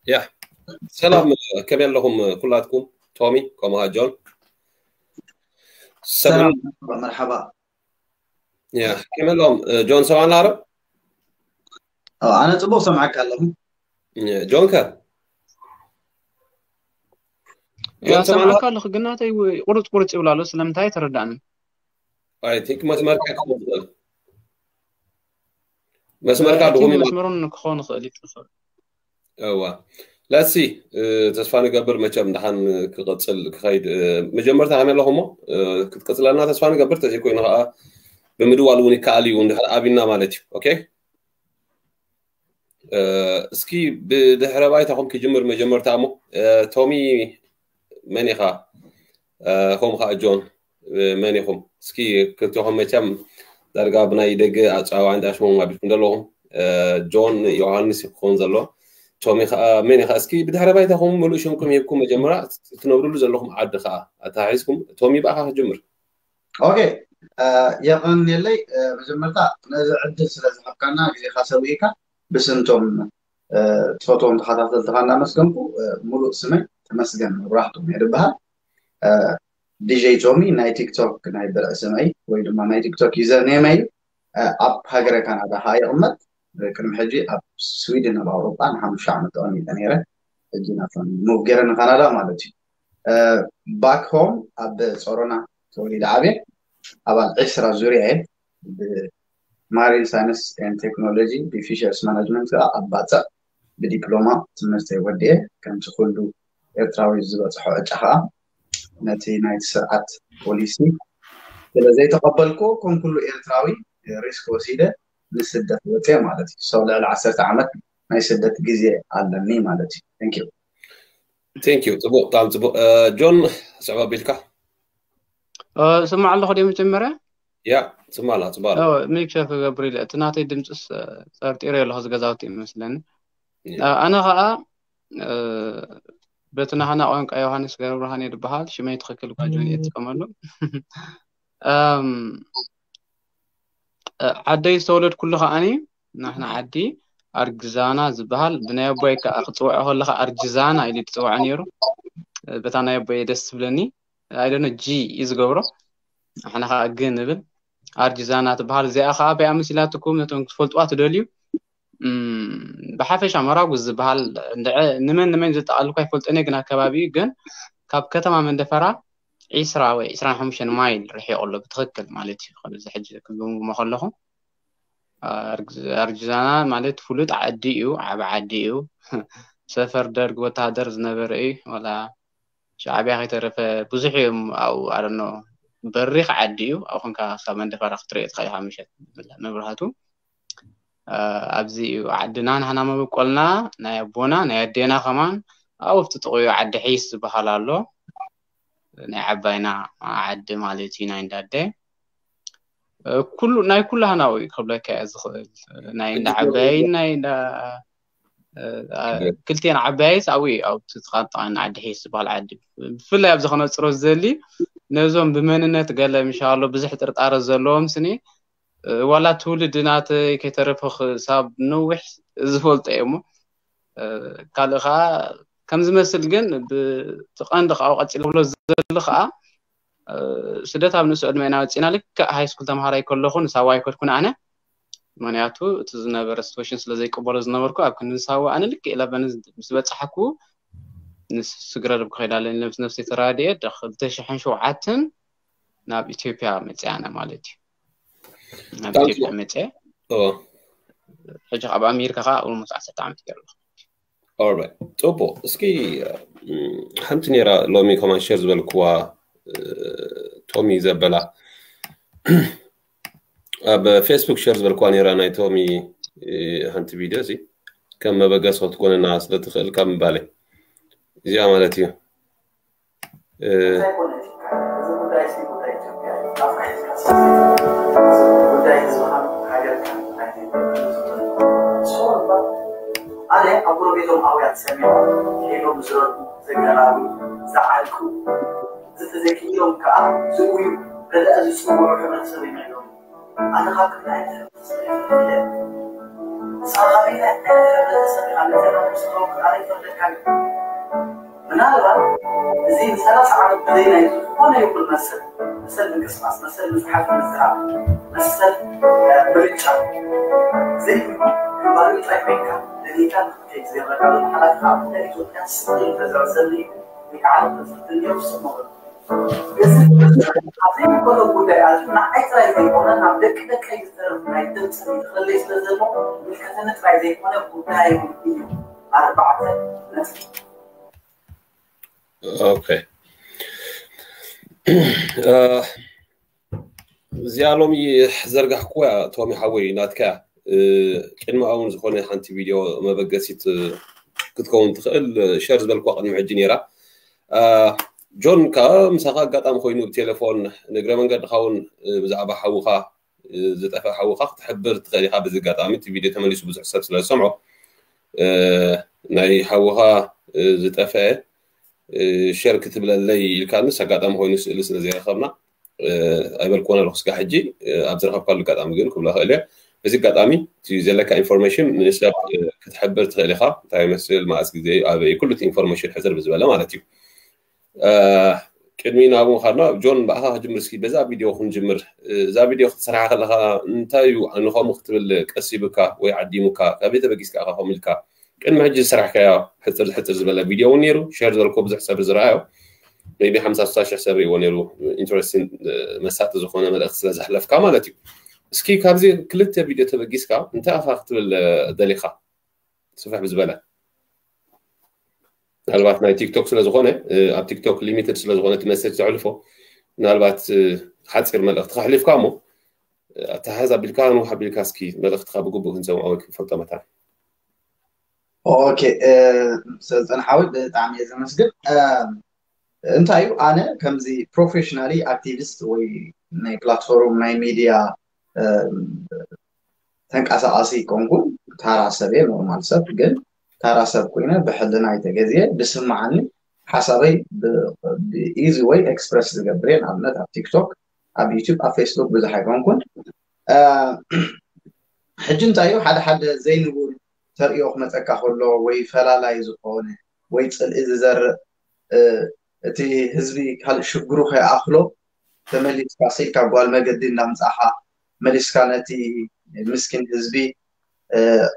ያ ሰላም፣ ከመይ ኣለኹም ኩላትኩም? ቶሚ ከምኡ ኸዓ ጆን። ሰላም፣ መርሓባ። ያ ከመይ ኣለኹም? ጆን ሰማዕና ኣሎ? ኣነ ጽቡቕ ሰምዓካ ኣለኹ። ጆን ከ? ያ ሰምዓካ ኣለኹ፣ ግን ናተይ ቁርጽ ቁርጽ ይብል ኣሎ። ስለምንታይ ተረዳእኒ? I think መስመርካ ክኸውን ይኽእል። መስመርካ I think ድኹም እዩ። መስመሩን ክኸውን ይኽእል እዩ። እዋ ለሲ ተስፋ ንገብር መቸም ደሓን ክቐጽል ክኸይድ። መጀመርታ ከመይ ኣለኹሞ? ክትቀጽለና ተስፋ ንገብር፣ ተዘይኮይኑ ከዓ ብምድዋል እውን ይከኣል እዩ፣ እንድሕር ኣቢና ማለት እዩ። ኦኬ፣ እስኪ ብድሕረ ባይታኹም ክጅምር መጀመርታ እሞ። ቶሚ፣ መን ኢኻ? ከምኡ ከዓ ጆን፣ መን ኢኹም? እስኪ ክልቲኹም መቸም ዳርጋ ብናይ ደገ ኣፀዋዋዕን ዳሽሞም ኣቢልኩም ዘለኹም። ጆን ዮሃንስ ክኸውን ዘሎ። ቶሚ ከዓ መን ኢኻ? እስኪ ብድሕረ ባይታኹም ምሉእ ሽምኩም ሂብኩም መጀመርያ ትነብርሉ ዘለኹም ዓዲ ከዓ ኣተሓሒዝኩም። ቶሚ፣ ብኣኻ ክጅምር። ኦኬ፣ የቐንየለይ። መጀመርታ ነዚ ዕድል ስለ ዝሃብካና፣ ግዜኻ ሰዊእካ ብስንቶም ትፈትዎም ተኸታተልትኻ እናመስገንኩ፣ ሙሉእ ስመይ ተመስገን መብራህቶም እየ ዝበሃል። ዲጀይ ቶሚ ናይ ቲክቶክ ናይ ብርዒ ስመይ ወይ ድማ ናይ ቲክቶክ ዩዘር ኔመይ እዩ። ኣብ ሃገረ ካናዳ ከዓ ይቕመጥ። ቅድሚ ሕጂ ኣብ ስዊድን ኣብ ኣውሮጳ ንሓሙሽተ ዓመት ተቐሚጠ ነይረ። ሕጂ ናቶም ሙቭ ገይረ ንካናዳ ማለት እዩ። ባክ ሆም ኣብ ጾሮና ተወሊደ ዓብየ። ኣባል ዕስራ ዙርያ እየ። ብማሪን ሳይንስ ኤንድ ቴክኖሎጂ ብፊሸርስ ማናጅመንት ከዓ ኣብ ባጽዕ ብዲፕሎማ ትምህርተይ ወዲኤ። ከምቲ ኩሉ ኤርትራዊ ዝበጽሖ ዕጫ ከዓ ነቲ ናይቲ ስርዓት ፖሊሲ ስለ ዘይተቐበልኩ፣ ከም ኩሉ ኤርትራዊ ሪስክ ወሲደ ንስደት ወፅየ ማለት እዩ። ሰው ልዕሊ ዓሰርተ ዓመት ናይ ስደት ግዜ ኣለኒ ማለት እዩ። Thank you። Thank you። ፅቡቅ፣ ብጣዕሚ ፅቡቅ። ጆን፣ ስዕብ ኣቢልካ። ስማዕ ኣለኹ ደ መጀመርያ? ያ፣ ስማዕ ኣላ፣ ፅቡቅ ኣላ። ሚክሸር ክገብር ኢለ፣ እቲ ናተይ ድምፅስ ጠርጢረ ኣለኹ፣ ዝገዛውቲ ይመስለኒ። ኣነ ከዓ በቲ ናህና ቋንቋ ዮሃንስ ገብረብርሃን እየ ዝበሃል። ሽመይ ትኽክል እኳ ጆን እየ ትጥቀመሉ። ዓደይ ዝተወለድኩሉ ከዓኒ ናህና ዓዲ ኣርግዛና ዝበሃል ብናይ ኣቦይ ከዓ ክፅውዖ ከለካ ኣርጅዛና ኢሉ ትፅውዖ ነይሩ። በታ ናይ ኣቦይ ደስ ትብለኒ። ኣይደነ ጂ እዩ ዝገብሮ። ንሕና ከዓ ግ ንብል። ኣርጅዛና ትበሃል። እዚኣ ከዓ በያ መሲላትኩም ነቶም ክትፈልጥዋ ትደልዩ። ብሓፈሻ መራጉዝ ዝበሃል እንድዐ ንመን ንመን ዘጠቓልል እኳ ኣይፈልጦን እየ፣ ግን ኣብ ከባቢኡ ግን ካብ ከተማ መንደፈራ ዒስራ ወይ ዒስራን ሓሙሽተን ማይል ርሒቑ ኣሎ ብትኽክል ማለት እዩ። ከምዚ ሕጂ ክግምግሞ ከለኹ ኣርጅዛና ማለት ፍሉጥ ዓዲ እዩ፣ ዓቢ ዓዲ እዩ። ሰፈር ደርግ ወተሃደር ዝነበረ እዩ። ዋላ ሻዕብያ ከይተረፈ ብዙሕ እዮም ኣብኡ። ኣረኖ በሪኽ ዓዲ እዩ። ኣብ ኮንካ ክሳብ መንደፈራ ክትሪኦ ትኽእል ኢኻ ምሸት መብራህቱ። ኣብዚ እዩ ዓድና፣ ናህና መበቆልና፣ ናይ ኣቦና ናይ ኣዴና ከማን ኣብኡ ኣብቲ ጥቕኡ ዓዲ ሒስ ዝበሃል ኣሎ። ናይ ዓባይና ዓዲ ማለት እዩ፣ ናይ እንዳደ ኩሉ ናይ ኩሉ ሃናው እዩ ክብለካ እየ ዝኽእል። ናይ እንዳ ዓባይን ናይ እንዳ ክልቴን ዓባይስ ኣብኡ እዩ፣ ኣብ ትጥቃጥቃን ዓዲ ሒስ ዝበሃል ዓዲ። ብፍላይ ኣብዚ ከነፅሮ ዝደሊ ነዞም ብመንነት ገለ ምሻሎ ብዙሕ ጥርጣረ ዘለዎም ስኒ ዋላ ትውልዲ ናተይ ከይተረፈ ክሳብ ነዊሕ ዝፈልጦ እየ እሞ ካልእ ከዓ ከም ዝመስል ግን ብትቐንዲ ካብኡ ቀፂለ ክብሎ ዝደሊ ከዓ ስደት ኣብ ንእሱ ዕድመ ኢና ወፂና። ልክዕ ሃይ ስኩል ተምሃራይ ከለኹ ንሳዋ ኣይከድኩን ኣነ፣ ምክንያቱ እቲ ዝነበረ ሲትዌሽን ስለ ዘይቀበሎ ዝነበርኩ ኣብ ክንዲ ንሳዋ ኣነ ልክዕ ኢለበኒ ምስ በፃሕኩ ንስግረርብ ክኸይድ ኣለኒ ምስ ነብሰይ ተራዲኤ ክልተ ሽሕን ሸውዓተን ናብ ኢትዮጵያ መፅኣና ማለት እዩ። ናብ ኢትዮጵያ መፅአ። ሕጂ ካብ ኣሜሪካ ከዓ ኦልሞስት ዓሰርተ ዓመት ገይሩ ኣለኹ። ፅቡቅ። እስኪ ሓንቲ ነይራ ሎሚ ከማን ሸር ዝበልክዋ ቶሚ ዘበላ ኣብ ፌስቡክ ሸር ዝበልክዋ ነይራ ናይ ቶሚ ሓንቲ ቪድዮ እዚ ከም መበገስ ክትኮነና ስለ ትኽእል ካብ ምባለይ እዚኣ ማለት እዩ። ኣነ ኣብ ጎረቤቶም ኣውያት ሰሚዖም ሄሎም ዝረዱ ዘገላሉ ዝዓልኩ ዝተዘኪሎም ከዓ ዝውዩ ረድኣ ዝፅውዑ ሕብረተሰብ እዮም ነይሮም። ኣነ ካብ ክልተ ዓይነት ሕብረተሰብ እየ ተፈጢረ። ሳባሪና ሕብረተሰብ ካብ ነዘና ምስተወ ክቃሪ ፈርደካ። ምናልባት እዚ ንሰላሳ ዓመት ብዘይ ናይ ዝኾነ ይኹን መሰል፣ መሰል ምንቅስቃስ፣ መሰል ምጽሓፍ፣ ምዝራብ፣ መሰል ምርጫ ዘይብሉ፣ ግንባር ጥራይ ኮይንካ ደሊካ ንክትከይድ ዘይረካ ዘሎ ሓላፊ ካብ ኢትዮጵያ ስቕ ኢሉ ተዘርዘሉ እዩ። ወይ ከዓ ተዘርዘሉ እዩ። እዚ ኣብዚ ዝኾነ ጉዳይ ኣዚ ንዓይ ጥራይ ዘይኮነ ናብ ደቂ ደቀይ ዝተረፍ ናይ ድምፂ ክልለይ ስለ ዘሎ ምልከተኒ ጥራይ ዘይኮነ ጉዳይ እዩ። ኣርባዕተ ነጥቢ። ኦኬ። እዚኣ ሎሚ ዘርጋሕኩዋ ቶሚ ሓወይ ናትካ ቅድሚ እውን ዝኾነ ሓንቲ ቪድዮ መበገሲት ክትከውን ትኽእል ሸር ዝበልኩዋ ቅድሚ ሕጂ ነይራ። ጆን ከ ምሳኻ ኣጋጣሚ ኮይኑ ብቴሌፎን ንእግረ መንገድኻ እውን ብዛዕባ ሓውኻ ዝጠፍአ ሓውኻ ክትሕብር ትኽእል ኢኻ። በዚ ኣጋጣሚ እቲ ቪድዮ ተመሊሱ ብዙሕ ሰብ ስለ ዝሰምዖ ናይ ሓውኻ ዝጠፍአ ሸር ክትብለለይ ኢልካ ንስ ኣጋጣሚ ኮይኑ ስእሊ ስለ ዘይረኸብና ኣይበልኮን ኣለኹ። ስጋ ሕጂ ኣብ ዝረኸብካሉ ኣጋጣሚ ግን ክብሎ ክእል እየ። በዚ ኣጋጣሚ እቲ ዘለካ ኢንፎርሜሽን ንሰብ ክትሕብር ትኽእል ኢኻ። እንታይ ይመስል፣ መኣስ ግዜ፣ ኣበይ፣ ኩሉ እቲ ኢንፎርሜሽን ሕዘር ብዝበለ ማለት እዩ። ቅድሚ ናብኡ ካድና ጆን ብኣኻ ክጅምር እስኪ በዛ ቪድዮ ክንጅምር። እዛ ቪድዮ ክትሰርሓ ከለኻ እንታይ እዩ ንኸምኡ ክትብል ቀሲብካ ወይ ዓዲሙካ? ካበይ ተበጊስካ ኢኻ ከምኡ ኢልካ? ቅድሚ ሕጂ ዝሰራሕካዮ ሕፅር ሕፅር ዝበለ ቪድዮ እውን ነይሩ፣ ሸር ዝበልኮ ብዙሕ ሰብ ዝረኣዮ ሜቢ ሓምሳ ስሳ ሽሕ ሰብ ሪእዎ ነይሩ። ኢንትረስቲንግ መሳጢ ዝኾነ መልእኽቲ ስለ ዘሕለፍካ ማለት እዩ። እስኪ ካብዚ ክልተ ቪድዮ ተበጊስካ እንታይ ኢኻ ክትብል ደሊኻ? ስፍሕ ብዝበለ ምናልባት ናይ ቲክቶክ ስለዝኾነ ኣብ ቲክቶክ ሊሚትድ ስለዝኾነ እቲ መሴጅ ዘሕልፎ ምናልባት ሓፂር መልእኽቲ ከሕሊፍካ እሞ ኣተሓዝ ኣቢልካ ንውሕ ኣቢልካ እስኪ መልእኽትካ ብግቡእ ክንሰምዖ ወይ ክንፈልጦ መታን። ኦኬ ሰልጠን ሓወይ ብጣዕሚ እየ ዘመስግን። እንታይ እዩ ኣነ ከምዚ ፕሮፌሽናሊ ኣክቲቪስት ወይ ናይ ፕላትፎርም ናይ ሚድያ ተንቀሳቃሲ ኮንኩን ታራ ሰብ እየ፣ ኖርማል ሰብ ግን ታራ ሰብ ኮይነ ብሕልና ኣይተገዝየ ብስምዓኒ ሓሳበይ ብኢዚ ወይ ኤክስፕረስ ዝገብር እየ። ንኣብነት ኣብ ቲክቶክ ኣብ ዩቱብ ኣብ ፌስቡክ ብዙሕ ኣይኮንኩን። ሕጂ እንታይ እዩ ሓደ ሓደ ዘይንቡር ተርእዮ ክመፀካ ከሎ ወይ ፈላላይ ዝኾነ ወይ ፅልኢ ዝዘርእ እቲ ህዝቢ ካልእ ሽግሩ ከይኣኽሎ ተመሊስካ ስኢልካ ጓል መገዲ እንዳምፃኻ መሊስካ ነቲ ምስኪን ህዝቢ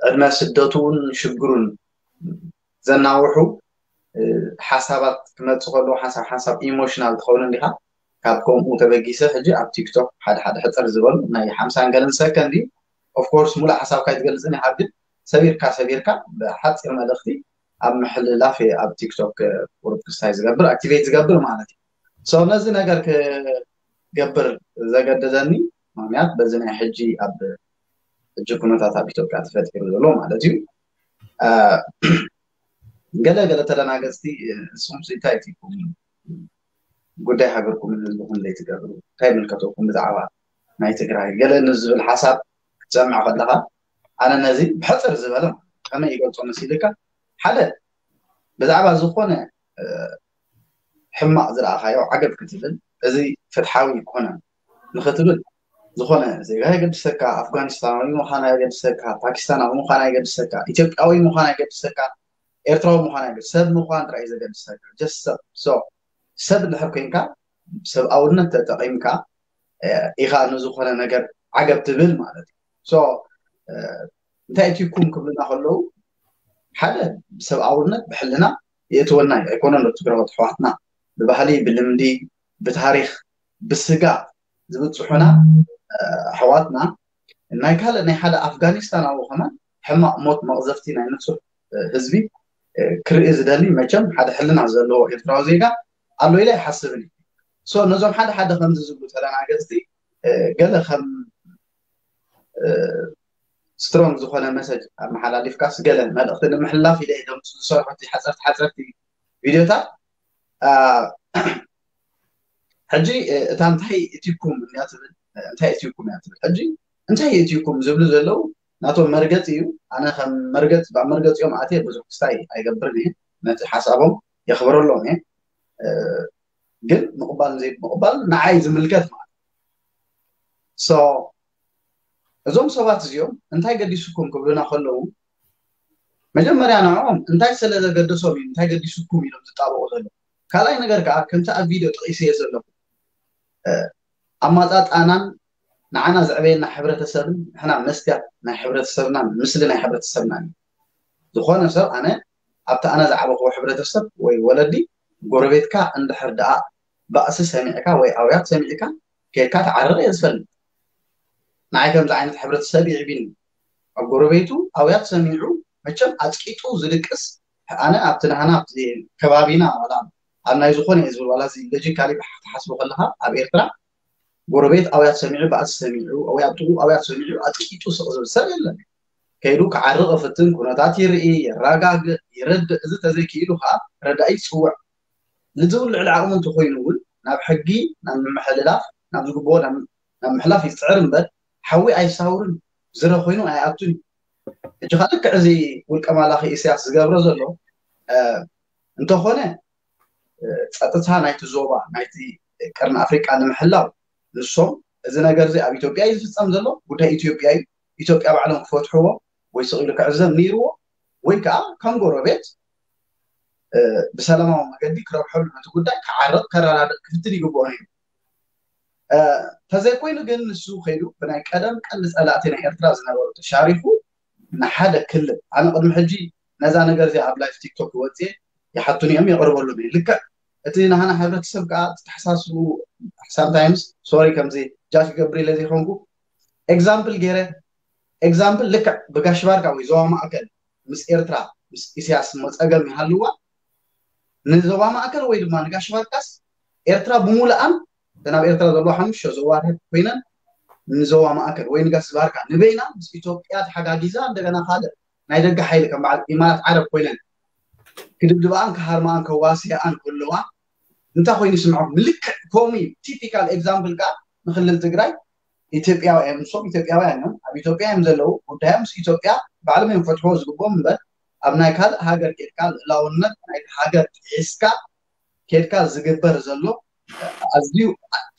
ዕድመ ስደቱን ሽግሩን ዘናውሑ ሓሳባት ክመፁ ከለዉ ሓንሳብ ሓንሳብ ኢሞሽናል ትኸውን እንዲኻ። ካብ ከምኡ ተበጊሰ ሕጂ ኣብ ቲክቶክ ሓደ ሓደ ሕፅር ዝበሉ ናይ ሓምሳን ገለን ሰከንድ እዩ። ኦፍኮርስ ሙሉእ ሓሳብካ ኣይትገልፅን ኢኻ፣ ግን ሰቢርካ ሰቢርካ ብሓፂር መልእኽቲ ኣብ ምሕልላፍ እየ ኣብ ቲክቶክ ቁሩብ ክስታይ ዝገብር ኣክቲቬት ዝገብር ማለት እዩ። ሶ ነዚ ነገር ክገብር ዘገደደኒ ምክንያት በዚ ናይ ሕጂ ኣብ ሕጂ ኩነታት ኣብ ኢትዮጵያ ተፈጢሩ ዘሎ ማለት እዩ። ገለ ገለ ተደናገፅቲ ንስኹም እንታይ ትብሉ ጉዳይ ሃገርኩምን ህዝብኹም ዘይትገብሩ እንታይ ይምልከተኩም ብዛዕባ ናይ ትግራይ ገለ ንዝብል ሓሳብ ክትሰምዕ ከለኻ ኣነ ነዚ ብሕፅር ዝበለ ከመይ ይገልፆ መሲልካ ሓደ ብዛዕባ ዝኾነ ሕማቕ ዝረኣኻዮ ዓገብ ክትብል እዚ ፍትሓዊ ይኮነን ንክትብል ዝኾነ ዜጋ የገድሰካ፣ ኣፍጋኒስታናዊ ምዃን ኣየገድሰካ፣ ፓኪስታናዊ ምዃን ኣየገድሰካ፣ ኢትዮጵያዊ ምዃን ኣየገድሰካ፣ ኤርትራዊ ምዃን ኣየገድስ ሰብ ምዃን ጥራይ ዘገድሰካ ጀስት ሰብ። ሶ ሰብ እንድሕር ኮይንካ ሰብኣውነት ተጠቒምካ ኢኻ ንዝኾነ ነገር ዓገብ ትብል ማለት እዩ። ሶ እንታይ እትይኩም ክብልና ከለዉ ሓደ ብሰብኣውነት ብሕልና የእትወና እዩ ኣይኮነን ዶ ትግራዎት ኣሕዋትና ብባህሊ ብልምዲ ብታሪኽ ብስጋ ዝብፅሑና ኣሕዋትና ናይ ካልእ ናይ ሓደ ኣፍጋኒስታናዊ ከማን ሕማቕ ሞት መቕዘፍቲ ናይ ንፁህ ህዝቢ ክርኢ ዝደሊ መቸም ሓደ ሕልና ዘለዎ ኤርትራዊ ዜጋ ኣሎ ኢለ ኣይሓስብን እዩ። ሶ ነዞም ሓደ ሓደ ከምዚ ዝብሉ ተደናገፅቲ ገለ ከም ስትሮንግ ዝኾነ መሰጅ ኣመሓላሊፍካስ ገለ መልእኽቲ ንምሕላፍ ኢለ እየ ዶም ዝሰርሖ እቲ ሓፀርቲ ሓፀርቲ ቪድዮታት ሕጂ እታ እንታይ እትይኩም እያ ትብል እንታይ እትይኩም እያ ትብል ሕጂ እንታይ እትይኩም ዝብሉ ዘለዉ ናቶም መርገፂ እዩ ኣነ ከም መርገፂ ኣብ መርገፂኦም ኣትየ ብዙሕ ክስታይ ኣይገብርን እየ ነቲ ሓሳቦም የኽብረሎም እየ ግን ምቕባል ዘይምቕባል ንዓይ ዝምልከት ማለት ሶ እዞም ሰባት እዚኦም እንታይ ገዲሱኩም ክብሉና ከለዉ፣ መጀመርያ ንዕኦም እንታይ ስለ ዘገደሶም እዩ እንታይ ገዲሱኩም ኢሎም ዝጣበቑ ዘለዉ። ካልኣይ ነገር ከዓ ከምቲ ኣብ ቪድዮ ጠቒሰዮ ዘለኹ፣ ኣማፃፃናን ንዓና ዘዕበየና ሕብረተሰብን ንሕና መስትያት ናይ ሕብረተሰብናን ምስሊ ናይ ሕብረተሰብናን እዩ። ዝኾነ ሰብ፣ ኣነ ኣብቲ ኣነ ዝዓበኽዎ ሕብረተሰብ ወይ ወለዲ፣ ጎረቤትካ እንድሕር ደኣ ባእሲ ሰሚዕካ ወይ ኣውያት ሰሚዕካ ከይድካ ትዓርቕ እየ ዝፈልጥ። ንዓይ ከምዚ ዓይነት ሕብረተሰብ ይዕቢኒ። ኣብ ጎረቤቱ ኣውያት ሰሚዑ መቸም ኣፅቂጡ ዝድቅስ፣ ኣነ ኣብቲ ናህና ኣብቲ ከባቢና ዋላ ኣብ ናይ ዝኾነ እየ ዝብል ዋላ እዚ ሎጂካሊ ክትሓስቦ ከለካ ኣብ ኤርትራ ጎረቤት ኣውያት ሰሚዑ ባእሲ ሰሚዑ ወይ ኣብ ጥቁ ኣውያት ሰሚዑ ኣጥቂጡ ስቕ ዝብል ሰብ የለን። ከይዱ ክዓርቕ ይፍትን፣ ኩነታት ይርኢ፣ የረጋግእ፣ ይረድእ። እዚ ተዘይክኢሉ ከዓ ረዳኢ ይፅውዕ። ንዝብል ልዕሊ ዓቕሙ እንተኮይኑ እውን ናብ ሕጊ ናብ ምምሕልላፍ ናብ ዝግብኦ ናብ ምሕላፍ ይፅዕር እምበር ሓዊ ኣይሳውርን፣ ዝረ ኮይኑ ኣይኣቱን እዩ። ሕጂ ከዓ ልክዕ እዚ ውልቀ ማላኺ ኢሳያስ ዝገብሮ ዘሎ እንተኾነ፣ ፀጥታ ናይቲ ዞባ ናይቲ ቀርኒ ኣፍሪቃ ንምሕላው ንሶም፣ እዚ ነገር እዚ ኣብ ኢትዮጵያ እዩ ዝፍፀም ዘሎ፣ ጉዳይ ኢትዮጵያ እዩ፣ ኢትዮጵያ ባዕሎም ክፈትሕዎ ወይ ስቕ ኢሉ ክዕዘብ ነይርዎ፣ ወይ ከዓ ከም ጎረቤት ብሰላማዊ መገዲ ክረብሐሉ ነቲ ጉዳይ ክዓርቕ ከረዳድእ ክፍትን ይግብኦ ነይሩ። ተዘይኮይኑ ግን ንሱ ከይዱ ብናይ ቀደም ቀንዲ ፀላእቲ ናይ ኤርትራ ዝነበሩ ተሻሪኹ ንሓደ ክልል፣ ኣነ ቅድሚ ሕጂ ነዛ ነገር እዚኣ ኣብ ላይፍ ቲክቶክ ወፅየ ይሓቱኒ እዮም የቕርበሎም እየ። ልክዕ እቲ ናህና ሕብረተሰብ ከዓ ተሓሳስቡ ሳምታይምስ፣ ሶሪ ከምዚ ጃጅ ክገብር ኢለ ዘይኮንኩ፣ ኤግዛምፕል ገይረ፣ ኤግዛምፕል ልክዕ ብጋሽ ባርካ ወይ ዞባ ማእከል ምስ ኤርትራ ምስ ኢሳያስ እሞ ፀገም ይሃልዋ፣ ንዞባ ማእከል ወይ ድማ ንጋሽ ባርካስ ኤርትራ ብምሉኣን እተን ኣብ ኤርትራ ዘለዋ ሓሙሽተ ዞባታት ኮይነን ንዞባ ማእከል ወይ ንጋሽ ባርካ ንበይና ምስ ኢትዮጵያ ተሓጋጊዛ እንደገና ካልእ ናይ ደገ ሓይሊ ከም በዓል ኢማራት ዓረብ ኮይነን ክድብድባኣን ክሃርማኣን ከዋስያኣን ከለዋ እንታይ ኮይኑ ይስምዖም? ምልክዕ ከምኡ እዩ። ቲፒካል ኤግዛምፕል ከዓ ንክልል ትግራይ ኢትዮጵያውያን፣ ንሶም ኢትዮጵያውያን እዮም፣ ኣብ ኢትዮጵያ እዮም ዘለዉ፣ ጉዳዮም ምስ ኢትዮጵያ ባዕሎም እዮም ክፈትሕዎ ዝግብኦም እምበር ኣብ ናይ ካልእ ሃገር ኬድካ ልእላውነት ናይቲ ሃገር ጥሒስካ ኬድካ ዝግበር ዘሎ ኣዝዩ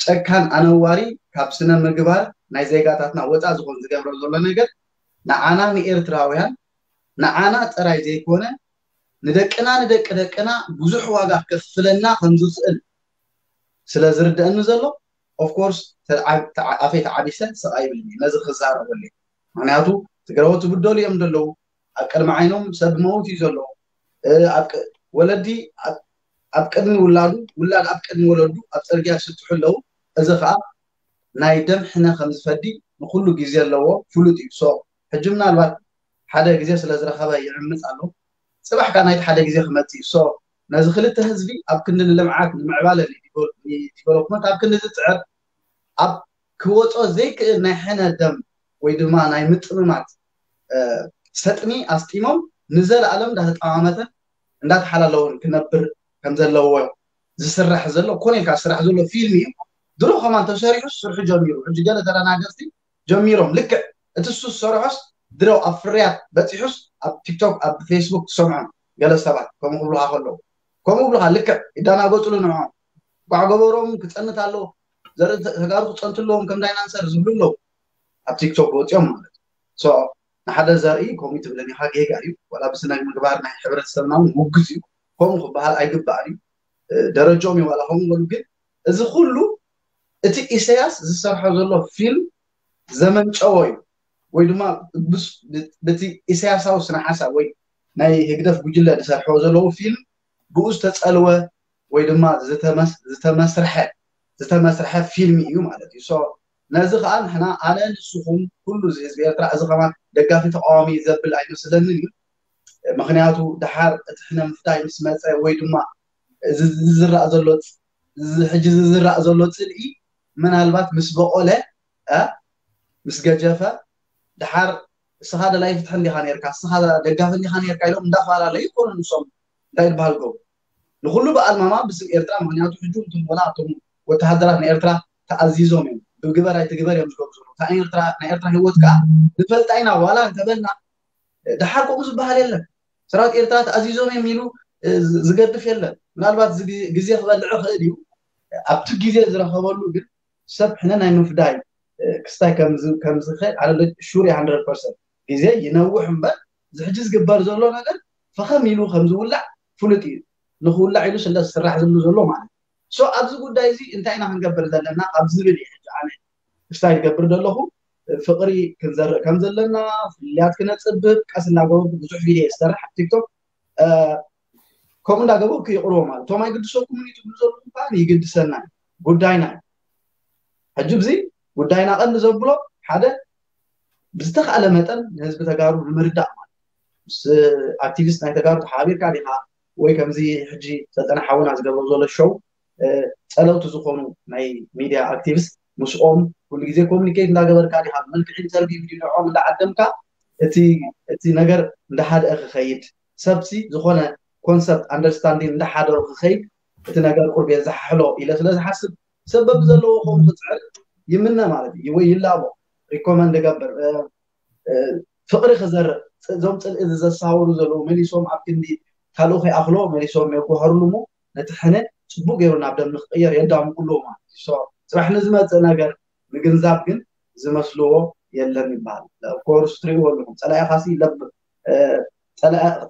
ጨካን ኣነዋሪ ካብ ስነ ምግባር ናይ ዜጋታትና ወፃእ ዝኾን ዝገብሮ ዘሎ ነገር ንዓና ንኤርትራውያን ንዓና ጥራይ ዘይኮነ ንደቅና ንደቂ ደቅና ብዙሕ ዋጋ ከፍለና ከም ዝኽእል ስለ ዝርደአኒ ዘሎ ኦፍኮርስ ኣፈይ ተዓቢሰ ስቕ ኣይብልን ነዚ ክዛረበሉ። ምክንያቱ ትግረዎት ትብደሉ እዮም ዘለዉ፣ ኣብ ቅድሚ ዓይኖም ሰብ መውት እዩ ዘሎ። ወለዲ ኣብ ቅድሚ ውላዱ፣ ውላድ ኣብ ቅድሚ ወለዱ ኣብ ፅርግያ ይስጥሑ ኣለዉ። እዚ ከዓ ናይ ደም ሕነ ከም ዝፈዲ ንኩሉ ግዜ ኣለዎ ፍሉጥ እዩ። ሶ ሕጂ ምናልባት ሓደ ግዜ ስለ ዝረኸበ ይዕምፅ ኣሎ። ፅባሕ ከዓ ናይቲ ሓደ ግዜ ክመፅእ እዩ። ሶ ነዚ ክልተ ህዝቢ ኣብ ክንዲ ንልምዓት ንምዕባለ ንዲቨሎፕመንት ኣብ ክንዲ ዝፅዕር ኣብ ክወፆ ዘይክእል ናይ ሕነ ደም ወይ ድማ ናይ ምጥምማት ሰጥሚ ኣስጢሞም ንዘለኣለም እንዳተጠማመተ እንዳተሓላለውን ክነብር ከም ዘለዎ ዝስራሕ ዘሎ ኮነ ኢልካ ዝስራሕ ዘሎ ፊልም እዩ። ድሮ ከማን ተሰሪሑ ስርሑ ጀሚሩ ሕጂ ገለ ተደናገፅቲ ጀሚሮም ልክዕ እቲ እሱ ዝሰርሖስ ድሮ ኣብ ፍርያት በፂሑስ ኣብ ቲክቶክ ኣብ ፌስቡክ ትሰምዖም ገለ ሰባት ከምኡ ክብሉካ ከለዉ ከምኡ ብሉካ ልክዕ ይደናገፅሉ ንዕኦም ጓዕ ገበሮም ክፀንት ኣለዎ ዘርኢ ተጋሩ ክፀንቱ ኣለዎም ከም ዳይናንሰር ዝብሉ ኣለዉ ኣብ ቲክቶክ ወፂኦም ማለት ሶ ንሓደ ዘርኢ ከምኡ ትብለኒ ኢኻ ጌጋ እዩ ወላ ብስነ ምግባር ናይ ሕብረተሰብና እውን ውግዝ እዩ ከምኡ ክበሃል ኣይግባእን እዩ ደረጃኦም እዩ ዋላ ከምኡ በሉ ግን እዚ ኩሉ እቲ ኢሳያስ ዝሰርሖ ዘሎ ፊልም ዘመንጨዎ እዩ ወይ ድማ ብቲ ኢሳያሳዊ ስነ ሓሳብ ወይ ናይ ህግደፍ ጉጅለ ዝሰርሕዎ ዘለዉ ፊልም ብኡ ዝተፀልወ ወይ ድማ ዝተመስርሐ ዝተመስርሐ ፊልም እዩ ማለት እዩ ነዚ ከዓ ንሕና ኣነ ንስኹም ኩሉ እዚ ህዝቢ ኤርትራ እዚ ከማን ደጋፊ ተቃዋሚ ዘብል ኣይመስለንን እዩ ምክንያቱ ድሓር እቲ ሕነ ምፍዳይ ምስ መፀ ወይ ድማ ዝዝራእ ዘሎ ሕጂ ዝዝራእ ዘሎ ፅልኢ ምናልባት ምስ በቆለ ምስ ገጀፈ ድሓር እስኻ ደላይ ፍትሒ እንዲኻ ነርካ እስኻ ደጋፊ እንዲኻ ነርካ ኢሎም እንዳፈላለዩ ይኮኑ ንሶም እንታይ ዝበሃል ገቡ ንኩሉ በኣልማማ ብስም ኤርትራ ምክንያቱ ሕጂ እንትን ወላ ኣቶም ወተሃደራት ንኤርትራ ተኣዚዞም እዮም ብግበር ኣይትግበር እዮም ዝገብሩ ዘለዉ ናይ ኤርትራ ህይወት ከዓ ንፈልጣ ኢና ዋላ እንተበልና ድሓር ከምኡ ዝበሃል የለን ሰራዊት ኤርትራ ተኣዚዞም እዮም ኢሉ ዝገድፍ የለን ምናልባት ግዜ ክበልዕ ክእል እዩ ኣብቲ ግዜ ዝረኸበሉ ግን ሰብ ሕነ ናይ ምፍዳይ ክስታይ ከምዝኸድ ኣነ ሹር hundred percent ግዜ ይነውሕ እምበር ዝሕጂ ዝግበር ዘሎ ነገር ፈኸም ኢሉ ከምዝውላዕ ፍሉጥ እዩ። ንክውላዕ ኢሉ ስለ ዝስራሕ ዝብሉ ዘሎ ማለት እዩ። ኣብዚ ጉዳይ እዚ እንታይ ኢና ክንገብር ዘለና ካብ ዝብል እዩ ሕጂ ኣነ ክስታይ ዝገብር ዘለኹ። ፍቕሪ ክንዘርእ ከም ዘለና ፍልልያት ክነፅብብ ቀስ እናገበርኩ ብዙሕ ቪድዮ ዝሰርሕ ኣብ ቲክቶክ ከምኡ እንዳገበርኩ ይቕርቦ ማለት እቶም ኣይግድሰኩምን እዩ ትብሉ ዘለኹም ከዓ ይግድሰና ጉዳይና እዩ። ሕጂ ብዚ ጉዳይና ቀንዲ ዘብሎ ሓደ ብዝተኻእለ መጠን ንህዝቢ ተጋሩ ንምርዳእ ማለት ምስ ኣክቲቪስት ናይ ተጋሩ ተሓባቢርካ ዲኻ ወይ ከምዚ ሕጂ ሰልጠነ ሓውና ዝገብሮ ዘሎ ሾው ጸለውቲ ዝኾኑ ናይ ሚድያ ኣክቲቪስት ምስኦም ኩሉ ግዜ ኮሚኒኬት እንዳገበርካ ዲኻ ብመልክዕ ኢንተርቪው ቪዲዮ ንዕኦም እንዳዓደምካ እቲ እቲ ነገር እንዳሓደአ ክኸይድ ሰብሲ ዝኾነ ኮንሰፕት ኣንደርስታንዲንግ እንዳሓደሩ ክኸይድ እቲ ነገር ቁርብ የዘሓሕሎ ኢለ ስለ ዝሓስብ ሰብ በብዘለዎ ከምኡ ክፅዕር ይምነ ማለት እዩ ወይ ይላቦ ሪኮመንድ እገብር ፍቅሪ ክዘርእ እዞም ፅልኢ ዘሳውሩ ዘለዉ መሊሶም ኣብ ክንዲ ካልኡ ከይኣኽሎ መሊሶም የጓህርሉ እሞ ነቲ ሕነ ፅቡቅ ገይሩ ናብ ደም ንክቅየር የዳምቁ ኣለዉ ማለት እዩ። ጽባሕ ንዝመፅእ ነገር ምግንዛብ ግን ዝመስልዎ የለን ይበሃል። ኮርስ ትሪእዎ ኣለኹም ፀላኢኻሲ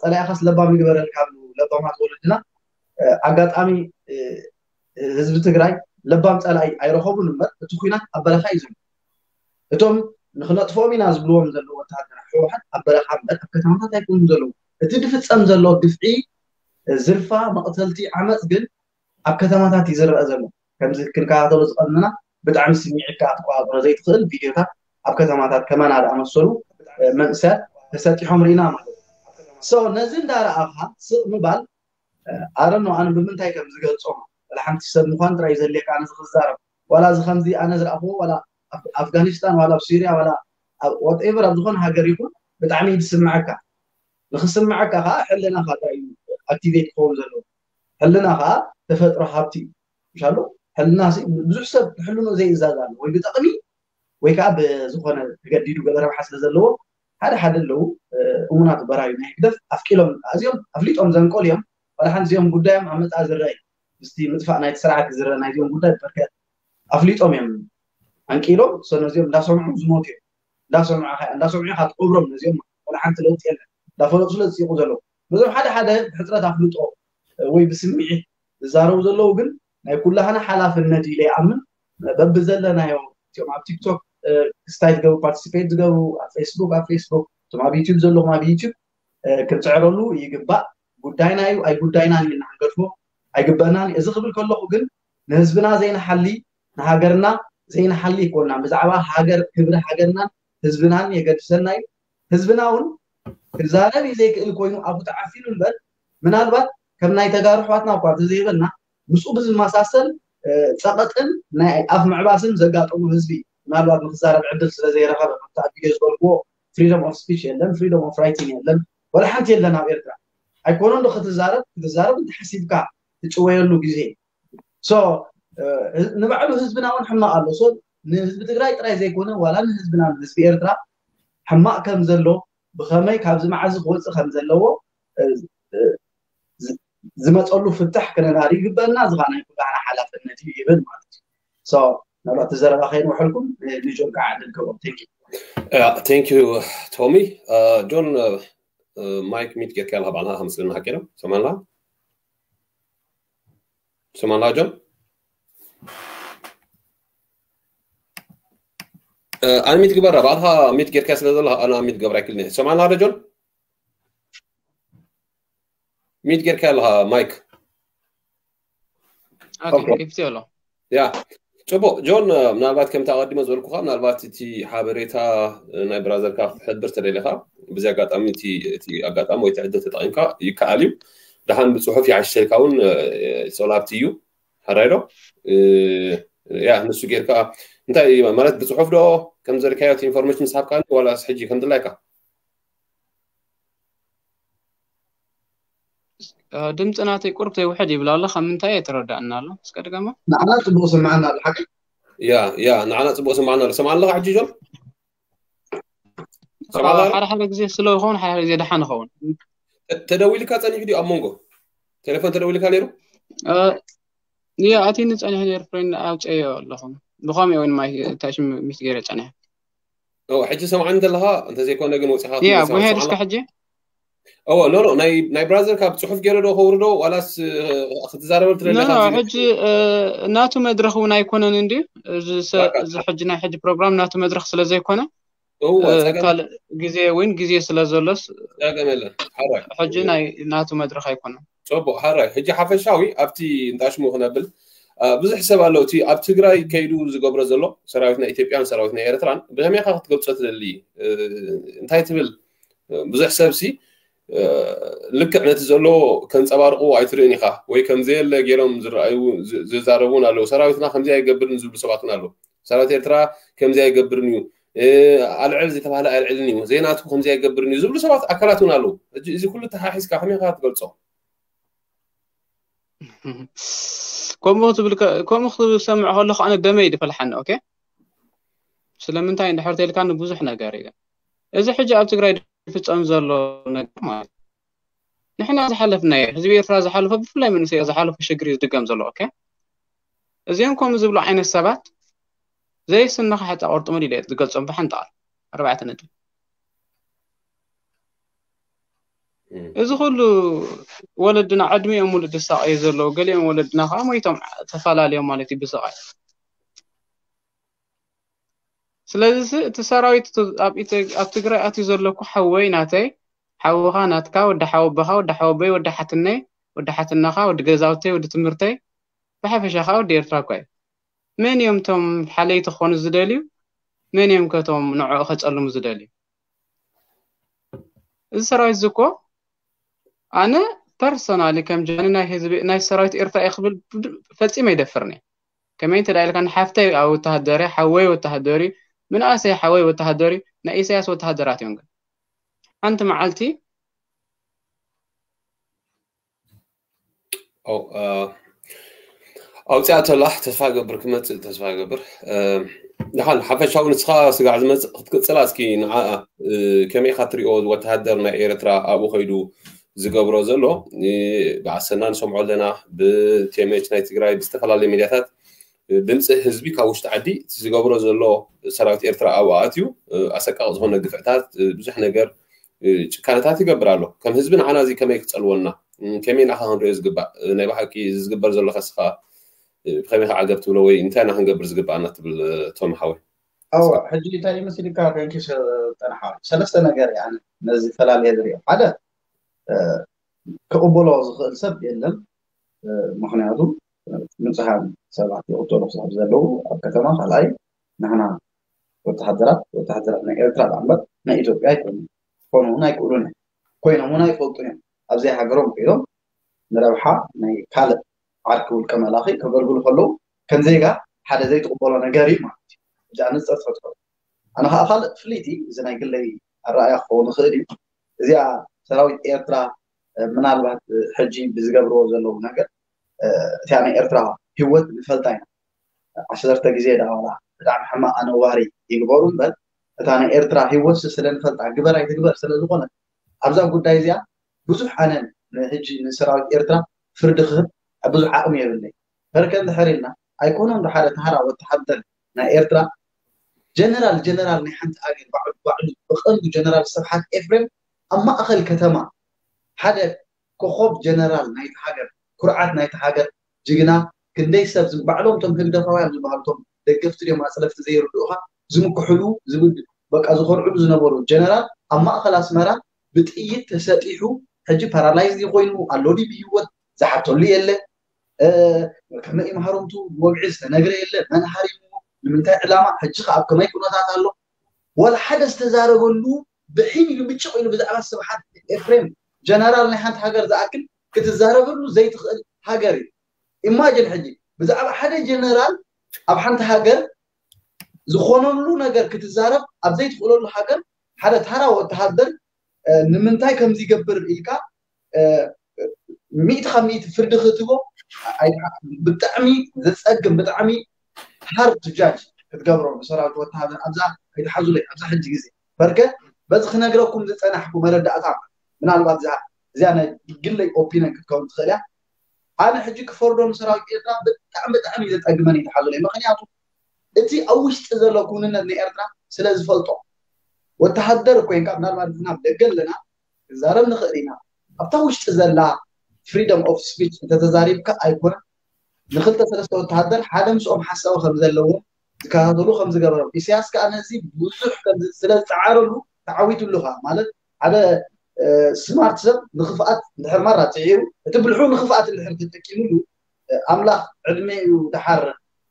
ፀላኢኻስ ለባም ይግበረልካ ኣለዉ ለባማት ወለድና። ኣጋጣሚ ህዝቢ ትግራይ ለባም ፀላኢ ኣይረኸቡን እምበር እቲ ኩናት ኣብ በረኻ እዩ ዘሎ። እቶም ንክነጥፍኦም ኢና ዝብልዎም ዘለዉ ወተሃደራት ህወሓት ኣብ በረኻ እምበር ኣብ ከተማታት ኣይኮኑን ዘለዉ። እቲ ዝፍፀም ዘሎ ግፍዒ፣ ዝርፋ፣ መቕተልቲ፣ ዓመፅ ግን ኣብ ከተማታት እዩ ዝረአ ዘሎ። ከምዚ ክንከታተሎ ዝቐንና ብጣዕሚ ስሚዒትካ ክትቆፃፀሮ ዘይትኽእል ቪድዮታት ኣብ ከተማታት ከማና ዝኣመሰሉ መንእሰያት ተሰጢሖም ርኢና ማለት እዩ። ነዚ እንዳረኣኻ ስቕ ምባል ኣረኖ ኣነ ብምንታይ ከም ዝገልፆ ወላ ሓንቲ ሰብ ምኳን ጥራይ ዘድልየካ ኣነ ዝክዛረብ ዋላ እዚ ከምዚ ኣነ ዝረኣኽዎ ዋላ ኣፍጋኒስታን ዋላ ኣብ ሲርያ ዋላ ወትኤቨር ኣብ ዝኾነ ሃገር ይኹን ብጣዕሚ እዩ ዝስምዐካ። ንክስምዐካ ከዓ ሕልናኻ ጥራይ እዩ ኣክቲቬት ክኸውን ዘለዎ። ሕልና ከዓ ተፈጥሮ ሃብቲ እዩ። ምሻሉ ሕልና ብዙሕ ሰብ ሕልኑ ዘይእዛዝ ኣሎ ወይ ብጠቕሚ ወይ ከዓ ብዝኾነ ተገዲዱ ገለ ረብሓ ስለ ዘለዎ ሓደ ሓደ ኣለዉ እሙናት በራዩ ናይ ህግደፍ ኣፍቂሎም ኣዚኦም ኣፍሊጦም ዘንቆል እዮም። ዋላ ሓንቲ እዚኦም ጉዳዮም ኣብ መፃ ዝረአ እዩ። ምስቲ ምጥፋእ ናይቲ ስርዓት ዝረአ ናይዚኦም ጉዳይ በርከ ኣፍሊጦም እዮም ኣንቂሎም ሰ ነዚኦም እንዳሰምዑ ዝሞት እዮም። እንዳሰምዑ እንዳሰምዑ ኢኻ ትቀብሮም ነዚኦም። ዋላ ሓንቲ ለውጢ የለን። እንዳፈለጡ ስለ ዝፅይቁ ዘለዉ ነዞም ሓደ ሓደ ብሕፅረት ኣፍልጦ ወይ ብስምዒት ዝዛረቡ ዘለዉ ግን ናይ ኩላህና ሓላፍነት ኢለ ይኣምን። በብዘለናዮ እቲኦም ኣብ ቲክቶክ ክስታይ ዝገብሩ ፓርቲሲፔት ዝገብሩ ኣብ ፌስቡክ ኣብ ፌስቡክ እቶም ኣብ ዩቲብ ዘለኹም ኣብ ዩቲብ ክንፅዕረሉ ይግባእ። ጉዳይና እዩ ኣይጉዳይናን ኢልና ክንገድፎ ኣይግበእናን። እዚ ክብል ከለኹ ግን ንህዝብና ዘይንሓሊ ንሃገርና ዘይንሓሊ ኣይኮንናን። ብዛዕባ ሃገር ክብሪ ሃገርናን ህዝብናን የገድሰና እዩ። ህዝብና እውን ክዛረብ እዩ ዘይክእል ኮይኑ ኣፉ ተዓፊኑ እምበር ምናልባት ከም ናይ ተጋሩ ኣሕዋትና እኳ እንተዘይበልና ምስኡ ብዝመሳሰል ፀቐጥን ናይ ኣፍ ምዕባስን ዘጋጠሞ ህዝቢ እዩ። ምናልባት ንክዛረብ ዕድል ስለ ዘይረኸበ ከምቲ ኣብ ቪድዮ ዝበልክዎ ፍሪደም ኦፍ ስፒች የለን፣ ፍሪደም ኦፍ ራይቲንግ የለን፣ ወላ ሓንቲ የለን ኣብ ኤርትራ። ኣይኮነን ዶ ክትዛረብ ክትዛረብ እንተሓሲብካ ትጭወየሉ ግዜ ንባዕሉ ህዝብና እውን ሕማቕ ኣሎ። ንህዝቢ ትግራይ ጥራይ ዘይኮነ ዋላ ንህዝብና ንህዝቢ ኤርትራ ሕማቕ ከም ዘሎ ብኸመይ ካብዚ መዓዚ ክወፅእ ከም ዘለዎ ዝመፀሉ ፍታሕ ክነዳሪ ይግበእና። እዚ ከዓ ናይ ኩላህና ሓላፍነት እዩ ይብል ማለት እዩ። ምናልባት እቲ ዘረባ ከይንውሐልኩም ንጆን ከዓ ዕድል ክህቦም። ቴንክ ዩ። ቴንክ ዩ ቶሚ። ጆን ማይክ ሚት ጌርካ ኣለካ ባዕልካ ከም ስልና ሓቂና ሰማና ሰማና ጆን ኣነ ሚት ግበራ ባዕልካ ሚት ጌርካ ስለ ዘለካ ኣነ ሚት ገብራ ይክልኒ ሰማና ዶ ጆን ሚት ጌርካ ኣለካ ማይክ ኦኬ ከፊተ ኣሎ ያ ጽቡቅ ጆን ምናልባት ከምቲ ኣቐዲመ ዝበልኩካ ምናልባት እቲ ሓበሬታ ናይ ብራዘርካ ክትሕብር ተደሊኻ ብዚ ኣጋጣሚ እቲ ኣጋጣሚ ወይ ትዕድል ተጠቂምካ ይከኣል እዩ ደሓን ብፅሑፍ ይዓሽተልካ እውን ሶላብቲ እዩ ሓራይ ዶ ያ ንሱ ጌርካ እንታይ ማለት ብፅሑፍ ዶ ከም ዘልካዮ ኢንፎርሜሽን ስሓብካ ዋላ ሕጂ ከም ድላይካ ድምፂ ናተይ ቁርብ ተይውሕድ ይብል ኣሎ ካብ ምንታይ ኣይተረዳእና ኣሎ እስከ ድገማ ንዓና ፅቡቅ ስምዓና ኣሎ ሓቂ ያ ያ ንዓና ፅቡቅ ስምዓና ኣሎ ሰምዓ ኣለካ ሕጂ ጆን ሓደ ሓደ ግዜ ስለ ይኸውን ሓደ ግዜ ደሓን ይኸውን ተደዊልካ ፀኒሑ ድዩ ኣብ መንጎ ቴሌፎን ተደዊልካ ነይሩ ያ ኣቲኒ ፀኒሑ ነይሩ ፍሬንድ ኣውፀዮ ኣለኹ ብኸምኡ እውን ማይ ታሽም ሚት ገይረ ጸኒሐ። ኦ ሕጂ ሰምዓኒ ዘለኻ እንተዘይኮነ ግን ወፂኻ ያ ጉሄድ እስከ ሕጂ ኦ ኖ ኖ ናይ ናይ ብራዘር ካብ ፅሑፍ ገይረ ዶ ከውርዶ ዋላስ ክትዛረበል ትደለካ ሕጂ ናቱ መድረክ እውን ኣይኮነን እንዲ እዚ ሕጂ ናይ ሕጂ ፕሮግራም ናቱ መድረክ ስለዘይኮነ ካልእ ግዜ እውን ግዜ ስለዘሎስ ጸገም የለን ሓራይ ሕጂ ናይ ናቱ መድረክ ኣይኮነን። ፅቡቅ ሓራይ ሕጂ ሓፈሻዊ ኣብቲ እንጣሽሙ ክነብል ብዙሕ ሰብ ኣሎ እቲ ኣብ ትግራይ ከይዱ ዝገብሮ ዘሎ ሰራዊት ናይ ኢትዮጵያን ሰራዊት ናይ ኤርትራን ብከመይ ኢኻ ክትገልፆ ትደሊ? እንታይ ትብል? ብዙሕ ሰብ ሲ ልክዕ ነቲ ዘሎ ከንፀባርቅዎ ኣይትርእን ኢኻ ወይ ከምዘየለ ገይሮም ዝረኣዩ ዝዛረቡ እውን ኣለዉ። ሰራዊትና ከምዚ ኣይገብርን ዝብሉ ሰባት እውን ኣለዉ። ሰራዊት ኤርትራ ከምዚ ኣይገብርን እዩ፣ ኣልዕል ዝተባህለ ኣልዕልን እዩ፣ ዘይናቱ ከምዚ ኣይገብርን እዩ ዝብሉ ሰባት ኣካላት እውን ኣለዉ። እዚ ኩሉ ተሓሒዝካ ከመይ ኢኻ ትገልፆ? ከምኡ ትብል ከምኡ ክሰምዕ ከለኹ ኣነ ደመይ ድፈልሓኒ። ኦኬ ስለምንታይ እንድሕር ተልካኒ ብዙሕ ነገር እዩ። እዚ ሕጂ ኣብ ትግራይ ዝፍፀም ዘሎ ነገር ማለት ንሕና ዝሓለፍናዮ ህዝቢ ኤርትራ ዝሓለፎ ብፍላይ መንእሰይ ዝሓለፎ ሽግር እዩ ዝድገም ዘሎ። ኦኬ እዚኦም ከምኡ ዝብሉ ዓይነት ሰባት ዘይስንኻ ሕፃ ቁርጥምድ ኢለ ዝገልፆም ብሓንቲ ቃል ኣርባዕተ ነጥቢ እዚ ኩሉ ወለድና ዕድሚኦም ሙሉእ ዝሳቀዩ ዘለዉ ገሊኦም ወለድና ከዓ ሞይቶም ተፈላለዮም ማለት እዩ ብስቃይ። ስለዚ እቲ ሰራዊት ኣብ ትግራይ ኣትዩ ዘለኩ ሓወይ ናተይ ሓውኻ ናትካ ወዲ ሓወቦኻ ወዲ ሓወቦይ ወዲ ሓትነይ ወዲ ሓትነኻ ወዲ ገዛውተይ ወዲ ትምህርተይ ብሓፈሻ ከዓ ወዲ ኤርትራ እኳ እዩ። መን እዮም እቶም ሓለይቲ ክኾኑ ዝደልዩ? መን እዮም ከቶም ንዕኡ ከጸልሙ ዝደልዩ? እዚ ሰራዊት እዚ እኮ ኣነ ፐርሶናሊ ከም ጃኒ ናይ ህዝቢ ናይ ሰራዊት ኤርትራ እየ ክብል ፈጺመ ይደፍርኒ። ከመይ እንተ ኢልካ ንሓፍተይ ኣብ ወተሃደር ሓወይ ወተሃደር ምንኣሰይ ሓወይ ወተሃደር ናይ ኢሳያስ ወተሃደራት እዮም ግን ሓንቲ መዓልቲ ኣውፅኣ ተላ ተስፋ ገብር ክመፅእ ተስፋ ገብር። ደሓን ሓፈሻዊ ንስኻ ስጋዕ ዝመፅእ ክትቅፅላ እስኪ ንዓኣ ከመይ ኢኻ ትሪኦ ወተሃደር ናይ ኤርትራ ኣብኡ ከይዱ ዝገብሮ ዘሎ ብኣሰና ንሰምዖ ኣለና ብቴሜች ናይ ትግራይ ብዝተፈላለዩ ሚድያታት ድምፂ ህዝቢ ካብ ውሽጢ ዓዲ እቲ ዝገብሮ ዘሎ ሰራዊት ኤርትራ ኣብኡ ኣትዩ ኣሰቃቂ ዝኾነ ግፍዕታት ብዙሕ ነገር ጭካነታት ይገብር ኣሎ። ከም ህዝቢ ንዓና እዚ ከመይ ክፀልወና ከመይ ንዓኻ ክንሪኦ ዝግባእ ናይ ብሓቂ እዚ ዝግበር ዘሎ ከስኻ ብከመይ ከዓ ገብ ትብሎ ወይ እንታይ ኢና ክንገብር ዝግባኣና ትብል ቶም ሓወይ? ኣዎ ሕጂ እንታይ ይመስልካ ከንኪ ጠንሓ ሰለስተ ነገር ነዚ ፈላልየ ዝሪኦ ሓደ ክቕበሎ ዝኽእል ሰብ የለን። ምክንያቱ ንፁሃን ሰባት ይቕተሉ ክሳብ ዘለዉ ኣብ ከተማ ካልኣይ ንሕና ወተሃደራት ወተሃደራት ናይ ኤርትራ ዳ እምበር ናይ ኢትዮጵያ ኣይኮኑ ክኾኑ እውን ኣይክእሉን እዮም ኮይኖም እውን ኣይፈልጡ እዮም ኣብዘይ ሃገሮም ኮይኖም ንረብሓ ናይ ካልእ ዓርኪ ውልቀ መላኺ ከገልግሉ ከለዉ ከም ዜጋ ሓደ ዘይትቕበሎ ነገር እዩ ማለት እዩ እዚ ኣነፅር ትፈጥሮ ኣነ ከዓ ካልእ ፍልይቲ እዚ ናይ ግለይ ኣረኣያ ክኸውን ይኽእል እዩ እዚኣ ሰራዊት ኤርትራ ምናልባት ሕጂ ብዝገብርዎ ዘለዉ ነገር እቲኣ ናይ ኤርትራ ህይወት ንፈልጣ ኢና ዓሰርተ ግዜ ዳዋላ ብጣዕሚ ሕማቕ ኣነዋሪ ይግበሩ እምበር እታ ናይ ኤርትራ ህይወት ስለንፈልጣ ግበር ኣይትግበር ስለዝኾነ ኣብዛ ጉዳይ እዚኣ ብዙሕ ኣነ ሕጂ ንሰራዊት ኤርትራ ፍርዲ ክህብ ብዙሕ ዓቕሚ የብለይ በርከ እንድሕር ኢልና ኣይኮኖም ዶ ሓደ ተሃራ ወተሃደር ናይ ኤርትራ ጀነራል ጀነራል ናይ ሓንቲ ኣገር ባዕሉ ባዕሉ ብቐንዱ ጀነራል ስብሓት ኤፍሬም ኣብ ማእኸል ከተማ ሓደ ኮኾብ ጀነራል ናይቲ ሃገር ኩርዓት ናይቲ ሃገር ጅግና ክንደይ ሰብ ዝም ባዕሎም ቶም ህግደፋውያን ዝበሃሉ ቶም ደገፍቲ ድዮም ኣፅለፍቲ ዘይርድኡኻ ዝምክሕሉ ዝብል በቃ ዝኾርዕሉ ዝነበሩ ጀነራል ኣብ ማእኸል ኣስመራ ብጥይት ተሰጢሑ ሕጂ ፓራላይዝ ኮይኑ ኣሎ ድዩ ብህይወት ዝሓተሉ የለ ከመይ ማህረምቱ ወግዒ ዝተነግረ የለ መን ሃሪምዎ ንምንታይ ዕላማ ሕጂ ከ ኣብ ከመይ ኩነታት ኣሎ ዋላ ሓደ ዝተዛረበሉ ብሒም ኢሉ ብጭቕ ኢሉ ብዛዕባ ስብሓት ኤፍሬም ጀነራል ናይ ሓንቲ ሃገር ዝኣክል ክትዛረበሉ ዘይትኽእል ሃገር እዩ ኢማጅን ሕጂ ብዛዕባ ሓደ ጀነራል ኣብ ሓንቲ ሃገር ዝኾነሉ ነገር ክትዛረብ ኣብ ዘይትኽእለሉ ሃገር ሓደ ተራ ወተሃደር ንምንታይ ከምዚ ይገብር ኢልካ ሚእቲ ካብ ሚእቲ ፍርዲ ክትቦ ብጣዕሚ ዘፀግም ብጣዕሚ ሃርድ ጃጅ ክትገብሮ ንሰራዊት ወተሃደር ኣብዛ ኣይትሓዙለይ ኣብዛ ሕጂ ግዜ በርከ በዚ ክነግረኩም ዝፀናሕኩ መረዳእታ ምናልባት እዚኣ ናይ ግለይ ኦፒነን ክትከውን ትኽእል እያ ኣነ ሕጂ ክፈርዶ ንሰራዊት ኤርትራ ብጣዕሚ ብጣዕሚ እዩ ዘፀግመን ይትሓዙለይ ምክንያቱ እቲ ኣብ ውሽጢ ዘሎ ክውንነት ንኤርትራ ስለ ዝፈልጦ፣ ወተሃደር ኮይንካ ምናልባት ንሕና ኣብ ደገ ኣለና ክዛረብ ንኽእል ኢና። ኣብታ ውሽጢ ዘላ freedom of speech እንተተዛሪብካ ኣይኮነን ንክልተ ሰለስተ ወተሃደር ሓደ ምስኦም ሓሳዊ ከም ዘለዎም ዝከታተሉ ከም ዝገበሮም። ኢሳያስ ከዓ ነዚ ብዙሕ ከም ዝ- ስለ ዝፀዓረሉ ተዓዊትሉ ከዓ ማለት ሓደ ስማርት ሰብ ንክፍኣት እንድሕር ማራ ፅዒሩ እቲ ብልሑ ንክፍኣት እንድሕር ተጠቂምሉ ኣምላኽ ዕድሜ እዩ ደሓር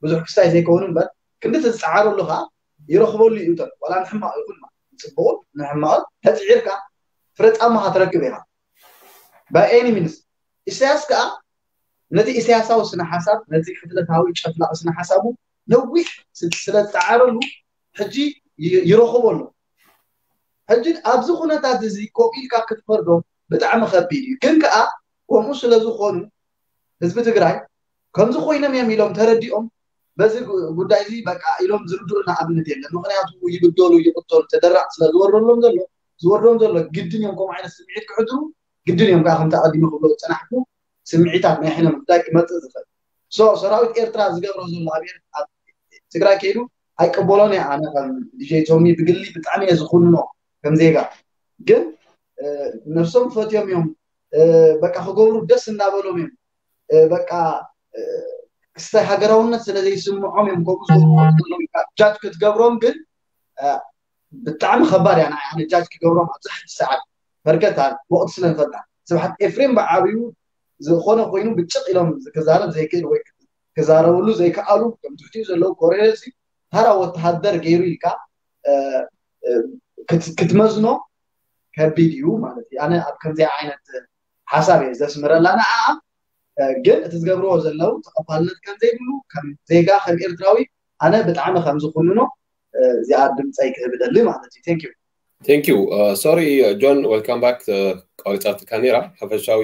ብዙሕ ክስታይ ዘይከውን እምበር ክንዲ ዝፀዓረሉ ከዓ ይረኽበሉ እዩ። ዋላ ንሕማቕ ይኹን ንፅቡቕን ንሕማቕን ተፅዒርካ ፍረ ፃማኻ ትረክብ ኢኻ። By any means ኢሳያስ ከዓ ነቲ ኢሳያሳዊ ስነ ሓሳብ ነቲ ቅትለታዊ ጨፍላቂ ስነ ሓሳቡ ነዊሕ ስለ ዝፀዓረሉ ሕጂ ይረኽቦ ኣሎ። ሕጂ ኣብዚ ኩነታት እዚ ኮፍ ኢልካ ክትፈርዶ ብጣዕሚ ከቢድ እዩ። ግን ከዓ ከምኡ ስለ ዝኾኑ ህዝቢ ትግራይ ከምዚ ኮይኖም እዮም ኢሎም ተረዲኦም በዚ ጉዳይ እዚ በቃ ኢሎም ዝርድኡና ኣብነት የለን። ምክንያቱ ይግደሉ ይቅተሉ ተደራዕ ስለ ዝወርደሎም ዘሎ ዝወርዶም ዘሎ ግድን እዮም ከምኡ ዓይነት ስምዒት ክሕድሩ ግድን እዮም ከዓ ከምቲ ኣቀዲመ ክብሎ ዝፀናሕኩ ስምዒታት ናይ ሕነ ምፍዳይ ክመፅእ ዝኽእል so ሰራዊት ኤርትራ ዝገብሮ ዘሎ ኣብ ትግራይ ከይዱ ኣይቀበሎን እየ ኣነ ከም ዲጀይ ቶሚ ብግሊ ብጣዕሚ እየ ዝኩንኖ ከም ዜጋ ግን ነብሶም ፈትዮም እዮም በቃ ክገብሩ ደስ እናበሎም እዮም በቃ ክስታይ ሃገራውነት ስለ ዘይስምዖም እዮም ከምኡ ጃጅ ክትገብሮም ግን ብጣዕሚ ከባድ እያ ንዓይ ኣነ ጃጅ ክገብሮም ኣብዚ ሕጂ ሰዓት በርከት ወቅቲ ስለ ንፈልጣ ስብሓት ኤፍሬም ብዓብዩ ዝኾነ ኮይኑ ብጭቕ ኢሎም ክዛረብ ዘይክእል ወይ ክዛረብሉ ዘይከኣሉ ከም ትሕቲኡ ዘለዉ ኮረየሲ ተራ ወተሃደር ገይሩ ኢልካ ክትመዝኖ ከቢድ እዩ ማለት እዩ ኣነ ኣብ ከምዚኣ ዓይነት ሓሳብ እየ ዘስምረላ ንዓ ግን እቲ ዝገብርዎ ዘለዉ ተቐባልነት ከም ዘይብሉ ከም ዜጋ ከም ኤርትራዊ ኣነ ብጣዕሚ ከም ዝኩንኖ እዚኣ ድምፀይ ክህብ ደሊ ማለት እዩ thank you Thank you. Uh, sorry, uh, John. Welcome back. Uh, ቆሪጻትካ ነይራ ሓፈሻዊ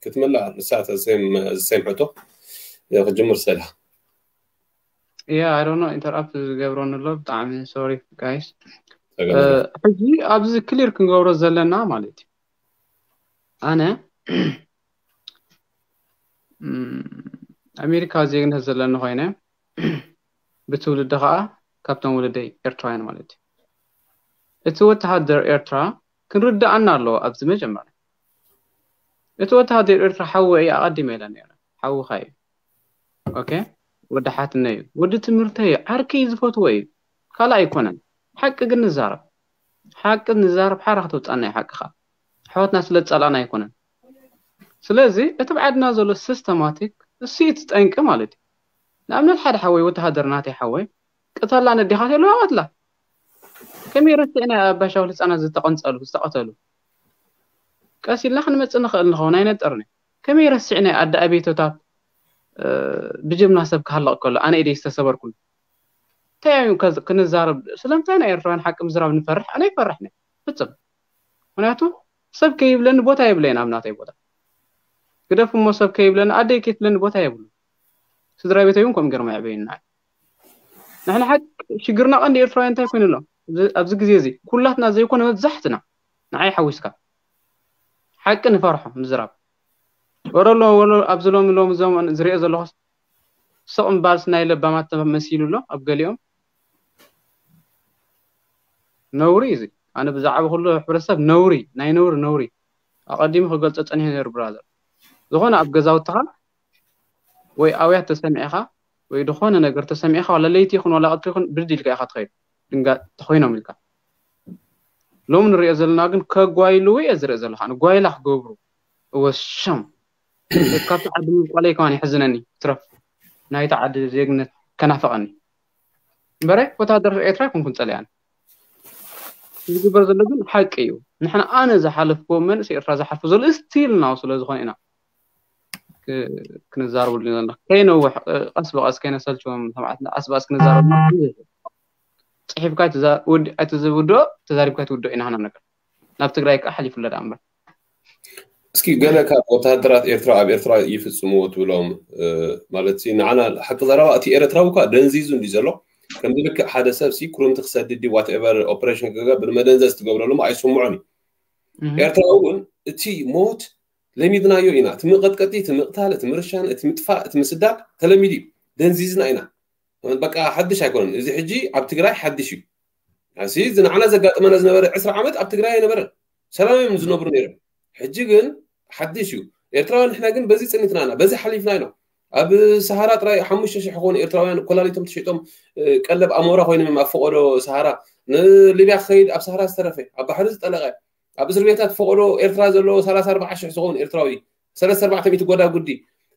ክትምላእ ንሳ the same ሕቶ ክጅምር ስላ yeah I don't know interrupt ዝገብረኒ ኣሎ ብጣዕሚ sorry guys ሕጂ ኣብዚ clear ክንገብሮ ዘለና ማለት እዩ ኣነ ኣሜሪካ ዜግነት ዘለኒ ኮይነ ብትውልዲ ከዓ ካብቶም ወለደይ ኤርትራውያን ማለት እዩ እቲ ወተሃደር ኤርትራ ክንርዳኣና ኣለዎ ኣብዚ መጀመርያ እቲ ወተሃደር ኤርትራ ሓወ እዩ ኣቐዲመ ኢለ ነረ ሓውኻ እዩ ኦኬ ወዲ ሓትነ እዩ ወዲ ትምህርተ እዩ ዓርከይ ዝፈትዎ እዩ ካልእ ኣይኮነን ሓቂ ግን ንዛረብ ሓቂ ንዛረብ ሓራ ከተውፃና እዩ ሓቅኻ ኣሕዋትና ስለ ዝፀላእና ኣይኮነን ስለዚ እቲ ብዓድና ዘሎ ሲስተማቲክ እሱ እዩ ትጠንቂ ማለት እዩ ንኣብነት ሓደ ሓወይ ወተሃደር ናተይ ሓወይ ቅተላ ነዲኻት የለዋ ቀትላ ከመይ ረሲዕና ኣባሻው ህፃናት ዝተቐንፀሉ ዝተቐተሉ ቀስ ኢልና ክንመፅእ ንኽእል ንኸውን ኣይነጠርን ከመይ ረሲዕና ኣደ ኣቤቶታት ብጀምላ ሰብ ክሃለቕ ከሎ ኣነ ኢደይ ዝተሰበርኩን እንታይ እዩ ክንዛረብ ስለምንታይ ናይ ኤርትራውያን ሓቂ ምዝራብ ንፈርሕ ኣነ ይፈርሕ ፍፅም ምክንያቱ ሰብ ከይብለኒ ቦታ የብለይን ኣብ ናተይ ቦታ ግደፍ እሞ ሰብ ከይብለኒ ኣደይ ከይትብለኒ ቦታ የብሉ ስድራ ቤተይ እውን ከምኡ ገርማ የዕበይና ንሕና ሓቂ ሽግርና ቀንዲ ኤርትራውያን እንታይ ኮይኑ ኣሎ ኣብዚ ግዜ እዚ ኩላትና ዘይኮነ መብዛሕትና ንዓይ ሓዊስካ ሓቂ ንፈርሖ ምዝራብ ወረሎ ወሎ ኣብዚ ሎሚ ሎሚ ዘመን ዝሪኦ ዘለኹስ ስቕ ምባልስ ናይ ለባማት መሲሉ ኣሎ ኣብ ገሊኦም ነውሪ እዚ ኣነ ብዛዕባ ኩሉ ሕብረተሰብ ነውሪ ናይ ነውሪ ነውሪ ኣቐዲሙ ክገልፆ ፀኒሑ ነይሩ ብራዘር ዝኾነ ኣብ ገዛውትኻ ወይ ኣውያት ተሰሚዕኻ ወይ ዝኾነ ነገር ተሰሚዕኻ ዋላ ለይቲ ይኹን ዋላ ቀትሪ ይኹን ብድድ ኢልካ ኢኻ ትኸይድ ድንጋ ተኾይኖም ኢልካ ሎም ንሪኦ ዘለና ግን ከጓይልዎ እየ ዝርኢ ዘለኻ ንጓይላ ክገብሩ እወሸም ካብቲ ዓዲ ምብቋለይ ከማን የሕዝነኒ ትረፍ ናይቲ ዓዲ ዜግነት ከናፈቐኒ እምበረ ወታደር ኤርትራ ይኮንኩን ፀሊኣን ዝግበር ዘሎ ግን ሓቂ እዩ ንሕና ኣነ ዝሓለፍክዎ መንእስ ኤርትራ ዝሓልፎ ዘሎ ስቲል ናው ስለ ዝኾነ ኢና ክንዛረበሉ ዘለና ከይነውሕ ቀስ ብቀስ ከይነሰልችዎም ሰማዕትና ቀስ ብቀስ ክንዛረብ ፅሒፍካ ኣይትዝውድኦ ተዛሪብካ ኣይትውድኦ ኢና ሃና ነገር ናብ ትግራይ ከዓ ሓሊፉለ ዳ እምበር እስኪ ገለ ካብ ወተሃደራት ኤርትራ ኣብ ኤርትራ ይፍፅምዎ ትብሎም ማለት ንዓና ሓቂ ዘረባ እቲ ኤርትራዊ እኳ ደንዚዙ እንዲ ዘሎ ከምዚ ልክዕ ሓደ ሰብ ሲ ክሩምቲ ክሰድድ ዋትኤቨር ኦፕሬሽን ክገብር መደንዘዝ ትገብረሉ ኣይስምዖን እዩ ኤርትራዊ እውን እቲ ሞት ለሚድናዮ ኢና እቲ መቀጥቀጢ እቲ ምቅታል እቲ ምርሻን እቲ ምጥፋእ እቲ ምስዳድ ተለሚዱ እዩ ደንዚዝና ኢና በቃ ሓድሽ ኣይኮነን። እዚ ሕጂ ኣብ ትግራይ ሓድሽ እዩ። እዚ ንዓና ዘጋጠመና ዝነበረ ዕስራ ዓመት ኣብ ትግራይ ኣይነበረን። ሰላም እዮም ዝነብሩ ነይሮም። ሕጂ ግን ሓድሽ እዩ። ኤርትራውያን ንሕና ግን በዚ ጽኒትና ኢና፣ በዚ ሓሊፍና ኢና። ኣብ ሰሃራ ጥራይ ሓሙሽተ ሽሕ ዝኾኑ ኤርትራውያን ኮላሊቶም ተሸይጦም ቀለብ ኣሞራ ኮይኖም እዮም ኣብ ፈቐዶ ሰሃራ። ንሊብያ ክኸይድ ኣብ ሰሃራ ዝተረፈ ኣብ ባሕሪ ዝጠለቐ ኣብ እስር ቤታት ፈቐዶ ኤርትራ ዘሎ ሰላሳ ኣርባዓ ሽሕ ዝኾኑ ኤርትራዊ ሰለስተ ኣርባዕተ ሚእቲ ጎዳ ጉዲ።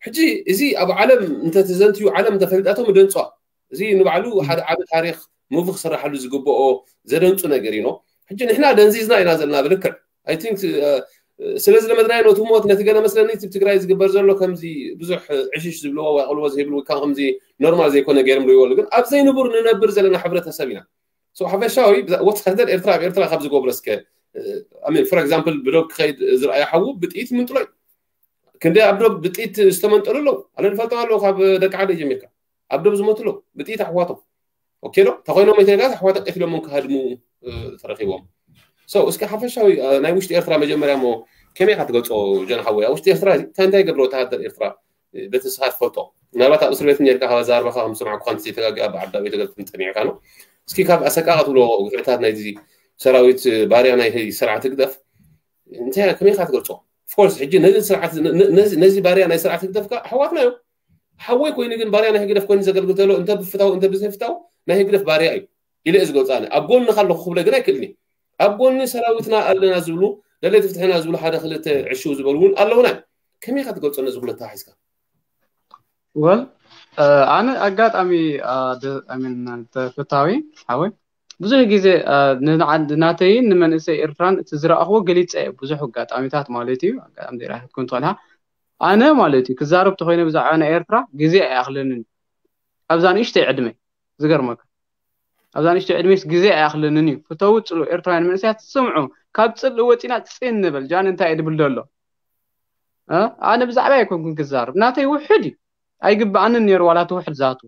ሕጂ እዚ ኣብ ዓለም እንተተዘንትዩ ዓለም እንተፈልጣቶም ደንፅዋ። እዚ ንባዕሉ ሓደ ዓቢ ታሪኽ ሙቪ ክስራሓሉ ዝግብኦ ዘደንፁ ነገር እዩ። ሕጂ ንሕና ደንዚዝና ኢና ዘለና ብልክዕ። I think ስለ ዝለመድናዮ ነቲ ሞት ነቲ ገለ መስለኒ እቲ ትግራይ ዝግበር ዘሎ ከምዚ ብዙሕ ዕሽሽ ዝብልዎ ወይ ኣቕልቦ ዘይብሉ ወይ ከምዚ ኖርማል ዘይኮነ ገይሮም ሪዎ ግን ኣብ ዘይንቡር ንነብር ዘለና ሕብረተሰብ ኢና። ሓፈሻዊ ወታደር ኤርትራ ኣብ ኤርትራ ካብ ዝገብሮ እስከ for example ብዶብ ክኸይድ ዝረኣየ ሓዉ ብጥይት ምንጥሎ እዩ። ክንደይ ኣብ ዶብ ብጥይት ዝተመንጠሉ ኣለዉ። ኣነ ዝፈልጦም ኣለዉ ካብ ደቂ ዓደይ ጀሚርካ ኣብ ዶብ ዝሞቱ ኣለዉ ብጥይት ኣሕዋቶም። ኦኬ ዶ ተኮይኖም ኢተጋ ኣሕዋት ቀቲሎም ክሃድሙ ተረኪቦም። እስኪ ሓፈሻዊ ናይ ውሽጢ ኤርትራ መጀመርያ ሞ ከመይ ኢካ ትገልፆ? ጀን ሓወይ ኣብ ውሽጢ ኤርትራ እንታይ እንታይ ይገብር ወታደር ኤርትራ በቲ ንስኻ ትፈልጦ? ምናልባት ኣብ እስር ቤት ኔርካ ካብ ኣዛርባኻ ከም ዝሰማዕኩ ከምቲ ዘይተጋግኣ ብዓዳ ቤተ ገለትን ጠሚዕካ ነው። እስኪ ካብ ኣሰቃቂ ትብሎ ግፍዕታት ናይዚ ሰራዊት ባርያ ናይ ስርዓት ህግደፍ እንታይ ከመይ ኢካ ትገልጾ? Of course ሕጂ ነዚ ስርዓት ነዚ ባርያ ናይ ስርዓት ህግደፍ ካ ኣሕዋትና እዮም። ሓወይ ኮይኑ ግን ባርያ ናይ ህግደፍ ኮይኑ ዘገልግል ተሎ እንተ ብፍታው እንተ ብዘይፍታው ናይ ህግደፍ ባርያ እዩ ኢለ እየ ዝገልጻ። ኣብ ጎንኻ ኣለኹ ክብለ ግን ኣይክእልኒ። ኣብ ጎኒ ሰራዊትና ኣለና ዝብሉ ደለይቲ ፍትሕና ዝብሉ ሓደ ክልተ ዕሽው ዝበሉ እውን ኣለውና። ከመይ ኢካ ትገልጾ ነዚ ኩለታ ሒዝካ? ወል ኣነ ኣጋጣሚ ተፈታዊ ሓወይ ብዙሕ ግዜ ናተይን ንመንእሰይ ኤርትራን እቲ ዝረኣኽዎ ገሊፀ እየ ብዙሕ ኣጋጣሚታት ማለት እዩ ኣጋጣሚ ዘይረኣክት ኩን ትኾን ኣነ ማለት እዩ ክዛረብ ተኮይነ ብዛዕባ ናይ ኤርትራ ግዜ ኣይኣኽለንን ኣብዛ ንእሽተይ ዕድመ ዝገርመካ ኣብዛ ንእሽተይ ዕድሜስ ግዜ ኣይኣኽለንን እዩ ፍተው ፅሉ ኤርትራውያን መንእሰያት ስምዑ ካብ ፅልእ ወፂና ፅን ንበል ጃን እንታይ እየ ድብል ዘሎ ኣነ ብዛዕባ ኣይኮንኩን ክዛረብ ናተይ ውሕድ እዩ ኣይግብኣንን ነይሩ ዋላ እቲ ውሕድ ዝኣትዎ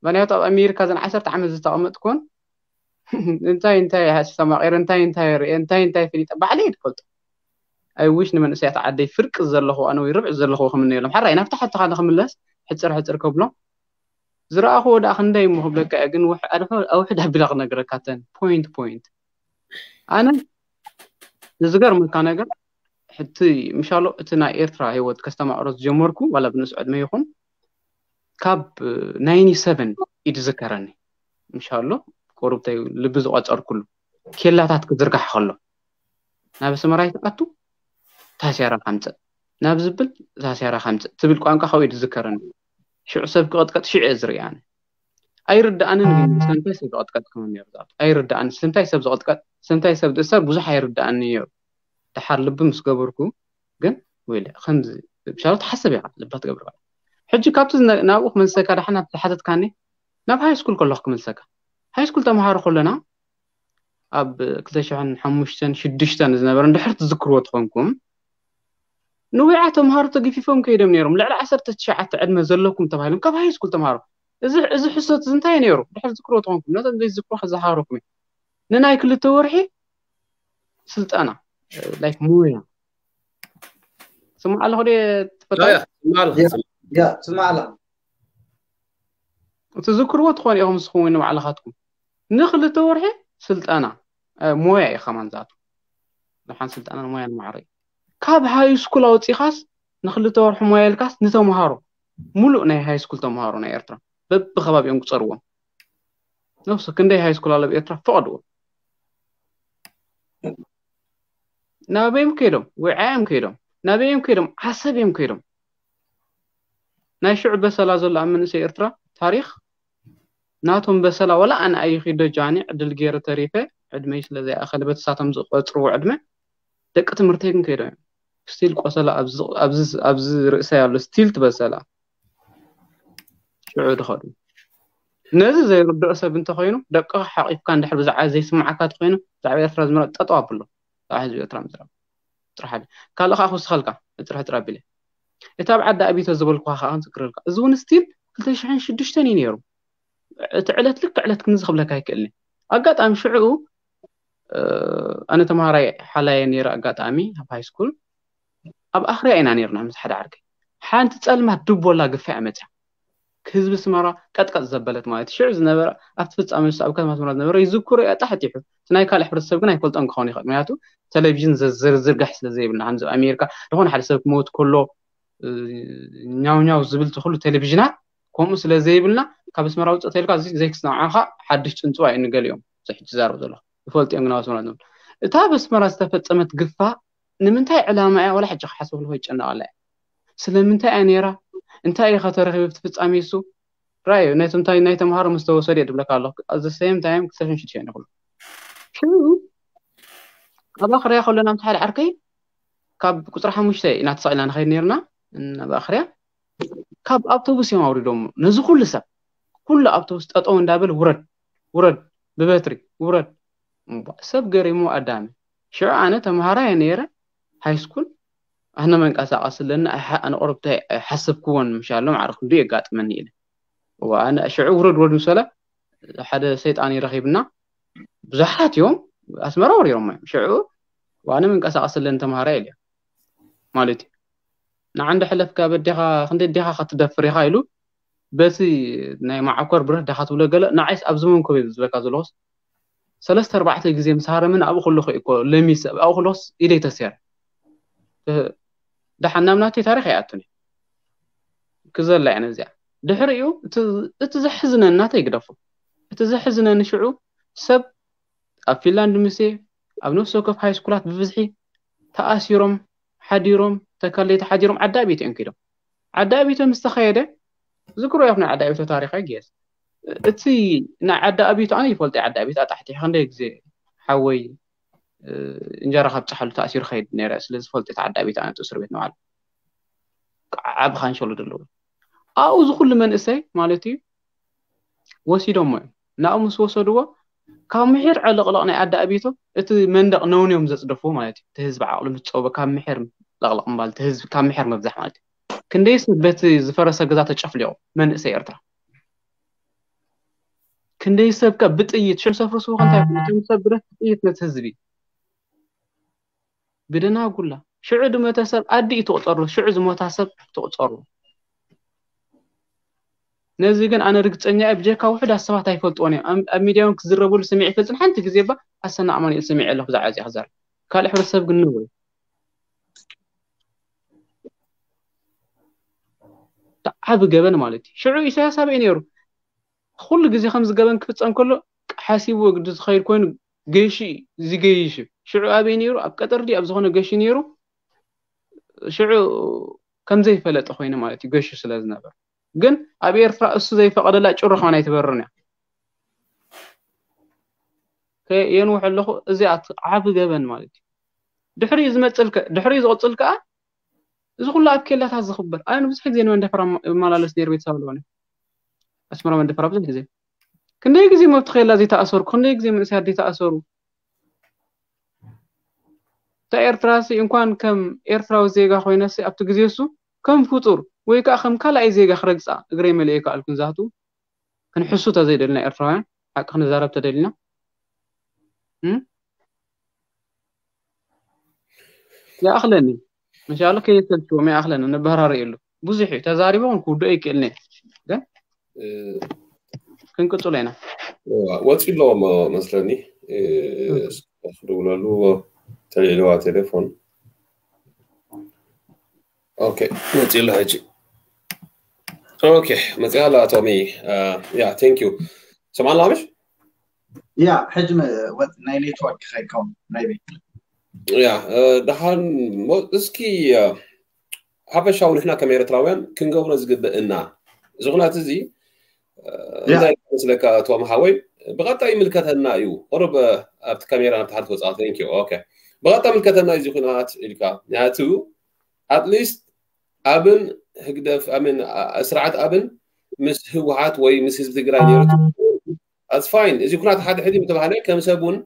ምክንያቱ ኣብ ኣሜሪካ ዘን ዓሰርተ ዓመት ዝተቐመጥኩን እንታይ እንታይ ኣስተማቒረ እንታይ እንታይ ርኤ እንታይ እንታይ ፈሊጠ ባዕለይ እየ ዝፈልጦ I wish ንመንእሰያት ዓደይ ፍርቂ ዘለኹ ኣነ ወይ ርብዒ ዘለኹ ክምነየሎም ሓራይ ናብቲ ሓትኻ ንክምለስ ሕፅር ሕፅር ከብሎም ዝረኣኽዎ ደኣ ክንደይ እሞ ክብለካ እየ ግን ኣውሕድ ኣቢላ ክነግረካ ተን point point ኣነ ዝገርመካ ነገር ሕቲ ምሻሎ እቲ ናይ ኤርትራ ህይወት ከስተማቕሮ ዝጀመርኩ ዋላ ብንእስ ዕድመ ይኹን ካብ ናይኒ ሰቨን እዩ ዝዝከረኒ ምሻሎ ቁሩብተይ ልቢ ዝቆፀርኩሉ ኬላታት ክዝርጋሕ ከሎ ናብ ኣስመራ ይትኣቱ ታስያራ ካምፅእ ናብ ዝብል ታስያራ ካምፅእ ትብል ቋንቋ ካብኡ እዩ ዝዝከረኒ ሽዑ ሰብ ክቐጥቀጥ ሽዑ እየ ዝርኢ ኣነ ኣይርድኣንን ግን ስለምንታይ ሰብ ዝቐጥቀጥ ክመን ነሩ ዝኣቱ ኣይርድኣን ስለምንታይ ሰብ ዝቐጥቀጥ ስለምንታይ ሰብ ዝእሰር ብዙሕ ኣይርድኣኒ ነሩ ደሓር ልቢ ምስ ገበርኩ ግን ወይለ ከምዚ ብሻሎ ትሓስብ ኢኻ ልባ ትገብር ባዕላ ሕጂ ካብቲ ናብኡ ክመልሰካ ዳሓ ናብ ዝሓተትካኒ ናብ ሃይ ስኩል ከለኹ ክመልሰካ ሃይ ስኩል ተምሃሮ ከለና ኣብ ክልተ ሽሕን ሓሙሽተን ሽዱሽተን ዝነበረ እንድሕር ትዝክርዎ ትኾንኩም ንዊዓ ተምሃሮ ተገፊፎም ከይዶም ነይሮም ልዕሊ ዓሰርተ ትሽዓተ ዕድመ ዘለኩም ተባሂሎም ካብ ሃይ ስኩል ተምሃሮ እዚ እዚ ሕሶት እዚ እንታይ ነይሩ ድሕር ዝክርዎ ትኾንኩም ነቶም ዘይዝክሩ ከዘሃረኩም ንናይ ክልተ ወርሒ ስልጠና like ሞያ ስማዕ ኣለኹ ደ ትፈታ ስማዕ ኣለኻ ትዝክርዎ ትኾኑ ኢኹም ንስኹም ወይ ንባዕልኻትኩም ንክልተ ወርሒ ስልጠና ሞያ እዩ ከማን ዛቱ ንሓን ስልጠና ሞያ ንማዕረ ካብ ሃይ ስኩል ኣውፂኻስ ንክልተ ወርሒ ሞያ ኢልካስ ንተምሃሮ ሙሉእ ናይ ሃይ ስኩል ተምሃሮ ናይ ኤርትራ በብከባቢኦም ክፀርዎም ነብሱ ክንደይ ሃይ ስኩል ኣሎ ብኤርትራ ፈቐድዎ ናበዮም ከይዶም ውዓዮም ከይዶም ናበዮም ከይዶም ዓሰብ እዮም ከይዶም ናይ ሽዑ በሰላ ዘሎ ኣብ መንእሰይ ኤርትራ ታሪክ ናቶም በሰላ ወላ ኣነ ኣይኺዶ ጃኒ ዕድል ገይረ ተሪፈ ዕድመይ ስለ ዘይኣኸለ በቲ ሳቶም ዝቆፅርዎ ዕድመ ደቂ ትምህርተይ ግን ከይዶም እዮም ስቲል ቆሰላ ኣብዚ ርእሰይ ኣሎ ስቲል ትበሰላ ሽዑ ድኸዱ ነዚ ዘይርድኦ ሰብ እንተኮይኑ ደቅኻ ሓቂፍካ እንድሕር ብዛዕባ ዘይስማዓካ ተኮይኑ ብዛዕባ ኤርትራ ዝምረ ጠጠው ኣብሎ ብዛዕባ ህዝቢ ኤርትራ ምዝራብ ጥራሕ ካልእ ከዓ ክውስኸልካ እፅርሕ ጥራ ቢለ እቲ ኣብ ዓዲ ኣቢተ ዝበልኩካ ከዓ ክንዝክረልካ እዚ እውን ስቲል ክልተ ሽሕን ሽዱሽተን እዩ ነይሩ እቲ ዕለት ልክ ዕለት ክንዚ ክብለካ ኣይክእልኒ ኣጋጣሚ ሽዕኡ ኣነ ተምሃራይ ሓላየ ነይረ ኣጋጣሚ ኣብ ሃይ ስኩል ኣብ ኣኽርያ ኢና ነርና ምስ ሓደ ዓርከይ ሓንቲ ፀልማት ድቦላ ግፋ እያ መፅያ ህዝቢ ኣስመራ ቀጥቀጥ ዘበለት ማለት እዩ። ሽዑ ዝነበረ ኣብቲ ፍጻሜ ንሱ ኣብ ከተማ ኣስመራ ዝነበረ ይዝክሮ እየ ኣጣሕጢሑ። እቲ ናይ ካልእ ሕብረተሰብ ግን ኣይፈልጦን ክኸውን ይኽእል። ምክንያቱ ቴሌቪዥን ዘ- ዝርጋሕ ስለ ዘይብልና፣ ከምዚ ኣብ ኣሜሪካ ዝኾነ ሓደ ሰብ ክመውት ከሎ እ፣ ኛው ኛው ዝብል እቲ ኩሉ ቴሌቪዥናት ከምኡ ስለ ዘይብልና ካብ ኣስመራ ውፅእ ተልካ እዚ ዘይክስማዕካ ሓድሽ ፅንፅዋ እዩ ንገሊኦም እዚ ሕጂ ዛረብ ዘለኹ ይፈልጡ እዮም ግን ኣብ ኣስመራ ዝነብሩ እታ ኣብ ኣስመራ ዝተፈፀመት ግፋ ንምንታይ ዕላማ እያ ዋላ ሕጂ ክሓስበሉ ይጨነቕ ኣላ እያ ስለምንታይ እያ ነይራ እንታይ እዩ ከተረኺቡ ኣብቲ ፍፃሜ እሱ ራእዩ ነቲ እንታይ ናይ ተምሃሮ ምስ ተወሰደ እየ ድብለካ ኣለኹ ኣብዚ ሰም ታይም ክልተ ሽዱሽተ ይኹሉ ሽዑ ኣብ ኣኽርያ ከሎና ምስ ሓደ ዓርከይ ካብ ቁፅሪ ሓሙሽተ ኢና ተሰቒልና ንኸይድ ነርና ናብ ኣኽርያ ካብ ኣውቶቡስ እዮም ኣውሪዶሞ ነዚ ኩሉ ሰብ ኩሉ ኣውቶቡስ ጠጠው እንዳበል ውረድ ውረድ ብበትሪ ውረድ እምቧ፣ ሰብ ገሪሙ ኣዳሚ ሽዑ ኣነ ተምሃራይ ነይረ ሃይስኩል ኣነ መንቀሳቐስ ኣለኒ ኣነ ቆረብታይ ኣይሓሰብክዎን ምሻሎም ዓረ ክንዱ የጋጥመኒ ኢለ እዋ ኣነ ሽዑ ውረድ ውረድ ምስ በለ ሓደ ሰይጣን ይረኺብና ብዙሓት እዮም ኣስመራ ወሪሮሞ እዮም ሽዑ ዋነ መንቀሳቐስ ኣለኒ ተምሃራይ ኢለ ማለት እዩ ንዓ እንደ ሕለፍካ በዴኻ ክንደ ዴኻ ክትደፍር ኢኻ ኢሉ በቲ ናይ መዓኮር ብረት ዳኻ ትብሎ ገለ ንዓይስ ኣብዚ መንኮብ እዩ ዝበካ ዘለኹስ ሰለስተ ኣርባዕተ ግዜ ምስ ሃረምን ኣብኡ ከለኹ እኮ ለሚስ ኣብኡ ከለኹስ ኢደይ ተሲረ ደሓን ናብ ናተይ ታሪኽ ኣይኣቱን ክዘላ እየ ነዚኣ ድሕሪኡ እቲ ዘሕዝነኒ ናተይ ግደፎ እቲ ዘሕዝነኒ ሽዑ ሰብ ኣብ ፊንላንድ ምስ ኣብ ነፍሲ ወከፍ ሃይስኩላት ብብዝሒ ተኣሲሮም ሓዲሮም ተካለይቲ ሓዲሮም ዓዲ ኣቢት እዮም ከይዶም ዓዲ ኣቢቶ ምስ ተኸየደ ዝክሮ ይኹን ዓዲ ኣቢቶ ታሪኽ ኣይግየስ እቲ ናይ ዓዲ ኣቢቶ ኣነ ይፈልጦ ዓዲ ኣቢት ኣጣሕቲ ክንደይ ግዜ ሓወይ እንጀራ ካብ ፃሓሉ ተኣሲሩ ከይድ ነረ ስለዚ ፈልጦ ዓዲ ኣቢት ኣነ እስር ቤት ንባዕሉ ዓብ ካንሸሉ ደለዎ ኣብኡ ዝኩሉ መንእሰይ ማለት እዩ ወሲዶሞ እዮም ናብኡ ምስ ወሰድዎ ካብ ምሒር ዕልቕልቕ ናይ ዓዲ ኣቢቶ እቲ መንደቕ ነውንዮም ዘፅደፍዎ ማለት እዩ እቲ ህዝቢ ዓቕሉ ምስ ፀበ ካብ ምሒር ለቕልቕ ምባል እቲ ህዝቢ ካብ ምሒር ምብዛሕ ማለት እዩ ክንደይ ሰብ በቲ ዝፈረሰ ገዛ ተጨፍሊቑ መንእሰይ ኤርትራ ክንደይ ሰብ ከ ብጥይት ሽዑ ሰፍሩ ስቡ ከንታይ ይብሉ እቶም ሰብ ብረት ብጥይት ነቲ ህዝቢ ብደናጉላ ሽዑ ድመተ ሰብ ኣዲ እዩ ትቑፀሩ ሽዑ ዝሞታ ሰብ ትቑፀሩ ነዚ ግን ኣነ ርግፀኛ እየ ብጀካ ውሑዳት ሰባት ኣይፈልጥዎን እዮም ኣብ ሚድያ እውን ክዝረብሉ ስሚዕ ይፈልጥን ሓንቲ ግዜ ባ ኣሰና ኣማኑኤል ስሚዕ ኣለኹ ብዛዕባ እዚኣ ክዛረብ ካልእ ሕብረተሰብ ግን ነውር ዓቢ ገበን ማለት እዩ ሽዑ ኢሳያስ ኣበይ ነይሩ ኩሉ ግዜ ከምዚ ገበን ክፍፀም ከሎ ሓሲቡ ግዲ ዝኸይድ ኮይኑ ገይሹ ዝገይሽ ሽዑ ኣበይ ነይሩ ኣብ ቀጠር ድዩ ኣብ ዝኾነ ገይሹ ነይሩ ሽዑ ከምዘይፈለጠ ኮይኑ ማለት እዩ ገይሹ ስለ ዝነበር ግን ኣብ ኤርትራ እሱ ዘይፈቐደላ ጭሩ ከማን ኣይትበርን እያ የንውሕ ኣለኹ እዚኣ ዓቢ ገበን ማለት እዩ ድሕሪኡ ዝመፅል ድሕሪኡ ዝቕፅል ከዓ እዚ ኩሉ ኣብ ኬላታት ዝኽበር ኣነ ብዙሕ ግዜ ንመንደፈራ እመላለስ ነይር ቤተሰብ ኣለኒ ኣስመራ መንደፈራ ብዙሕ ግዜ ክንደይ ግዜ መብቲ ኬላ ዘይተኣሰሩ ክንደይ ግዜ መንእሰያት ዘይተኣሰሩ እታ ኤርትራ ሲ እንኳን ከም ኤርትራዊ ዜጋ ኮይነሲ ኣብቲ ግዜ እሱ ከም ፍጡር ወይ ከዓ ከም ካልኣይ ዜጋ ክረግፃ እግረይ መሊኤ ከኣልኩ ንዛቱ ክንሕሱ ተዘይደልና ኤርትራውያን ሓቂ ክንዛረብ ተደሊና ይኣኽለኒ እንሻላ ከየሰልችዎም ይኣኽለኒ ንበራረየሉ ብዙሕ እዩ ተዛሪቦ እውን ክውድኦ ይክእልኒ ግን ክንቅፅሎ ኢና ወፂ ኣለዎ መስለኒ ክድውለሉ ተልዒልዋ ቴሌፎን ኦኬ መፂ ኣሎ ሕጂ ኦኬ መፂ ኣላ ቶሚ ያ ቴንክ ዩ ሰማዕና ምሽ ያ ሕጂ ወጥ ናይ ኔትወርክ ከይከውን ናይ ቤት ያ ደሓን እስኪ ሓፈሻዊ ንሕና ከም ኤርትራውያን ክንገብሮ ዝግብእና እዚ ኩናት እዚ እንታይ መስለካ ቶም ሓወይ ብቐጣይ ይምልከተና እዩ ቁሩብ ኣብቲ ካሜራ ናብቲ ሓደ ትወፅኣ ቴንክ ዩ ኦኬ ብቐጣይ ምልከተና እዩ ኩናት ኢልካ ምክንያቱ ኣትሊስት ኣብን ህግደፍ ኣምን ስርዓት ኣብን ምስ ህወሓት ወይ ምስ ህዝቢ ትግራይ ነይሩ ኣትስ ፋይን እዚ ኩናት ሓደ ሕዲ ምተባህለ ከም ሰብ እውን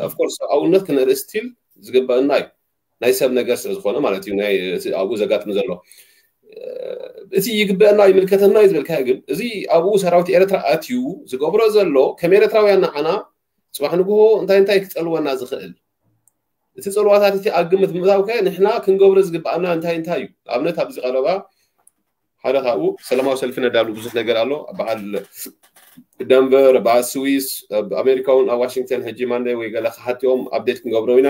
ኦፍኮርስ ሰብኣውነት ክነርኢ ስቲል ዝግበአና እዩ ናይ ሰብ ነገር ስለ ዝኾነ ማለት እዩ ናይ እቲ ኣብኡ ዘጋጥም ዘሎ እቲ ይግበአና ይምልከተና እዩ ዝበልካ ግን እዚ ኣብኡ ሰራዊት ኤርትራ ኣትዩ ዝገብሮ ዘሎ ከም ኤርትራውያን ንዓና ፅባሕ ንግሆ እንታይ እንታይ ክፀልወና ዝኽእል እቲ ፀልዋታት እቲ ኣብ ግምት ምእታው ከ ንሕና ክንገብሮ ዝግበኣና እንታይ እንታይ እዩ ኣብነት ኣብዚ ቀረባ ሓደ ካብኡ ሰላማዊ ሰልፊ ነዳሉ ብዙሕ ነገር ኣሎ። በዓል ደንቨር፣ በዓል ስዊስ፣ ኣብ ኣሜሪካ እውን ኣብ ዋሽንግተን ሕጂ ማንደይ ወይ ገለ ክሓትኦም ኣፕዴት ክንገብሮ ኢና።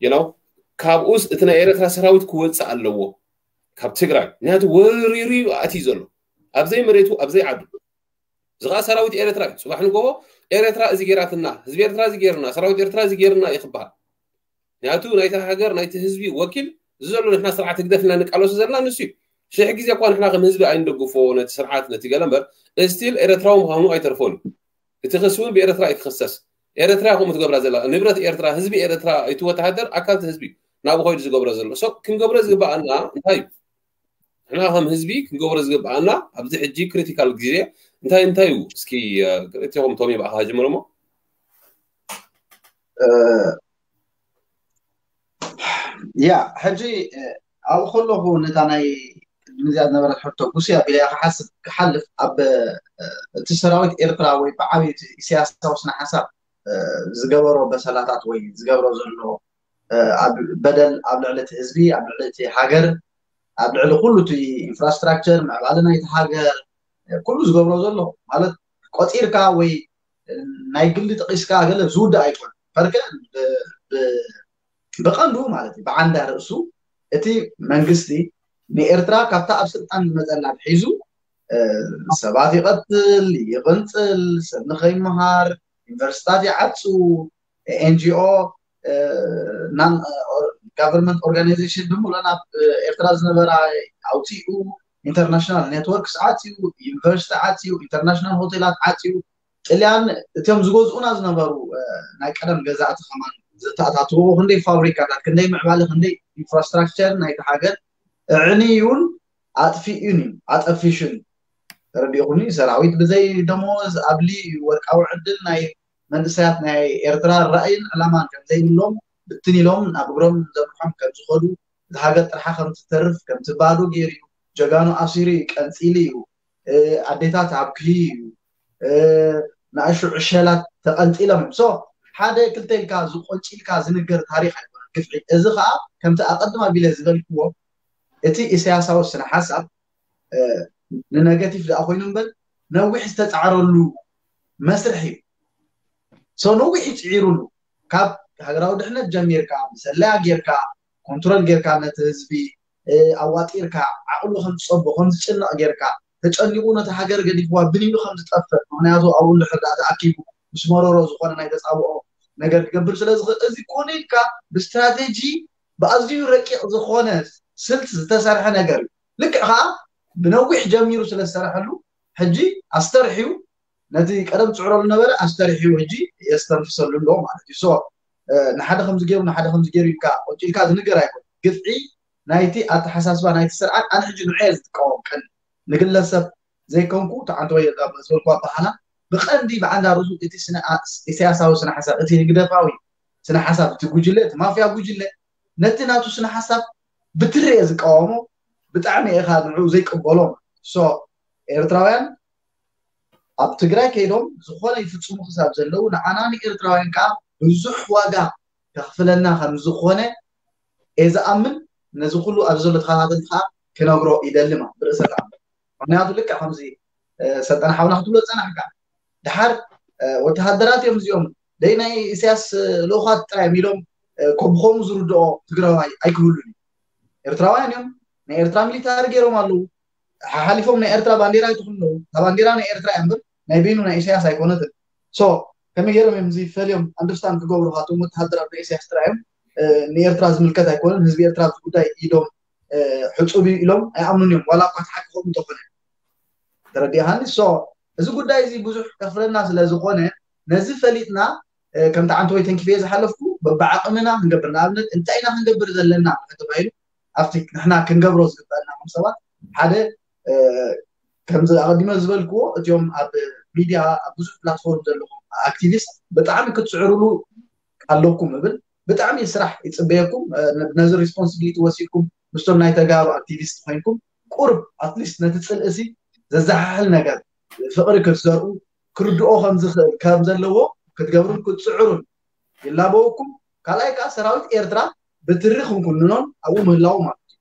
you know ካብኡስ እቲ ናይ ኤረትራ ሰራዊት ክወፅእ ኣለዎ ካብ ትግራይ፣ ምክንያቱ ወሪሩ እዩ ኣትዩ ዘሎ ኣብዘይ መሬቱ ኣብዘይ ዓዱ። እዚ ከዓ ሰራዊት ኤረትራ እዩ። ፅባሕ ንጎቦ ኤረትራ እዚ ጌራትና፣ ህዝቢ ኤረትራ እዚ ጌርና፣ ሰራዊት ኤረትራ እዚ ጌርና እዩ ክበሃል። ምክንያቱ ናይቲ ሃገር ናይቲ ህዝቢ ወኪል እዚ ዘሎ ንሕና ስርዓት ህግደፍ ኢና ንቃለሱ ዘለና ንሱ እዩ። ሽሕ ግዜ እኳ ንሕና ከም ህዝቢ ኣይንደግፎ ነቲ ስርዓት ነቲ ገለ እምበር፣ እስቲል ኤረትራዊ ምዃኑ ኣይተርፎን እዩ። እቲ ክሲ እውን ብኤረትራ እዩ ክኽሰስ። ኤረትራ ከምኡ ትገብራ ዘላ ንብረት ኤረትራ፣ ህዝቢ ኤረትራ፣ እቲ ወተሃደር ኣካል እቲ ህዝቢ እዩ ናብኡ ከይዱ ዝገብሮ ዘሎ። ሶ ክንገብሮ ዝግበኣና እንታይ እዩ? ንሕና ከም ህዝቢ ክንገብሮ ዝግበኣና ኣብዚ ሕጂ ክሪቲካል ግዜ እንታይ እንታይ እዩ? እስኪ ክልቲኹም ቶሚ ብኣኻ ጀምሮ እሞ። ያ ሕጂ ኣብኡ ከለኹ ነታ ናይ ቅድሚ እዚኣ ዝነበረት ሕቶ ጉስያ ቢላ ክሓስብ ክሓልፍ ኣብ እቲ ሰራዊት ኤርትራ ወይ ብዓብዩ ኢሳያሳዊ ስነ ሓሳብ ዝገበሮ በሰላታት ወይ ዝገብሮ ዘሎ ኣብ በደል ኣብ ልዕሊ እቲ ህዝቢ ኣብ ልዕሊ እቲ ሃገር ኣብ ልዕሊ ኩሉ እቲ ኢንፍራስትራክቸር ምዕባለ ናይቲ ሃገር ኩሉ ዝገብሮ ዘሎ ማለት ቆፂርካ ወይ ናይ ግሊ ጠቂስካ ገለ ዝውዳእ ኣይኮነ ፈርከ ብቐንዱ ማለት እዩ ብዓንዳ ርእሱ እቲ መንግስቲ ንኤርትራ ካብታ ኣብ ስልጣን ዝመፀላ ሒዙ ሰባት ይቐትል ይቕንፅል ሰብ ንኸይመሃር ዩኒቨርሲታት ይዓፁ ኤንጂኦ non government organization ብምሎ ናብ ኤርትራ ዝነበራ ኣውፂኡ ኢንተርናሽናል ኔትወርክስ ዓፅዩ ዩኒቨርሲቲ ዓፅዩ ኢንተርናሽናል ሆቴላት ዓፅዩ ጥልያን እቶም ዝገዝኡና ዝነበሩ ናይ ቀደም ገዛእቲ ከማን ዝተኣታትዎ ክንደይ ፋብሪካታት ክንደይ ምዕባለ ክንደይ ኢንፍራስትራክቸር ናይቲ ሃገር እዕንዩን ኣጥፊኡን እዩ ኣጠፊሹን ተረዲኹኒ ሰራዊት ብዘይ ደሞዝ ኣብሊ ወርቃዊ ዕድል ናይ መንእሰያት ናይ ኤርትራ ራእይን ዕላማን ከምዘይብሎም ብትን ኢሎም ናብ እግሮም ዘምርሖም ከምዝኸዱ እቲ ሃገር ጥርሓ ከምትተርፍ ከምትባዶ ገይሩ እዩ ጀጋኑ ኣሲሩ እዩ ቀንፂሉ እዩ ኣዴታት ኣብክዩ እዩ ንኣሹ ዕሸላት ተቐንፂሎም እዮም ሶ ሓደ ክልተ ኢልካ ዝቆንፂልካ ዝንገር ታሪክ ኣይኮነን ግፍዒ እዚ ከዓ ከምቲ ኣቀድማ ቢለ ዝበልክዎ እቲ ኢሳያሳዊ ስነ ሓሳብ ንነገቲቭ ደኣ ኮይኑ እምበር ነዊሕ ዝተፃዕረሉ መስርሕ እዩ ሶ ነዊሕ ይፅዒሩሉ ካብ ሃገራዊ ድሕነት ጀሚርካ ብሰለያ ጌርካ ኮንትሮል ጌርካ ነቲ ህዝቢ ኣዋጢርካ ዓቕሉ ከም ዝፀቦ ከም ዝጭነቕ ጌርካ ተጨኒቑ ነቲ ሃገር ገዲፍዋ ብን ኢሉ ከም ዝጠፍእ ምክንያቱ ኣብኡ እንድሕር ደኣ ተኣኪቡ ምስ መረሮ ዝኾነ ናይ ተፃብኦ ነገር ክገብር ስለ ዝኽእል እዚ ኮነ ኢልካ ብስትራቴጂ ብኣዝዩ ረቂቕ ዝኾነ ስልት ዝተሰርሐ ነገር እዩ ልክዕ ከዓ ብነዊሕ ጀሚሩ ስለ ዝሰርሐሉ ሕጂ ኣስተርሕዩ ነቲ ቀደም ፅዕሮ ዝነበረ ኣስተርሕዩ ሕጂ የስተንፍሰሉ ኣሎ ማለት እዩ ንሓደ ከምዚ ገይሩ ንሓደ ከምዚ ገይሩ ኢልካ ቆንጪልካ ዝንገር ኣይኮን ግፍዒ ናይቲ ኣተሓሳስባ ናይቲ ስርዓት ኣነ ሕጂ ንዑ ዝጥቀወም ቀን ንግለሰብ ዘይኮንኩ ተዓንተ ወይ ዝበልኩ ኣባሃላ ብቐንዲ ብዓንዳ ርእሱ እቲ ኢሳያሳዊ ስነ ሓሳብ እቲ ህግደፋዊ ስነ ሓሳብ እቲ ጉጅለ እቲ ማፍያ ጉጅለ ነቲ ናቱ ስነ ሓሳብ ብትሪ እየ ዝቃወሞ ብጣዕሚ ኢኻ ንዑ ዘይቅበሎ ሶ ኤርትራውያን ኣብ ትግራይ ከይዶም ዝኾነ ይፍፅሙ ክሳብ ዘለዉ ንዓና ንኤርትራውያን ከዓ ብዙሕ ዋጋ ከኽፍለና ከም ዝኾነ እየ ዝኣምን ነዚ ኩሉ ኣብዚ ዘሎ ተኸታተልቲ ከዓ ክነግሮ ይደሊ ማለት ብርእሰ ተኣምር ምክንያቱ ልክዕ ከምዚ ሰልጠነ ሓውና ክትብሎ ዝፀናሕካ ድሓር ወተሃደራት እዮም እዚኦም ደይ ናይ ኢሳያስ ልኡኻት ጥራይ እዮም ኢሎም ከምኡ ዝርድኦ ትግራዋይ ኣይክህሉን እዩ ኤርትራውያን እዮም ናይ ኤርትራ ሚሊታሪ ገይሮም ኣለዉ ሓሓሊፎም ናይ ኤርትራ ባንዴራ ይትኽሉ ኣለዉ እታ ባንዴራ ናይ ኤርትራ እያ እምበር ናይ በይኑ ናይ ኢሳያስ ኣይኮነትን ሶ ከመይ ገይሮም እዮም እዚ ፈልዮም ኣንደርስታንድ ክገብሩ ካቶም ወተሃደራት ናይ ኢሳያስ ጥራይ እዮም ንኤርትራ ዝምልከት ኣይኮነን ህዝቢ ኤርትራ ኣብዚ ጉዳይ ኢዶም ሕፁብ እዩ ኢሎም ኣይኣምኑን እዮም ዋላ እኳ ተሓቂ ከምኡ እንተኾነ ተረዲእኻኒ ሶ እዚ ጉዳይ እዚ ብዙሕ ከፍረና ስለ ዝኾነ ነዚ ፈሊጥና ከምቲ ዓንተ ወይ ተንኪፈ ዝሓለፍኩ በብዓቕምና ክንገብር ንኣብነት እንታይ ኢና ክንገብር ዘለና ተባሂሉ ኣብቲ ንሕና ክንገብሮ ዝግበአና ከም ሰባት ሓደ ከምዚ ኣቐዲመ ዝበልክዎ እቲኦም ኣብ ሚድያ ኣብ ብዙሕ ፕላትፎርም ዘለኹም ኣክቲቪስት ብጣዕሚ ክትስዕርሉ ኣለኩም እብል ብጣዕሚ ስራሕ ይፅበየኩም ነዚ ሪስፖንስቢሊቲ ወሲድኩም ምስቶም ናይ ተጋሩ ኣክቲቪስት ኮይንኩም ቁርብ ኣትሊስት ነቲ ፅልእሲ ዘዘሓሕል ነገር ፍቕሪ ክትዘርኡ ክርድኦ ከምዝኽእል ከም ዘለዎ ክትገብሩን ክትፅዕሩን ይላበወኩም ካልኣይ ከዓ ሰራዊት ኤርትራ ብትሪ ክንኩንኖን ኣብኡ ምህላው ማለት እዩ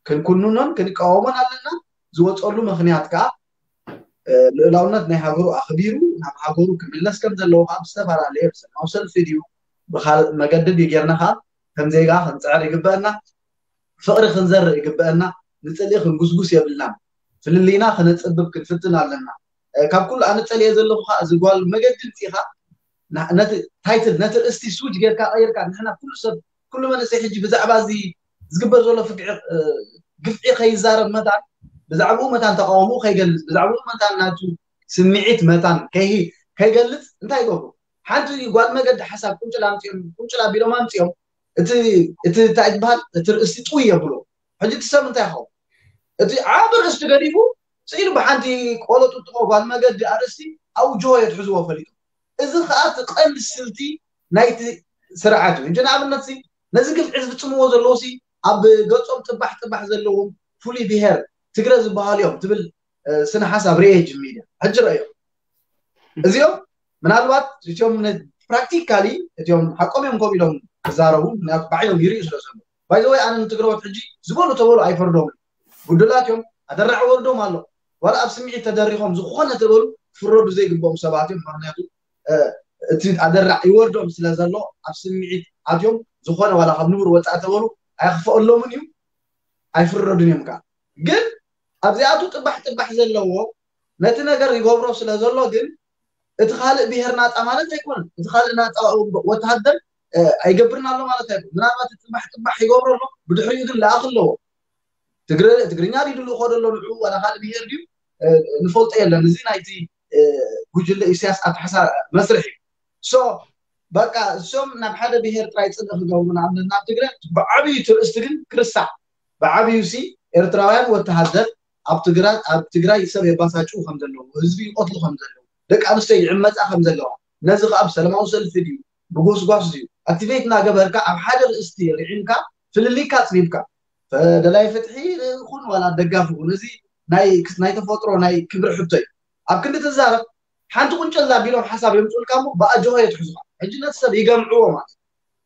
ክንኩንኖን ክንቃወሞን ኣለና። ዝወፀሉ ምክንያት ከዓ ልእላውነት ናይ ሃገሩ ኣኽቢሩ ናብ ሃገሩ ክምለስ ከም ዘለዎ ከዓ ብዝተፈላለየ ብሰላማዊ ሰልፊ ድዩ ብካልእ መገዲ ድዩ ጌርና ከዓ ከም ዜጋ ክንፅዕር ይግበአና። ፍቕሪ ክንዘርእ ይግበአና። ንፅልኢ ክንጉስጉስ የብልናን። ፍልልይና ክነፅብብ ክንፍትን ኣለና። ካብ ኩሉ ኣነ ፀልየ ዘለኹ ከዓ እዚ ጓል መገዲ ምፅኢኻ ነቲ ታይትል ነቲ ርእስቲ ስዊች ጌርካ ቀይርካ ንሕና ኩሉ ሰብ ኩሉ መንእሰይ ሕጂ ብዛዕባ እዚ ዝግበር ዘሎ ፍግዒ ግፍዒ ከይዛረብ መታን ብዛዕባኡ መታን ተቃውሞ ከይገልፅ ብዛዕባኡ መታን ናቱ ስምዒት መታን ከይገልፅ እንታይ ይገብሩ? ሓንቲ ጓል መገዲ ሓሳብ ቁንጭላ ኣምፅኦም ቁንጭላ ቢሎም ኣምፅኦም እቲ እንታይ ትበሃል እቲ ርእስቲ ጥውይ የብሎ። ሕጂ እቲ ሰብ እንታይ ይኸውን? እቲ ዓቢ ርእስቲ ገዲፉ ስኢሉ ብሓንቲ ቆሎ ጥጥቆ ጓል መገዲ ኣርእስቲ ኣብኡ ጆሆ የትሕዝዎ ፈሊጡ። እዚ ከዓ እቲ ቀንዲ ስልቲ ናይቲ ስርዓት እዩ እንጂ ንኣብነት ነዚ ግፍዒ ዝፍፅምዎ ዘለዉ ኣብ ገፆም ጥባሕ ጥባሕ ዘለዎም ፍሉይ ብሄር ትግረ ዝበሃሉ እዮም ትብል ስነ ሓሳብ ርኤ ጅሚድ ሕጂ ረእዮም እዚኦም ምናልባት እቲኦም ፕራክቲካሊ እቲኦም ሓቆም እዮም ከም ኢሎም ክዛረቡ ምክንያቱ ባዕሎም ይርእዩ ስለ ዘሎ ባይዘወይ ኣነ ንትግረዎት ሕጂ ዝበሉ ተበሉ ኣይፈርዶም ጉዱላት እዮም ኣደራዕ ወርዶም ኣሎ ዋላ ኣብ ስምዒት ተደሪኾም ዝኾነ ተበሉ ክፍረዱ ዘይግብኦም ሰባት እዮም ምክንያቱ እቲ ኣደራዕ ይወርዶም ስለ ዘሎ ኣብ ስምዒት ኣትዮም ዝኾነ ዋላ ካብ ንቡር ወፃእ ተበሉ ኣይክፈኣሎምን እዩ ኣይፍረዱን እዮም ከዓ ግን ኣብዚኣቱ ጥባሕ ጥባሕ ዘለዎ ነቲ ነገር ይገብሮ ስለ ዘሎ ግን እቲ ካልእ ብሄር ናፃ ማለት ኣይኮነን እቲ ካልእ ናፃ ወተሃደር ኣይገብርን ኣሎ ማለት ኣይኮን ምናልባት ጥባሕ ጥባሕ ይገብሮ ኣሎ ብድሕሪኡ ግን ለኣኽ ኣለዎ ትግርኛ ድዩ ድልኡ ከዶ ኣሎ ንዑ ዋላ ካልእ ብሄር ድዩ ንፈልጦ የለን እዚ ናይቲ ጉጅለ ኢሳያስ ኣተሓሳ መስርሕ እዩ ሶ በቃ እሶም ናብ ሓደ ብሄር ጥራይ ፅልኢ ክገብሩ ንኣብነት ናብ ትግረ ብዓብዩ ትርእስቲ ግን ክርሳዕ ብዓብዩ ሲ ኤርትራውያን ወተሃደር ኣብ ትግራይ ኣብ ትግራይ ሰብ የባሳጭው ከም ዘለዉ ህዝቢ ይቆትሉ ከም ዘለዉ ደቂ ኣንስትዮ ይዕመፃ ከም ዘለዋ ነዚ ከዓ ብሰለማዊ ሰልፊ ድዩ ብጎስጓስ ድዩ ኣክቲቬት እናገበርካ ኣብ ሓደ ርእስቲ ርዒምካ ፍልልይካ ኣፅቢብካ ደላይ ፍትሒ ይኹን ዋላ ደጋፊ ይኹን እዚ ናይ ተፈጥሮ ናይ ክብሪ ሕቶ እዩ ኣብ ክንዲ ትዛረብ ሓንቲ ቁንጨላ ቢሎም ሓሳብ የምፅኡልካ እሞ ብኣጆሆ የትሕዙካ ሕጂ ነቲ ሰብ ይገምዕዎ ማለት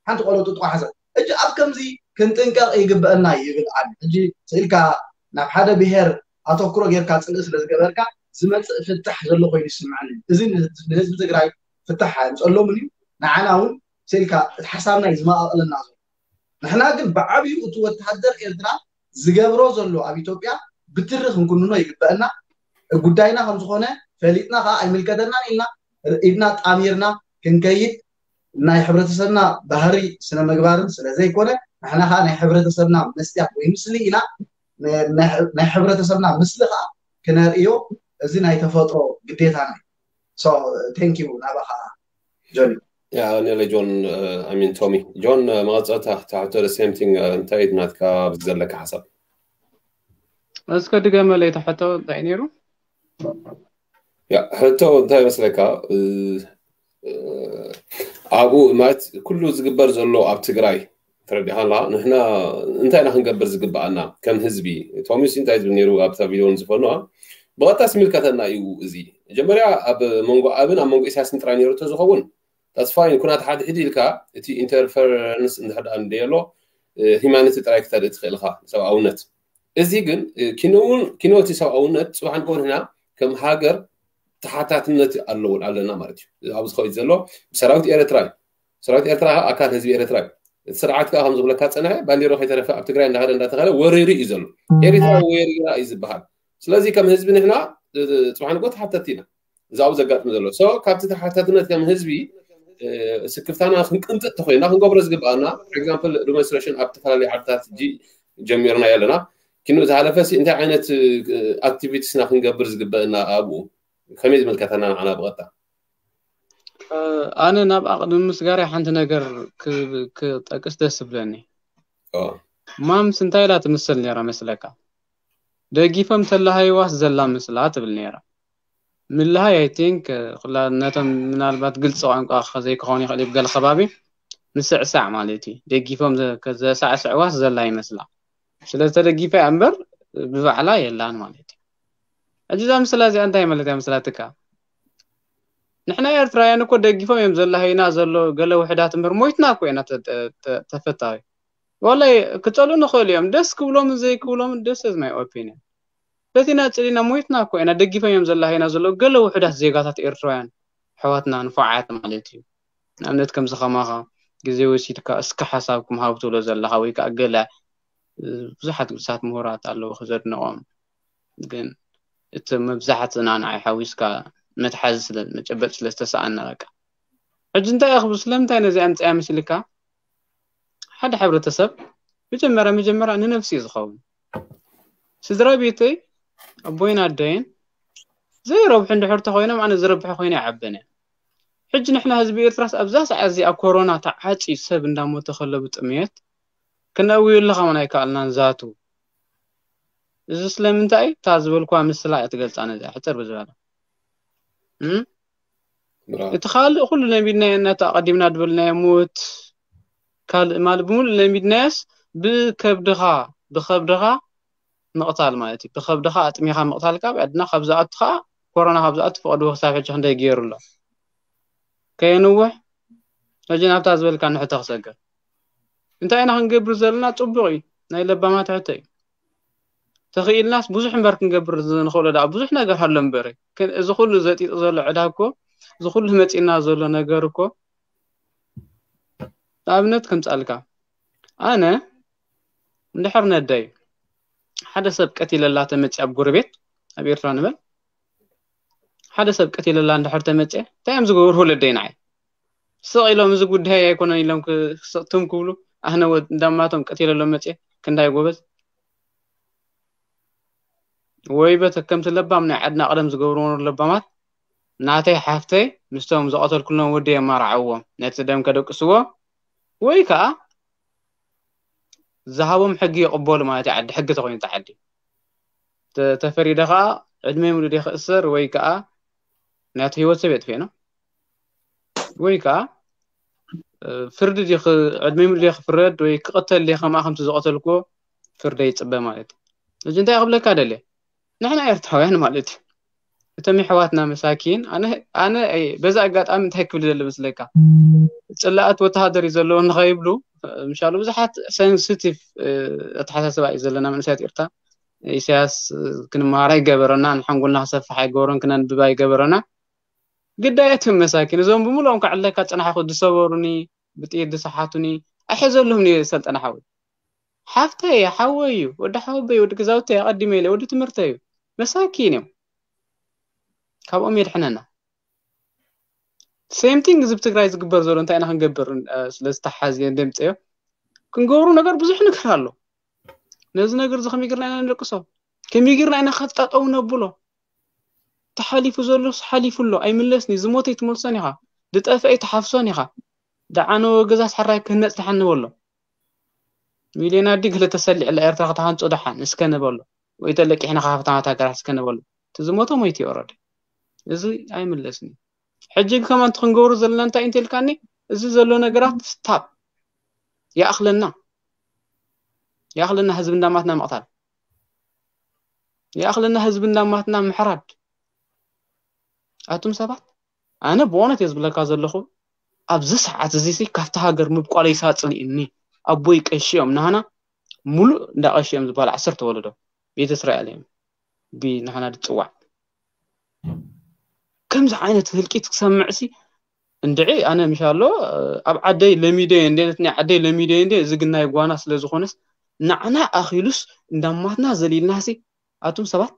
ሓንቲ ቆሎ ጥጥቆ ሓሳብ ሕጂ ኣብ ከምዚ ክንጥንቀቕ ይግበአና ይብል ኣነ ሕጂ ስኢልካ ናብ ሓደ ብሄር ኣተኩሮ ጌርካ ፅልኢ ስለ ዝገበርካ ዝመፅእ ፍታሕ ዘሎ ኮይኑ ይስምዐኒ እዚ ንህዝቢ ትግራይ ፍታሕ ኣምፀሎምን እዩ ንዓና እውን ስኢልካ እቲ ሓሳብና እዩ ዝመቃቐለና ዘሎ ንሕና ግን ብዓብዩ እቲ ወተሃደር ኤርትራ ዝገብሮ ዘሎ ኣብ ኢትዮጵያ ብትሪ ክንኩንኖ ይግበአና ጉዳይና ከም ዝኾነ ፈሊጥና ከዓ ኣይምልከተናን ኢልና ኢድና ጣሚርና ክንከይድ ናይ ሕብረተሰብና ባህሪ ስነ ምግባርን ስለ ዘይኮነ ንሕና ከዓ ናይ ሕብረተሰብና መስትያት ወይ ምስሊ ኢና ናይ ሕብረተሰብና ምስሊ ከዓ ክነርእዮ እዚ ናይ ተፈጥሮ ግዴታና እዩ thank you ናባኻ ጆኒ ያ ኔለ ጆን ሚን ቶሚ ጆን መቐፀልታ ታሕቶ the same thing እንታይ ናትካ ኣብዚ ዘለካ ሓሳብ እስከ ድገመለይ ተሕቶ እንታይ ነይሩ ያ ሕቶ እንታይ መስለካ ኣብኡ ማለት ኩሉ ዝግበር ዘሎ ኣብ ትግራይ ተረዲኻላ ንሕና እንታይ ኢና ክንገብር ዝግብኣና ከም ህዝቢ ቶሚስ እንታይ ዝብል ነይሩ ኣብታ ቪድዮ ዝፈኖ ብቐጥታ ስምልከተና እዩ እዚ መጀመርያ ኣብ መንጎ ኣብን ኣብ መንጎ ኢሳያስን ጥራይ ነይሩ ተዝኸውን that's fine ኩናት ሓድሕድ ኢልካ እቲ interference እንድሕር ደኣ እንደ ኣሎ humanity ጥራይ ክተርኢ ትኽእል ኢኻ ሰብኣውነት እዚ ግን ኪኖውን ኪኖ እቲ ሰብኣውነት ፅባሕ ንኮን ህና ከም ሃገር ተሓታትነት ኣለዎ ኣለና ማለት እዩ ኣብዚ ዝኸይድ ዘሎ ብሰራዊት ኤርትራ እዩ ሰራዊት ኤርትራ ኣካል ህዝቢ ኤርትራ እዩ እቲ ስርዓት ከዓ ከም ዝብለካ ፀንሐ ባንዲሮ ከይተረፈ ኣብ ትግራይ እንዳኸደ እንዳተኸለ ወሪሩ እዩ ዘሎ ኤርትራ ወሪራ እዩ ዝበሃል ስለዚ ከም ህዝቢ ንሕና ፅባሕ ንኮ ተሓተቲ ኢና እዚ ኣብኡ ዘጋጥም ዘሎ so ካብቲ ተሓታትነት ከም ህዝቢ ስክፍታና ክንቅንጥጥ ተኮይና ክንገብሮ ዝግብኣና for example demonstration ኣብ ዝተፈላለዩ ዓድታት ሕጂ ጀሚርና ኣለና ኪኑ ዝሓለፈ ሲ እንታይ ዓይነት activities ና ክንገብር ዝግበእና ኣብኡ ከመይ ዝምልከተና ንዓና ብቐጥታ ኣነ ናብ ኣቕድሚ ምስጋር ሓንቲ ነገር ክጠቅስ ደስ ዝብለኒ ማምስ እንታይ ኢላ ትምስል ነራ መስለካ ደጊፎም ተላሃይዋስ ዘላ ምስላ ትብል ነራ ምልሃይ I think ነቶም ምናልባት ግልፂ ቋንቋ ዘይክኸውን ይኽእል ገለ ከባቢ ምስዕሳዕ ማለት እዩ ደጊፎም ዘሳዕስዕዋስ ዘላ ይመስላ ስለ ዝተደጊፈ እያ እምበር ብባዕላ የላን ማለት እዩ ሕጂ እዛ ምስላ እዚኣ እንታይ ማለት እያ ምስላትካ ንሕና ኤርትራውያን እኮ ደጊፎም እዮም ዘላሃይና ዘሎ ገለ ውሕዳት እምበር ሞይትና እኮ ኢና ተፈታዊ ዋላይ ክጸልኡ ንኽእሉ እዮም። ደስ ክብሎም ዘይክብሎም ደስ is my opinion። በቲና ጽሊና ሞይትና እኮ ኢና፣ ደጊፈም እዮም ዘላሃይና ዘለዉ ገለ ውሑዳት ዜጋታት ኤርትራውያን ኣሕዋትና ንፉዓት ማለት እዩ። ንኣብነት ከምዚ ከማኻ ግዜ ወሲድካ እስከ ሓሳብኩም ሃቡ ትብሎ ዘለኻ ወይ ከዓ ገለ ብዙሓት ግዱሳት ምሁራት ኣለዉ ክዘድንቖም፣ ግን እቲ መብዛሕትና ንዓይ ሓዊስካ መትሓዚ ስለ መጨበጥ ስለ ዝተሰኣና በቃ ሕጂ እንታይ እኽቡ ስለምንታይ ነዚ ኣምፅያ ምስልካ ሓደ ሕብረተሰብ መጀመርያ መጀመርያ ንነፍሲ እዩ ዝኸውን። ስድራ ቤተይ ኣቦይን ኣደይን ዘይረብሑ እንድሕር ተኮይኖም ኣነ ዝረብሐ ኮይነ ይዓበነ። ሕጂ ንሕና ህዝቢ ኤርትራስ ኣብዛ ሰዓት እዚኣ ኮሮና ተዓፅዩ ሰብ እንዳሞተ ከሎ ብጥምየት ክነእውየሉ ከማን ኣይከኣልናን። ዛቱ እዚ ስለምንታይ እታ ዝበልኳ ምስላ እያ ትገልፃ ነዚኣ ሕፅር ብዝበለ እም? ብራቮ። እቲ ካልእ ኩሉ ለሚድናዮ እናተ ኣቐዲምና ዝበልናዮ ሞት ካልእ ማለት ብምሉእ ለሚድናዮስ ብከብድኻ ብከብድኻ ምቕታል ማለት እዩ። ብከብድኻ ኣጥሚኻ ምቕታል ካብ ዕድና ካብ ዝኣቱ ከዓ ኮሮና ካብ ዝኣቱ ፈቐድዎ ክሳብ ሕጂ ክንደይ ገይሩ ኣሎ ከየንውሕ። ሕጂ ናብታ ዝበልካ ንሕቶ ክሰግር እንታይ ኢና ክንገብር ዘለና? ፅቡቕ እዩ፣ ናይ ለባማት ሕቶ እዩ። ተኽኢልናስ ብዙሕ እምበር ክንገብር ዝንኽእሎ ደኣ ብዙሕ ነገር ኣሎ እምበር፣ ግን እዚ ኩሉ ዘጢጡ ዘሎ ዕዳ እኮ፣ እዚ ኩሉ መፂና ዘሎ ነገር እኮ፣ ንኣብነት ከምፃልካ ኣነ እንድሕር ነደይ ሓደ ሰብ ቀቲለላ ተመፂ ኣብ ጎረቤት ኣብ ኤርትራ ንበል ሓደ ሰብ ቀቲለላ እንድሕር ተመፂ እንታይ እዮም ዝገብሩ ወለደይ ንዓይ ስቕ ኢሎም እዚ ጉዳይ ኣይኮነን ኢሎም ክስቕትም ክብሉ ኣህነ ወድ እንዳማቶም ቀቲለሎም መፅየ ክንዳይ ጎበዝ ወይ በተከምቲ ለባም ናይ ዓድና ቀደም ዝገብርዎ ለባማት ናተይ ሓፍተይ ምስቶም ዝቐተልኩሎም ወዲ የማርዓዎም ነቲ ደም ከደቅስዎ ወይ ከዓ ዝሃቦም ሕጊ ይቕበሉ ማለት እዩ። ዓዲ ሕጊ ተኮይኑ እቲ ዓዲ ተ- ተፈሪደ ከዓ ዕድመ ሙሉ ደ ክእሰር ወይ ከዓ ናቲ ህይወት ሰብ የጥፍኤ ነው ወይ ከዓ እ፣ ፍርዲ ዲ ክ- ዕድመ ሙሉ ደ ክፍረድ ወይ ክቕተል ደ ከምኣ ከምቲ ዝቐተልኩዎ ፍርደ ይፅበ ማለት እዩ። እዚ እንታይ ክብለካ ደልየ ንሕና ኤርትራውያን ማለት እዩ። እቶም የሕዋትና መሳኪን ኣነ ኣነ ኣይ- በዚ ኣጋጣሚ እንታይ ክብል ደሊ መስለካ ጽላኣት ወተሃደር እዩ ዘለዎ ንኸይብሉ ምሻሉ ብዙሓት ሴንሲቲቭ ኣተሓሳስባ እዩ ዘለና መንእሰያት ኤርትራ። ኢሳያስ ክንመሃር ኣይገበረና ንሓንጎልና ክሰፍሕ ኣይገበሮን ክነንብብ ኣይገበረና። ግዳያት እዮም መሳኪን እዞም ብምልኦም ከዕለካ ጽናሕኹ ዝሰበሩኒ ብጥይት ዝሰሓቱኒ ኣይሐዘሉም ሰልጠና ሓወይ ሓፍተይ ሓወይ እዩ ወዲ ሓወበይ ወዲ ገዛውተይ ኣቐዲመ ኢለ ወዲ ትምህርተይ እዩ። መሳኪን እዮም። ካብኦም የድሕነና። ሴም ቲንግ እዚ ብትግራይ ዝግበር ዘሎ እንታይ ኢና ክንገብር? ስለዝተሓዝየ እንደምፀዮ ክንገብሩ ነገር ብዙሕ ነገር ኣሎ። ነዚ ነገር እዚ ከመይ ጌርና ኢና ንደቅሶ? ከመይ ጌርና ኢና ካብ ጠጠው ነብሎ? ተሓሊፉ ዘሎስ ሓሊፉ ኣሎ ኣይምለስኒ። ዝሞተ ይትመልሶን ኢኻ፣ ዝጠፍአ ይትሓፍሶን ኢኻ። ደዓነወ ገዛስ ሕራይ ክህነፅ ደሓን ንበሎ። ሚልዮን ኣዲ ገለ ተሰሊዕላ ኤርትራ ክትሃንፆ ደሓን እስከ ንበሎ። ወይ ተለቂሕና ካብ ሃብታማት ሃገራት እስከ ንበሎ። እቲ ዝሞተ ሞይቱ እዩ ኦረዲ። እዚ ኣይምለስኒ። ሕጂ ከማን እቲ ክንገብሩ ዘለና እንታይ እንተልካኒ እዚ ዘሎ ነገራት ስታፕ ይኣኽለና ይኣኽለና ህዝቢ እንዳማትና ምቕታል ይኣኽለና ህዝቢ እንዳማትና ምሕራድ ኣቱም ሰባት ኣነ ብእውነት እየ ዝብለካ ዘለኹ ኣብዚ ሰዓት እዚ ሲ ካብቲ ሃገር ምብቋለይ ሳፅሊ እኒ ኣቦይ ቀሺ እዮም ናህና ሙሉእ እንዳ ቀሺ እዮም ዝበሃል ዓሰርተ ወለዶ ቤተ እስራኤል እዮም ብናህና ዝፅዋዕ ከምዚ ዓይነት ህልቂት ክሰምዕ ሲ እንድዒ ኣነ ምሻሎ ኣብ ዓደይ ለሚደ እንደ ነቲ ናይ ዓደይ ለሚደ እንደ እዚ ግናይ ጓና ስለ ዝኾነስ ንዓና ኣኺሉስ እንዳማትና ዘሊልና ሲ ኣቱም ሰባት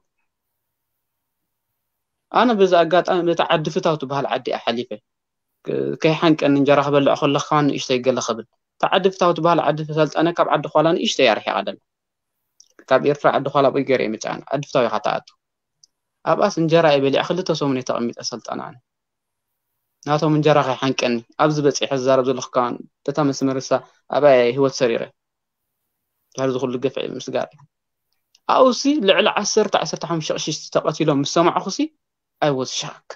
ኣነ በዚ ኣጋጣሚ በቲ ዓዲ ፍታው ትበሃል ዓዲ እየ ሓሊፈ ከይሓንቀኒ እንጀራ ክበልዕ ከለኹ ከማን ንእሽተይ ገለ ክብል እታ ዓዲ ፍታው ትበሃል ዓዲ ተሰልጠነ ካብ ዓዲ ኳላ ንእሽተይ ኣርሒቓ ደላ ካብ ኤርትራ ዓዲ ኳላ ብእገር እየ ምፅኣን ዓዲ ፍታው ኢኻ ትኣቱ ኣብኣስ እንጀራ እየ በሊዐ ክልተ ሰሙን እየ ተቐሚጠ ሰልጠና ኣነ ናቶም እንጀራ ከይሓንቀኒ ኣብዚ በፂሐ ዝዛረብ ዘለኹ ከማን በታ መስመር እሳ ኣብኣ እየ ህይወት ሰሪረ ድሕሪ ዝኩሉ ግፍዒ ምስጋር እዩ ኣብኡሲ ልዕሊ ዓሰርተ ዓሰርተ ሓሙሽተ ቅሽቲ ተቐቲሎም ምስ ሰማዕኹሲ I was shocked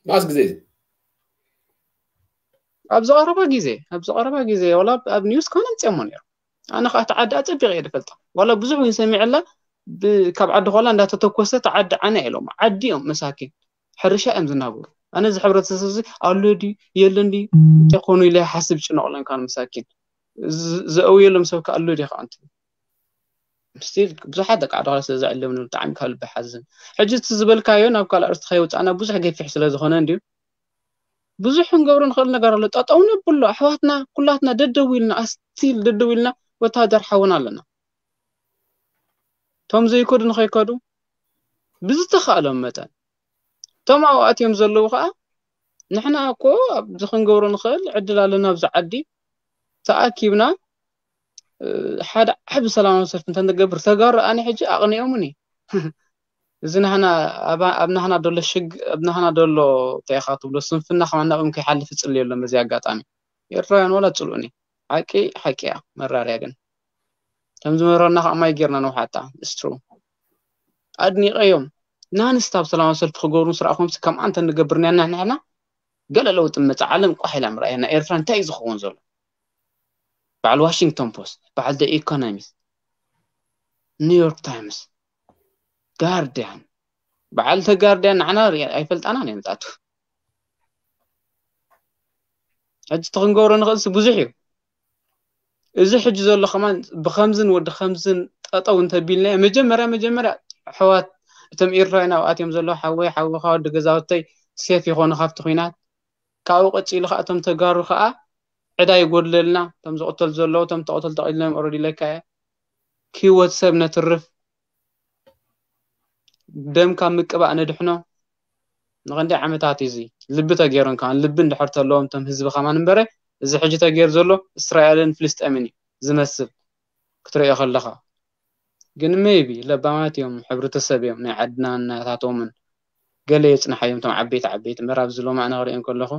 ማስ ግዜ ኣብዚ ቀረባ ግዜ ኣብዚ ቀረባ ግዜ ዋላ ኣብ ኒውስ ከነ ምፅኦሞ ነይሩ ኣነ ከዓ እቲ ዓዲ ኣፀቢቐ እየ ዝፈልጣ ዋላ ብዙሕ እውን ሰሚዐላ ካብ ዓዲ ኳላ እንዳተተኮሰ እቲ ዓዲ ዓና ኢሎም ዓዲ እዮም መሳኪን ሕርሻ እዮም ዝናብሩ ኣነ እዚ ሕብረተሰብ እዚ ኣሎ ድዩ የለን ድዩ እንታይ ኮኑ ኢለ ሓስብ ጭነቕለን ካብ መሳኪን ዝ- ዘእውየሎም ሰብ ከኣሉ ዲ ከዓንቲ ስቲል ብዙሓት ደቂ ዓዲ ስለ ዘዕለምኒ ብጣዕሚ ካብ ልቢ ሓዝን። ሕጂ እቲ ዝበልካዮ ናብ ካልእ ኣርስቲ ከየውፃእና ብዙሕ ገፊሕ ስለ ዝኾነ እንድዩ ብዙሕ ክንገብሮ ንኽእል ነገር ኣሎ። ጠጠው ነብሎ ኣሕዋትና ኩላትና ደደው ኢልና ኣስቲል ደደው ኢልና ወታደር ሓውና ኣለና። እቶም ዘይከዱ ንኸይከዱ ብዝተኻእሎም መጠን እቶም ኣብኡ ኣትዮም ዘለዉ ከዓ ንሕና እኮ ኣብዚ ክንገብሮ ንኽእል ዕድል ኣለና ኣብዚ ዓዲ ተኣኪብና ሓደ ዓቢ ሰላማዊ ሰልፊ እንተንገብር ተጋሩ ኣነ ሕጂ ኣቕኒኦምኒ እዚ ናህና ኣብ ናህና ደሎ ሽግ ኣብ ናህና ደሎ እንታይ ኢኻ ትብሎ ስንፍና ከማና ብም ከይሓልፍ ይጽልዮ ኣሎ በዚ ኣጋጣሚ ኤርትራውያን ወላ ጽልኡኒ ሓቂ ሓቂ እያ መራርያ ግን ከም ዝመረና ከዓ ማይ ጌርና ነውሓጣ እስትሩ ኣድኒቀዮም ናንስታብ ሰላማዊ ሰልፊ ክገብሩ ምስ ረኣኹም ከም ኣንተ ንገብር ኒያና ንሕና ገለ ለውጢ መጽ ዓለም ቋሕ ኢላ ምርኣየና ኤርትራ እንታይ እዩ ዝኸውን ዘሎ በዓል ዋሽንግቶን ፖስት በዓል ደ ኢኮኖሚስት ኒውዮርክ ታይምስ ጋርዲያን በዓል ተ ጋርዲያን ንዓና ኣይፈልጣናን እዮም ጣቱ ሕጂ እቲ ክንገብሮ ንኽእልሲ ብዙሕ እዩ እዚ ሕጂ ዘሎ ከማን ብከምዝን ወዲ ከምዝን ጠጠው እንተቢልናዮ መጀመርያ መጀመርያ ኣሕዋት እቶም ኤርትራውያን ኣብኣት እዮም ዘለዉ ሓወይ ሓወኻ ወዲ ገዛውተይ ሴፍ ይኾኑ ካብቲ ኲናት ካብኡ ቀፂሉ ከዓ እቶም ተጋሩ ከዓ ዕዳ ይጎድለልና እቶም ዝቕተሉ ዘለዉ እቶም ተቐተሉ ተቐሊሎም ኦረዲ ኢለካ እየ ክህወት ሰብ ነትርፍ ደም ካብ ምቅባእ ነድሕኖ ንኽንደይ ዓመታት እዚ ልቢ ተገይሩ እንከ ልቢ እንድሕር ተለዎም እቶም ህዝቢ ከማን እምበረ እዚ ሕጂ ተገይሩ ዘሎ እስራኤልን ፍልስጤምን እዩ ዝመስል ክትሪኦ ከለኻ ግን ሜይቢ ለባማት እዮም ሕብረተሰብ እዮም ናይ ዓድና እናታቶምን ገለ የፅንሓዮም እቶም ዓበይቲ ዓበይቲ ምዕራብ ዝሎማዕና ክሪኦም ከለኹ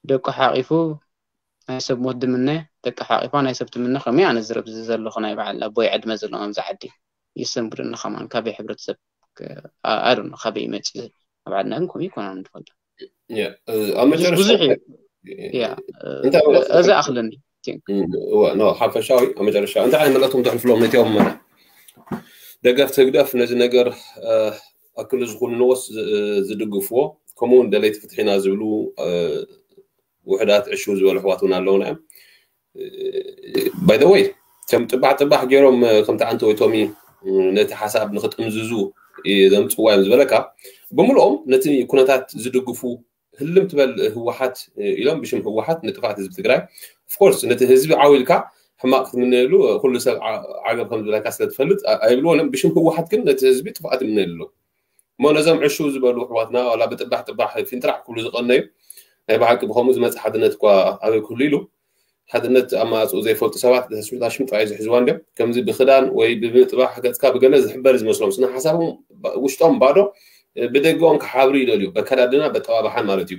ደቁ ሓቂፉ ናይ ሰብ ሞት ድምነ ደቂ ሓቂፋ ናይ ሰብ ትምነ ከመይ ኣነ ዝረብ እዚ ዘለኹ ናይ በዓል ኣቦይ ዕድመ ዘለዎም ኣብዚ ዓዲ ይሰንብድኒ ከማን ካበይ ሕብረተሰብ ኣዶ ካበይ ይመፅእ ኣብ ዓድና ግን ከምኡ ይኮና ንፈልጦ ኣብ መጨረሻ ብዙሕ እዩ እንታይ እዚ ኣኽለኒ ሓፈሻዊ ኣብ መጨረሻ እንታይ ዓይነት መልእክቶም ተሕልፍሎም ነቲኦም ደገፍቲ ህግደፍ ነዚ ነገር ኣክሉ ዝኹንንዎስ ዝድግፍዎ ከምኡውን ደለይቲ ፍትሒና ዝብሉ ውሕዳት ዕሹ ዝበሉ ኣሕዋት እውን ኣለውና እዮም ባይ ወይ ከም ጥባሕ ጥባሕ ገይሮም ከምቲ ኣንተ ወይ ቶሚ ነቲ ሓሳብ ንክጥምዝዙ ዘምፅዋ እዮም ዝበለካ ብምልኦም ነቲ ኩነታት ዝድግፉ ህልም ትበል ህወሓት ኢሎም ብሽም ህወሓት ንጥፋት ህዝቢ ትግራይ ኦፍኮርስ ነቲ ህዝቢ ዓው ኢልካ ሕማቅ ክትምነየሉ ኩሉ ሰብ ዓገብ ከም ዝበለካ ስለትፈልጥ ኣይብልዎን ብሽም ህወሓት ግን ነቲ ህዝቢ ጥፍኣት ይምነየሉ ኣለዉ እሞ ነዞም ዕሹ ዝበሉ ኣሕዋትና ዋላ ብጥባሕ ጥባሕ ፊንጥራዕ ክብሉ ዝቐነዩ ናይ ብሓቂ ብኸምኡ ዝመፅእ ሓድነት እኳ ኣበይ ክህሉ ኢሉ ሓድነት ኣማፅኡ ዘይፈልጡ ሰባት ሽምጣ እዩ ዝሕዝዋ እንዲም ከምዚ ብክዳን ወይ ብምጥባሕ ገፅካ ብገለ ዝሕበር ዝመስሎም ስነ ሓሳቦም ውሽጦም ባዶ ብደገኦም ክሓብሩ ይደልዩ በከዳድና በጠባብሓን ማለት እዩ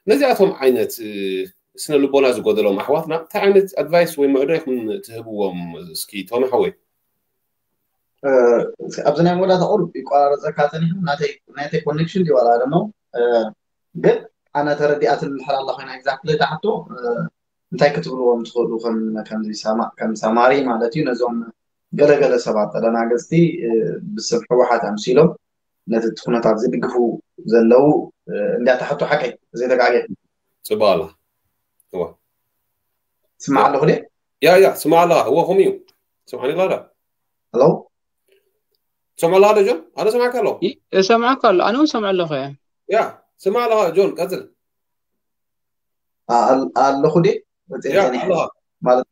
ነዚኣቶም ዓይነት ስነ ልቦና ዝጎደሎም ኣሕዋትና እንታይ ዓይነት ኣድቫይስ ወይ ምዕዶ ኢኹም ትህብዎም እስኪ ቶሚ ሓወይ ኣብዚ ናይ መወዳእታ ቁሩብ ይቆራረፀካ ፀኒሑ ናተይ ኮኔክሽን ድዩ ዋላ ደሞ ግን ኣነ ተረዲኣትን እንድሕር ኣላ ኮይና exactly እታ ሕቶ እንታይ ክትብልዎም ትኽእሉ ከም ከም ሰማሪ ማለት እዩ ነዞም ገለገለ ሰባት ተደናገፅቲ ብስም ህወሓት ኣምሲሎም ነቲ እቲ ኩነታት ዝድግፉ ዘለዉ እንዲያ እታ ሕቶ ሓቀይ ዘይተጋግየ ፅቡቅ ኣላ ስማዕ ኣለኹ ድየ ያ ያ ስማዕ ኣለኻ እወ ከምኡ እዩ ስምዓኒ ኣለኻ ዶ ሄሎ ትሰምዖ ኣለኻ ዶ ጆን ኣነ ሰማዕካ ኣለኹ እሰምዓካ ኣሎ ኣነ እውን ሰምዐ ኣለኹ እየ ያ ስማዕ ኣለኻ ጆን ቀፅል ኣለኹ ድየ ወፅየ ያ ፀኒሐ ኣለኻ ማለት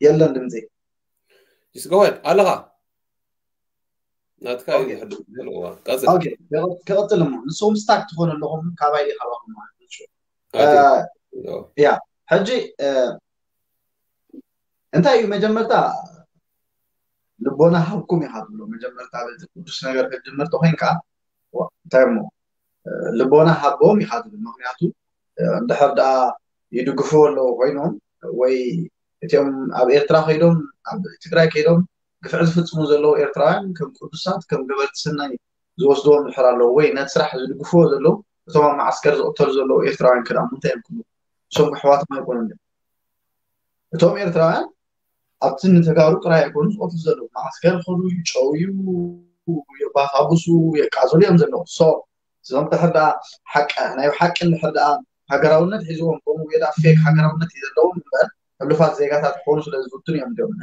የለን ድምፂ ይስገወድ ኣለኻ ናትካ እዩ ኦኬ። ዝሕድር ዘሎ እዋ ቀፅል ኦኬ፣ ክቐ- ክቐፅል እሞ ንስኹም ስታክ ትኾኑ ኣለኹም ካባይ ድዩ ካባኹም ማለት እዩ። ኣቲ- እ፣ ያ ሕጂ እ፣ እንታይ እዩ መጀመርታ ልቦና ሃብኩም ኢኻ ትብሎ መጀመርታ በቲ ቅዱስ ነገር ክትጅምር ተኮይንካ ዋ፣ እንታይ እሞ እ፣ ልቦና ሃቦም ኢኻ ትብል ምክንያቱ እ፣ እንድሕር ደኣ ይድግፍዎ ኣለዉ ኮይኖም ወይ እቲኦም ኣብ ኤርትራ ከይዶም ኣብ ትግራይ ከይዶም ግፍዒ ዝፍፅሙ ዘለዉ ኤርትራውያን ከም ቅዱሳት ከም ገበርቲ ሰናይ ዝወስድዎም እንድሕር ኣለዉ ወይ ነቲ ስራሕ ዝድግፍዎ ዘለዉ እቶም ኣብ መዓስከር ዝቕተሉ ዘለዉ ኤርትራውያን ክድኣሙ እንታይ እዮም ክብሉ እሶም ኣሕዋቶም ኣይኮኑን ድዮም እቶም ኤርትራውያን ኣብቲ ንተጋሩ ጥራይ ኣይኮኑ ዝቐትሉ ዘለዉ መዓስከር ይኸዱ ይጨውዩ የባሳብሱ የቃፅሉ እዮም ዘለዉ so እዞም ድሕር ደኣ ሓቂ ናይ ሓቂ እንድሕር ደኣ ሃገራውነት ሒዝዎም ከምኡ ወይ ደኣ ፌክ ሃገራውነት እዩ ዘለዎም እምበር ሕሉፋት ዜጋታት ክኾኑ ስለ ዝፍትኑ እዮም። እዚኦም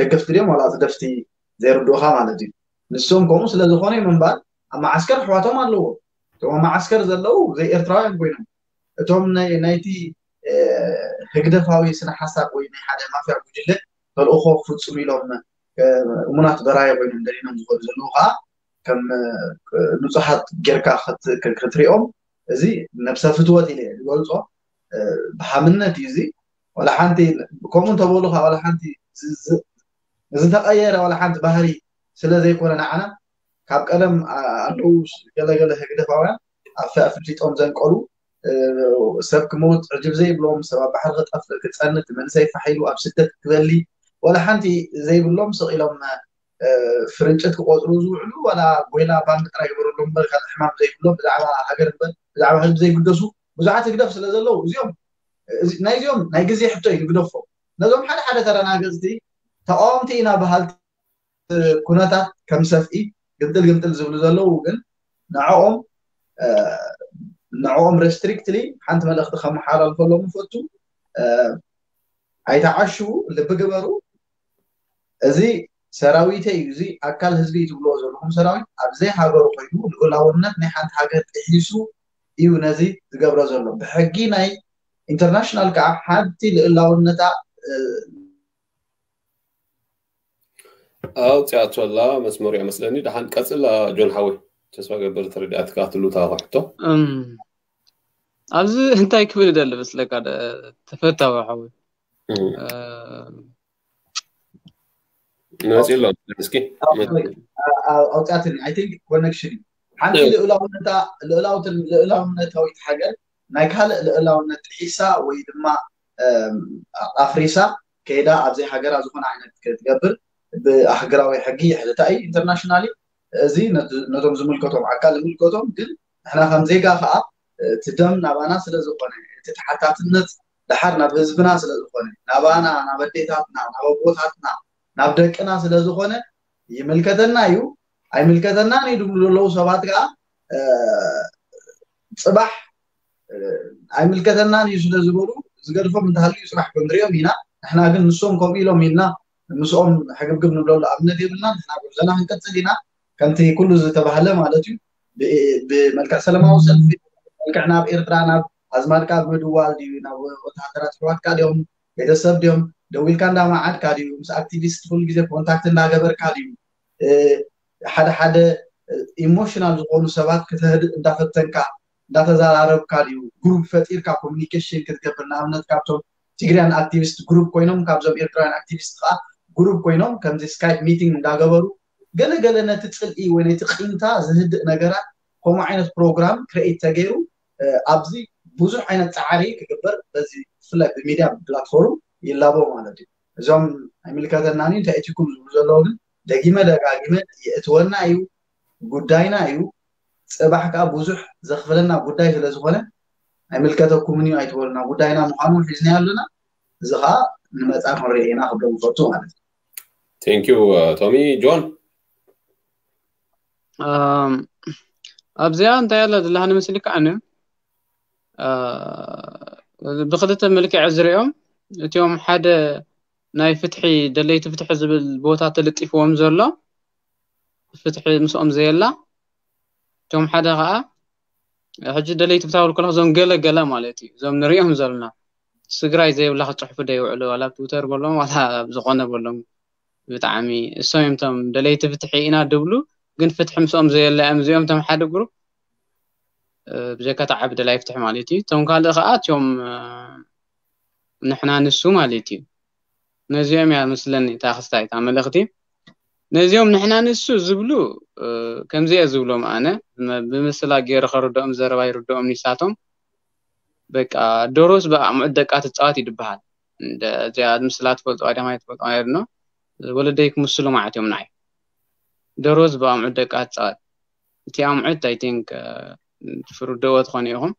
ደገፍቲ ድዮም ዋላ ህግደፍቲ ዘይርድኡኻ ማለት እዩ። ንሶም ከምኡ ስለ ዝኾነ እዮም እምበር ኣብ መዓስከር ኣሕዋቶም ኣለዎ። እቶም ኣብ መዓስከር ዘለዉ ዘይኤርትራውያን ኮይኖም እቶም ናይ ናይቲ ህግደፋዊ ስነ ሓሳብ ወይ ናይ ሓደ ማፍያ ጉጅለ ተልእኾ ክፍፅሙ ኢሎም እሙናት በራይ ኮይኖም ደሊኖም ዝኸዱ ዘለዉ ከዓ ከም ንፁሓት ጌርካ ክትሪኦም እዚ ነብሰ ፍትወት ኢለ ዝገልፆ ብሃምነት እዩ። እዚ ዋላ ሓንቲ ከምኡ እንተበሉካ ዋላ ሓንቲ ዝተቀየረ ዋላ ሓንቲ ባህሪ ስለ ዘይኮነ ንዓና ካብ ቀደም ኣለዉ ገለገለ ህግደፋውያን ኣፍሊጦም ዘንቀሉ ሰብ ክመውት ዕጅብ ዘይብሎም ሰብ ኣብ ባሕሪ ክጠፍእ ክፀንት መንሰይ ፋሒሉ ኣብ ስደት ክበሊ ዋላ ሓንቲ ዘይብሎም ስቕ ኢሎም ፍርንጭት ክቆፅሩ ዝውዕሉ ዋላ ጎይላ ባንክ ጥራይ ግበረሎም እምበር ካልእ ሕማም ዘይብሎም ብዛዕባ ሃገር እምበር ብዛዕባ ህዝቢ ዘይግደሱ ብዙሓት ህግደፍ ስለ ዘለዉ እዚኦም ናይዚኦም ናይ ግዜ ሕቶ እዩ ንግደፎ። ነዞም ሓደ ሓደ ተረናገፅቲ ተቃወምቲ ኢና በሃልቲ ኩነታት ከም ሰፍኢ ግምጥል ግምጥል ዝብሉ ዘለዉ ግን ንዕኦም ንዕኦም ሬስትሪክትሊ ሓንቲ መልእኽቲ ከመሓላልፈሎም ይፈቱ። ኣይተዓሽዉ፣ ልቢ ግበሩ። እዚ ሰራዊተይ እዩ፣ እዚ ኣካል ህዝቢ እዩ ትብልዎ ዘለኹም ሰራዊት ኣብ ዘይሃገሩ ኮይኑ ልኡላውነት ናይ ሓንቲ ሃገር ጥሒሱ እዩ ነዚ ዝገብሮ ዘሎ። ብሕጊ ናይ ኢንተርናሽናል ከዓ ሓንቲ ልኡላውነታ ኣውፅኣቶ ኣላ መስመሩ እያ መስለኒ። ደሓን ቀፅላ ጆን ሓወይ፣ ተስፋ ገብር ተረዲኣትካ ትሉታ ሕቶ። ኣብዚ እንታይ ክብል ይደሊ መስለካ ተፈታዊ ሓወይ መፂ ኣሎ እስኪ ኣውፅኣትኒ። I think connection እዩ። ሓንቲ ልኡላውነታዊት ሃገር ናይ ካልእ ልኡላውነት ጥሒሳ ወይ ድማ ኣፍሪሳ ከይዳ ኣብዚ ሃገራ ዝኾነ ዓይነት ክትገብር ብኣህገራዊ ሕጊ ይሕተታ እዩ። ኢንተርናሽናሊ እዚ ነቶም ዝምልከቶም ኣካል ዝምልከቶም ግን ንሕና ከም ዜጋ ከዓ እቲ ደም ናባና ስለ ዝኾነ እቲ ተሓታትነት ደሓር ናብ ህዝብና ስለ ዝኾነ ናባና ናብ ኣዴታትና ናብ ኣቦታትና ናብ ደቅና ስለ ዝኾነ ይምልከተና እዩ ኣይምልከተናን እዩ ዝብሉ ዘለዉ ሰባት ከዓ ፅባሕ ኣይምልከተናን እዩ ስለ ዝበሉ ዝገድፎም እንተሃልዩ ፅባሕ ክንሪኦም ኢና። ንሕና ግን ንሶም ከምኡ ኢሎም ኢልና ምስኦም ሕግብግብ ንብለሉ ኣብነት የብልና። ንሕና ጉዕዞና ክንቀፅል ኢና ከምቲ ኩሉ ዝተባህለ ማለት እዩ። ብመልክዕ ሰለማዊ ሰልፊ መልክዕ ናብ ኤርትራ ናብ ኣዝማድካ ብምድዋል ድዩ ናብ ወተሃደራት ኣሕዋትካ ድዮም ቤተሰብ ድዮም ደዊልካ እንዳመዓድካ ድዩ ምስ ኣክቲቪስት ኩሉ ግዜ ኮንታክት እንዳገበርካ ድዩ ሓደ ሓደ ኢሞሽናል ዝኾኑ ሰባት ከተህድእ እንዳፈተንካ እንዳተዘራረብካ ድዩ ግሩፕ ፈጢርካ ኮሚኒኬሽን ክትገብር ንኣብነት ካብቶም ትግርያን ኣክቲቪስት ግሩፕ ኮይኖም ካብዞም ኤርትራውያን ኣክቲቪስት ከዓ ግሩፕ ኮይኖም ከምዚ ስካይፕ ሚቲንግ እንዳገበሩ ገለገለ ነቲ ፅልኢ ወይ ነቲ ቂምታ ዝህድእ ነገራት ከምኡ ዓይነት ፕሮግራም ክሬኤት ተገይሩ ኣብዚ ብዙሕ ዓይነት ፃዕሪ ክግበር በዚ ብፍላይ ብሚድያ ፕላትፎርም ይላቦ ማለት እዩ። እዞም ኣይምልከተናን እንታይ እቲኩም ዝብሉ ዘለዉ ግን ደጊመ ደጋጊመ የእትወና እዩ ጉዳይና እዩ። ፅባሕ ከዓ ብዙሕ ዘኽፍለና ጉዳይ ስለዝኾነ ኣይምልከተኩምን እዩ ኣይትበሉና ጉዳይና ምዃኑ ሒዝና ኣለና። እዚ ከዓ ንመፃ ክንሪኦ ኢና ክብሎም ይፈቱ ማለት እዩ። Thank you ቶሚ። ጆን ኣብዚኣ እንታይ ኣላ ዘለሃኒ መስልካ ኣነ ብክልተ መልክዕ ዝሪኦም እቲኦም ሓደ ናይ ፍትሒ ደለይቲ ፍትሒ ዝብል ቦታ ተለጢፍዎም ዘሎ ፍትሒ ምስኦም ዘየላ እቶም ሓደ ከዓ ሕጂ ደለይቲ ፍትሒ ክብል ከለኹ እዞም ገለ ገለ ማለት እዩ እዞም ንሪኦም ዘለና ስግራይ ዘይብላ ክፅሕፉ ደይውዕሉ ዋላ ኣብ ትዊተር በሎም ዋላ ኣብ ዝኾነ በሎም ብጣዕሚ እሶም እዮም እቶም ደለይቲ ፍትሒ ኢና ድብሉ ግን ፍትሒ ምስኦም ዘየለ እዮም እዚኦም እቶም ሓደ ግሩፕ ብጀካ ተዓቢ ደላይ ፍትሒ ማለት እዩ እቶም ካልእ ከዓ እቲኦም ንሕና ንሱ ማለት እዩ ነዚኦም እያ መስለኒ እታ ክስታይ እታ መልእኽቲ ነዚኦም ንሕና ንሱ ዝብሉ ከምዚ እየ ዝብሎም ኣነ ብምስላ ገይሩ ከርድኦም ዘረባ ይርድኦም ንሳቶም በቃ ዶሮስ ብኣዕሙዕት ደቃ ትፃወት ይድበሃል እዚኣ ምስላ ትፈልጥዋ ዲኻ ትፈልጥዋ ዶ ወለደይ ክምስሉ ማለት እዮም ንዓይ ዶሮስ ብኣዕሙዕት ደቃ ትፃወት እቲ ኣምዑት I think ትፍርድዎ ትኾኑ ኢኹም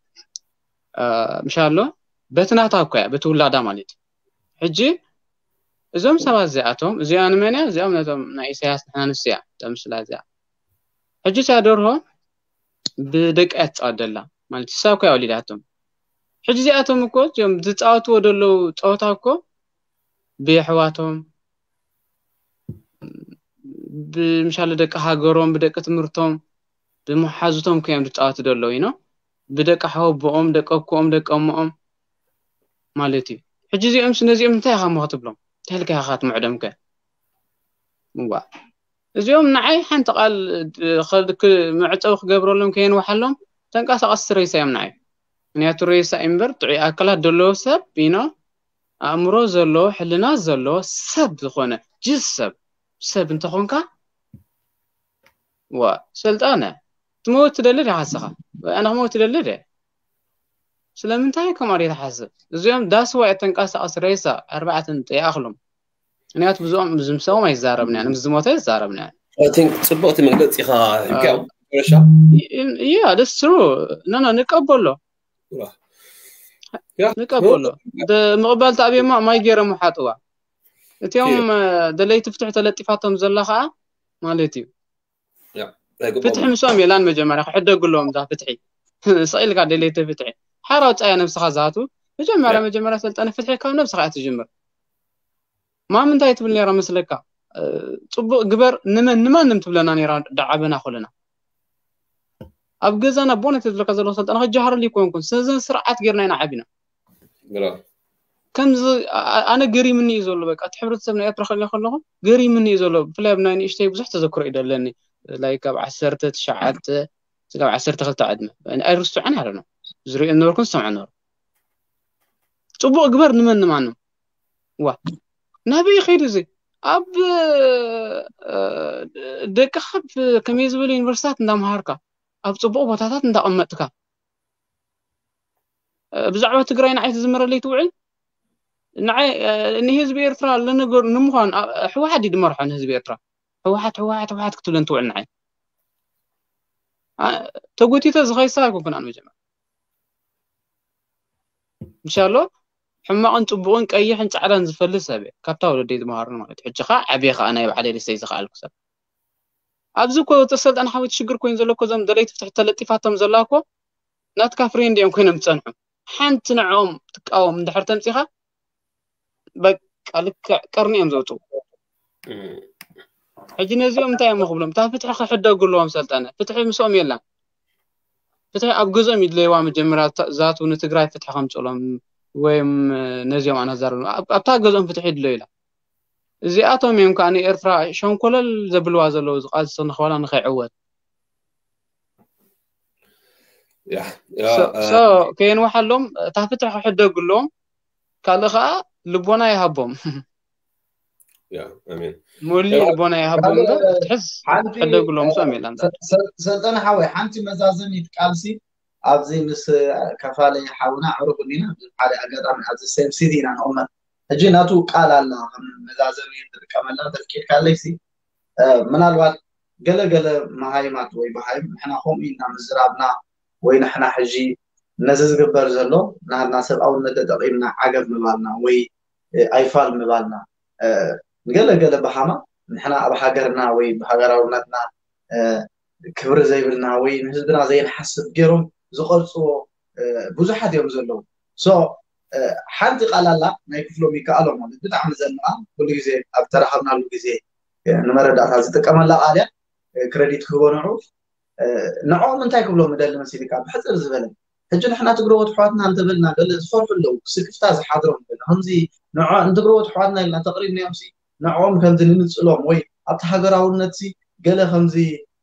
ምሻሎ በቲ ናታ እኮ እያ በቲ ውላዳ ማለት እዩ ሕጂ እዞም ሰባት እዚኣቶም እዚኣ ንመን እያ እዚኦም ነቶም ናይ ኢሳያስ ንሕና ንሱ እያ እታ ምስላ እዚኣ ሕጂ እታ ደርሆ ብደቂ እያ ትፃወት ደላ ማለት እሳ እኮ እያ ወሊዳቶም ሕጂ እዚኣቶም እኮ እዚኦም ዝፃወትዎ ደለዉ ፀወታ እኮ ብየሕዋቶም፣ ብምሻለ ደቂ ሃገሮም፣ ብደቂ ትምህርቶም፣ ብመሓዙቶም ከዮም ዝፃወቱ ዘለዉ ኢኖ፣ ብደቂ ሓወቦኦም፣ ደቂ ኣኮኦም፣ ደቂ ኣሞኦም ማለት እዩ። ሕጂ እዚኦም ነዚኦም እንታይ ኢኻ እሞ ክትብሎም? እንታይ ኢልካ ኢኻ ክትምዕዶም ከ? እዋ፣ እዚኦም ንዓይ ሓንቲ ቃል መዕፀዊ ክገብረሎም ከየንዋሓሎም፣ ተንቀሳቐስቲ ሬሳ እዮም ንዓይ። ምክንያቱ ሬሳ እምበር ጥዑይ ኣካላት ዘለዎ ሰብ ኢኖ፣ ኣእምሮ ዘለዎ፣ ሕልና ዘለዎ ሰብ ዝኾነ ጅስ ሰብ ሰብ እንተኾንካ፣ ዋ፣ ሰልጣነ፣ ትመውት ትደሊ ዲኻ ንስኻ? ኣነ ክመውት ትደሊ ደ? ስለምንታይ ከምኡ ደ ትሓስብ? እዚኦም ዳስዋ ተንቀሳቐስ ሬሳ ኣርባዕተን ይኣኽሎም። ምክንያቱ ብዝኦም ዝምሰዎም ኣይዛረብናን፣ ምስ ዝሞተ ኣይዛረብናን። ጽቡቕቲ መግለጺ ኢኻ ሂብካዮ። መጨረሻ ያ ደስ ትሩ ነና ንቀበሎ ንቀበሎ። ምቕባል ተኣብየማ ማይ ገይሮም ሓጥዋ። እቲኦም ደለይቲ ፍትሒ ተለጢፋቶም ዘላ ከዓ ማለት እዩ። ፍትሒ ምስኦም የላን። መጀመርያ ክሕደጉ ኣለዎም እዛ ፍትሒ። ስቕ ኢልካ ደለይቲ ፍትሒ ሓራ ውፃያ ነብስኻ ዝሃቱ። መጀመርያ መጀመርያ ሰልጠነ ፍትሒ ካብ ነብስኻ እያ ትጅምር። ማም እንታይ ትብል ነይራ መስለካ? ጽቡቕ ግበር ንመን ንማንም ትብለና ነይራ። ዳዓበና ኮለና ኣብ ገዛና ቦነት ዝብለካ ዘለኹ ሰልጠነ ክጀሃረሉ ይኮንኩን ስነ ስርዓት ጌርና ኢና ዓቢና። ከምዚ ኣነ ገሪምኒ እዩ ዘሎ። በቃ እቲ ሕብረተሰብ ናይ ኤርትራ ክሪኦ ከለኹ ገሪምኒ እዩ ዘሎ። ብፍላይ ኣብ ናይ ንእሽተይ ብዙሕ ተዘክሮ እዩ ደለኒ። ላይክ ኣብ ዓሰርተ ትሽዓተ ስጋብ ዓሰርተ ክልተ ዕድመ ኣይርስዖን ያለ ነው። ዝሪኦ ነበርኩን ዝሰምዖ ነበሩ። ጽቡቕ ግበር ንመን ንማንም። ዋ ናበይ ይኸይድ እዚ? ኣብ ደቅኻ ከመይ ዝበሉ ዩኒቨርሲታት እንዳምሃርካ፣ ኣብ ጽቡቕ ቦታታት እንዳቐመጥካ፣ ብዛዕባ ትግራይ ንዓይ ትዝምረለይ ትውዕል። ንዓይ ንህዝቢ ኤርትራ ለነገሩ ንምዃን ህወሓት ድመርሖ ንህዝቢ ኤርትራ ህወሓት ህወሓት ህወሓት ክትብለን ትውዕል። ንዓይ ተጎቲተ ዝኸይሳ ኣይኮንኩን ኣነ መጀመር ምሻሎ ሕማቕን ጽቡቕን ቀይሕን ጻዕዳን ዝፈልጥ ሰብ እየ። ካብታ ወለደይ ዝመሃሩኒ ማለት እዩ። ሕጂ ኸዓ ዓብየ ኸዓ ናይ ባዕለይ ልሰይ ዝኸኣልኩ ሰብ። ኣብዚ እኮ እቲ ሰልጣን ሓወይ ሽግር ኮይኑ ዘሎ እኮ እዞም ደለይቲ ፍትሒ ተለጢፋቶም ዘላ እኮ ናትካ ፍሬንድ እዮም ኮይኖም ዝጸንሑ። ሓንቲ ንዕኦም ትቃወም እንድሕር ተምጺኻ በቃ ልክዕ ቀርኒ እዮም ዘውፅኡ። ሕጂ ነዚኦም እንታይ እዮም ክብሎም? እታ ፍትሒ ክሕደጉ ኣለዎም። ሰልጠነ ፍትሒ ምስኦም የላን። ፍትሒ ኣብ ገዝኦም ይድለይዋ። መጀመርያ ዛቱ ንትግራይ ፍትሒ ከምፅሎም ወይም ነዚኦም ኣናዛርብ ኣብታ ገዝኦም ፍትሒ ይድለዩ ኢላ። እዚኣቶም እዮም ከዓ ንኤርትራ ሸንኮለል ዘብልዋ ዘለዉ ዝቃልሲ ንኸባላ ንኸይዕወት ከየንዋሓሎም እታ ፍትሒ ክሕደጉ ኣለዎም። ካልእ ከዓ ልቦና ይሃቦም። ሙሉ ልቦና ይሃቦም። ትሕዝ ሕደጉሎም። ሰም የለን። ሰልጠነ ሓወይ ሓንቲ መዛዘሚት ቃልሲ ኣብዚ ምስ ከፋለ ሓውና ዕሩኽ ዲና ሓደ ኣጋጣሚ ኣብዚ ሴም ሲቲ ኢና ንቕመጥ። ሕጂ ናቱ ቃል ኣላ ከም መዛዘሚ ንጥቀመላ ተፍቂድካለይ ሲ ምናልባት ገለ ገለ መሃይማት ወይ በሃይም ንሕና ከምኡ ኢልና ምዝራብና ወይ ንሕና ሕጂ ነዚ ዝግበር ዘሎ ናትና ሰብኣውነት ተጠቒምና ዓገብ ምባልና ወይ ኣይፋል ምባልና ንገለ ገለ በሃማ ንሕና ኣብ ሃገርና ወይ ብሃገራውነትና ክብሪ ዘይብልና ወይ ንህዝብና ዘይንሓስብ ገይሮም ዝቐርፅዎ ብዙሓት እዮም ዘለዉ። ሓንቲ ቃል ኣላ ናይ ክፍሎም ይከኣሎ ማለት ብጣዕሚ ዘንቓ ኩሉ ግዜ ኣብ ተራኸብናሉ ግዜ ንመረዳእታ ዝጥቀመላ ቃል እያ። ክረዲት ክህቦ ንዑ ንዕኦም እንታይ ክብሎም ምደሊ መሲልካ ብሕፅር ዝበለ ሕጂ ንሕና ትግረዎት ኣሕዋትና እንተበልና ገለ ዝፈርሑ ኣለዉ። ስክፍታ ዝሓድሮም ገለ ከምዚ ንትግረዎት ኣሕዋትና ኢልና ተቕሪብናዮም ንዕኦም ከምዚ ንምፅሎም ወይ ኣብቲ ሃገራውነት ገለ ከምዚ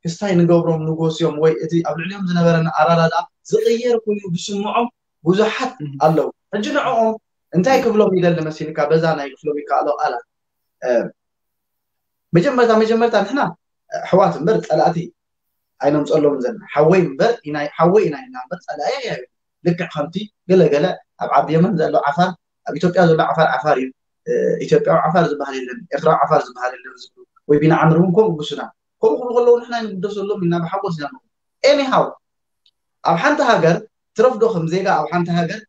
ክስታይ ንገብሮም ንጎስዮም ወይ እቲ ኣብ ልዕሊኦም ዝነበረና ኣራዳዳ ዝቕየር ኮይኑ ዝስምዖም ብዙሓት ኣለዉ። ሕጂ ንዕኦም እንታይ ክብሎም ይደሊ መሲልካ በዛ ናይ ክፍሎም ይከኣሎ ቃላት መጀመርታ መጀመርታ ንሕና ኣሕዋት እምበር ፀላእቲ ኣይነምፀሎምን ዘለና ሓወይ እምበር ሓወይ ኢና ኢልና እምበር ፀላኢ ኣያ ልክዕ ከምቲ ገለገለ ኣብ ዓቢ የመን ዘሎ ዓፋር ኣብ ኢትዮጵያ ዘሎ ዓፋር ዓፋር እዩ። ኢትዮጵያዊ ዓፋር ዝበሃል የለን፣ ኤርትራዊ ዓፋር ዝበሃል የለን ዝብሉ ወይ ቢንዓምር እውን ከምኡ ግሱና ከምኡ ክብሉ ከለዉ ንሕና ንግደሰሎም ኢና ብሓጎስ ኢና ንቕበል። ኤኒሃው ኣብ ሓንቲ ሃገር ትረፍዶ ከም ዜጋ ኣብ ሓንቲ ሃገር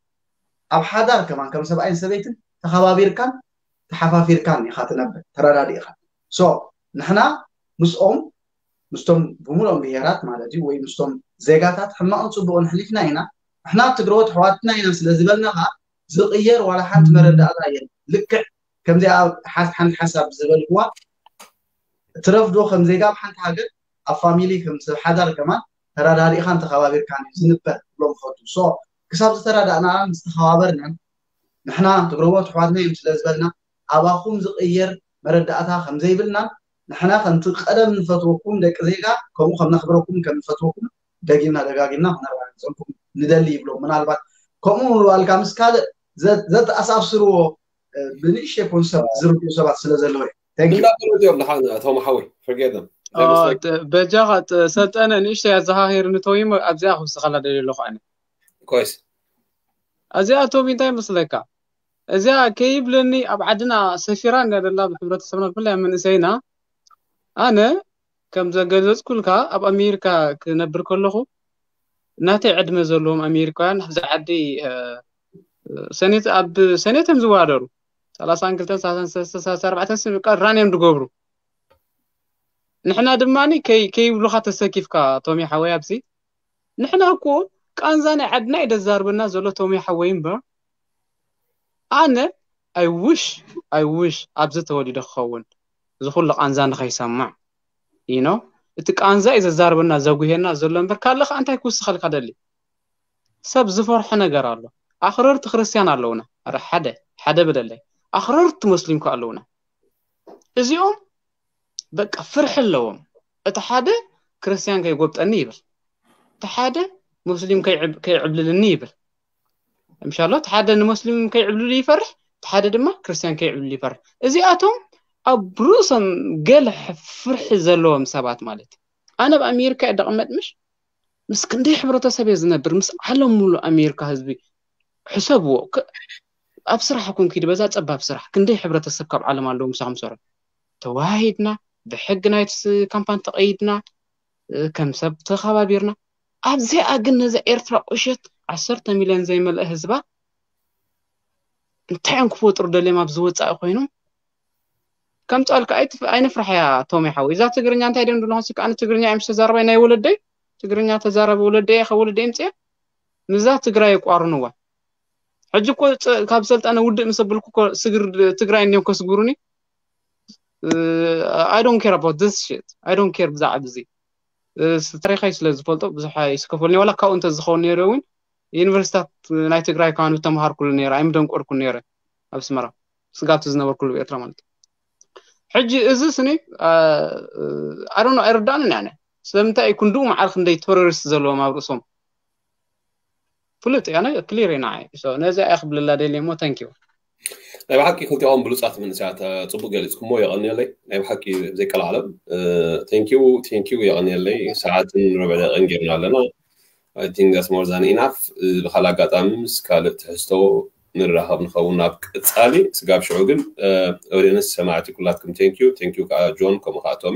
ኣብ ሓዳር ከማን ከም ሰብኣይን ሰበይትን ተኸባቢርካን ተሓፋፊርካን ኢኻ ትነብር ተረዳዲእኻ። ሶ ንሕና ምስኦም ምስቶም ብምሉኦም ብሄራት ማለት እዩ ወይ ምስቶም ዜጋታት ሕማቕን ፅቡቕን ኣሕሊፍና ኢና። ንሕና ትግረዎት ኣሕዋትና ኢና ስለ ዝበልና ከዓ ዝቕየር ዋላ ሓንቲ መረዳእታ የለን። ልክዕ ከምዚኣ ሓንቲ ሓሳብ ዝበልክዋ ትረፍዶ ከም ዜጋ ኣብ ሓንቲ ሃገር ኣብ ፋሚሊ ከም ሰብ ሓዳር ከማን ተራዳሪእኻን ተኸባቢርካን እዩ ዝንበር ክብሎም ፈቱ። ሶ ክሳብ ዝተራዳእናን ዝተኸባበርናን ንሕና ትግረቦ ኣሕዋትና እዮም ስለ ዝበልና ኣባኹም ዝቕየር መረዳእታ ከም ዘይብልናን ንሕና ከምቲ ቀደም ንፈትወኩም ደቂ ዜጋ ከምኡ ከም ነኽብረኩም ከም ንፈትወኩም ደጊምና ደጋጊምና ክነረጋግፀልኩም ንደሊ ይብሎም። ምናልባት ከምኡ ምባልካ ምስ ካልእ ዘተኣሳስርዎ ብንእሽተይ ኮንሰፕት ዝርድኡ ሰባት ስለ ዘለዉ እዩ። እንዳበረቱ እዮም ንሓን ኣቶም ሓወይ ፍርጌደም በጃኻ ሰልጠነ ንእሽተይ ኣዘኻኺር ንተወይሞ ኣብዚኣ ክውስኸላ ደልየ ኣለኹ ኣነ ኮይስ እዚኣ ቶም እንታይ ይመስለካ እዚኣ ከይብለኒ ኣብ ዓድና ሰፊራ እንዳ ደላ ብሕብረተሰብና ብፍላይ መንእሰይና ኣነ ከም ዘገለፅኩልካ ኣብ ኣሜሪካ ክነብር ከለኹ እናተይ ዕድመ ዘለዎም ኣሜሪካውያን ኣብዚ ዓዲ ሰኔት ኣብ ሰኔት እዮም ዝወዳደሩ ሰላሳን ክልተን ሰላሳን ሰለስተ ሰላሳ ኣርባዕተን ስም ቃል ራን እዮም ዝገብሩ ንሕና ድማ ከይብሉካ ተሰኪፍካ ቶሚ ሓወይ ኣብዚ ንሕና እኮ ቃንዛ ናይ ዓድና እዩ ደዛርበና ዘሎ ቶሚ ሓወይ እምበር ኣነ I wish I wish ኣብዚ ተወሊደ ክኸውን እዚ ኩሉ ቃንዛ ንኸይሰማዕ you know እቲ ቃንዛ እዩ ዘዛርበና ዘጉሄና ዘሎ እምበር ካልእ ከዓ እንታይ ክውስኸልካ ደሊ ሰብ ዝፈርሖ ነገር ኣሎ ኣኽረርቲ ክርስትያን ኣለውና ረ ሓደ ሓደ ብለለይ ኣኽረርቲ ሙስሊም ከ ኣለውና እዚኦም በቃ ፍርሒ ኣለዎም እቲ ሓደ ክርስትያን ከይጎብጠኒ ይብል እቲ ሓደ ሙስሊም ከይዕብልልኒ ይብል ምሻሎ እቲ ሓደ ንሙስሊም ከይዕብልሉ ይፈርሕ እቲ ሓደ ድማ ክርስትያን ከይዕብልሉ ይፈርሕ እዚኣቶም ኣብ ርእሶም ገለ ፍርሒ ዘለዎም ሰባት ማለት እዩ ኣነ ኣብ ኣሜሪካ እየ ደቐመጥ ምሽ ምስ ክንደይ ሕብረተሰብ እየ ዝነብር ምስ ዓለም ሙሉ ኣሜሪካ ህዝቢ ሕሰብዎ ኣብ ስራሕ ኮን ኪድ በዛ ፀባብ ስራሕ ክንደይ ሕብረተሰብ ካብ ዓለም ኣለዉ ምሳኹም ሰሩ ተዋሂድና ብሕጊ ናይቲ ካምፓኒ ተቐይድና ከም ሰብ ተኸባቢርና ኣብዚኣ ግን ነዛ ኤርትራ ቁሸት ዓሰርተ ሚልዮን ዘይመልአ ህዝባ እንታይ እዮም ክፈጥሩ ደልዮም ኣብ ዝወፃኢ ኮይኖም ከምፃልካ ኣይንፍራሕ እያ ቶም ይሓወይ እዛ ትግርኛ እንታይ ደም ድለኹ ስካ ኣነ ትግርኛ እዮም ዝተዛረባይ ናይ ወለደይ ትግርኛ ተዛረበ ወለደይ ከ ወለደይ ምፅያ ምዛ ትግራይ የቋርንዋ ሕጂ እኮ ካብ ሰልጠነ ውድእ ምስ ኣብልኩ እኮ ስግር ትግራይ እንዲዮም ከስግሩኒ I don't care about this shit I don't care ብዛዕባ እዚ ታሪኸይ ስለ ዝፈልጦ ብዙሕ ይስከፈልኒ ዋላ ካብኡ እንተ ዝኸውን ነይረ እውን ዩኒቨርሲታት ናይ ትግራይ ካኑ ተምሃርኩሉ ነይረ ኣይምደንቆርኩ ነይረ ኣብ ስመራ ስጋብቲ ዝነበርኩሉ ኤርትራ ማለት ሕጂ እዚ ስኒ ኣሮኖ ኣይርዳእንን ያነ ስለምንታይ እዩ ክንድኡ መዓል ክንደይ ቴሮሪስት ዘለዎም ኣብ ርእሶም ፍሉጥ ያነ ክሊር ኢና ነዚ ኣያ ክብልላ ደልየ ሞ ታንኪዩ ናይ ብሓቂ ክልቲኦም ብሉፃት መንስያት ፅቡቅ ገሊፅኩሞ የቐንየለይ ናይ ብሓቂ ዘይቀላዓለም ቴንኪዩ ቴንኪዩ የቐንየለይ ሰዓትን ርብዕ ደቂን ጌርና ኣለና I think that's more than enough ብካል ኣጋጣሚ ምስ ካልእ ትሕዝቶ ንራኸብ ንኸውን ናብ ቀፃሊ ስጋብ ሽዑ ግን ኦዲየንስ ሰማዕቲ ኩላትኩም ቴንኪዩ ቴንኪዩ ከዓ ጆን ከምኡ ከዓ ቶሚ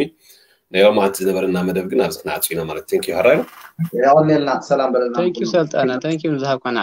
ናይ ሎማዓንቲ ዝነበረና መደብ ግን ኣብዚ ክንዓፁ ኢና ማለት ቴንኪዩ ሕራይ የቐንየልና ሰላም በለና ቴንኪዩ ሰልጠነ ቴንኪዩ ንዝሃብካና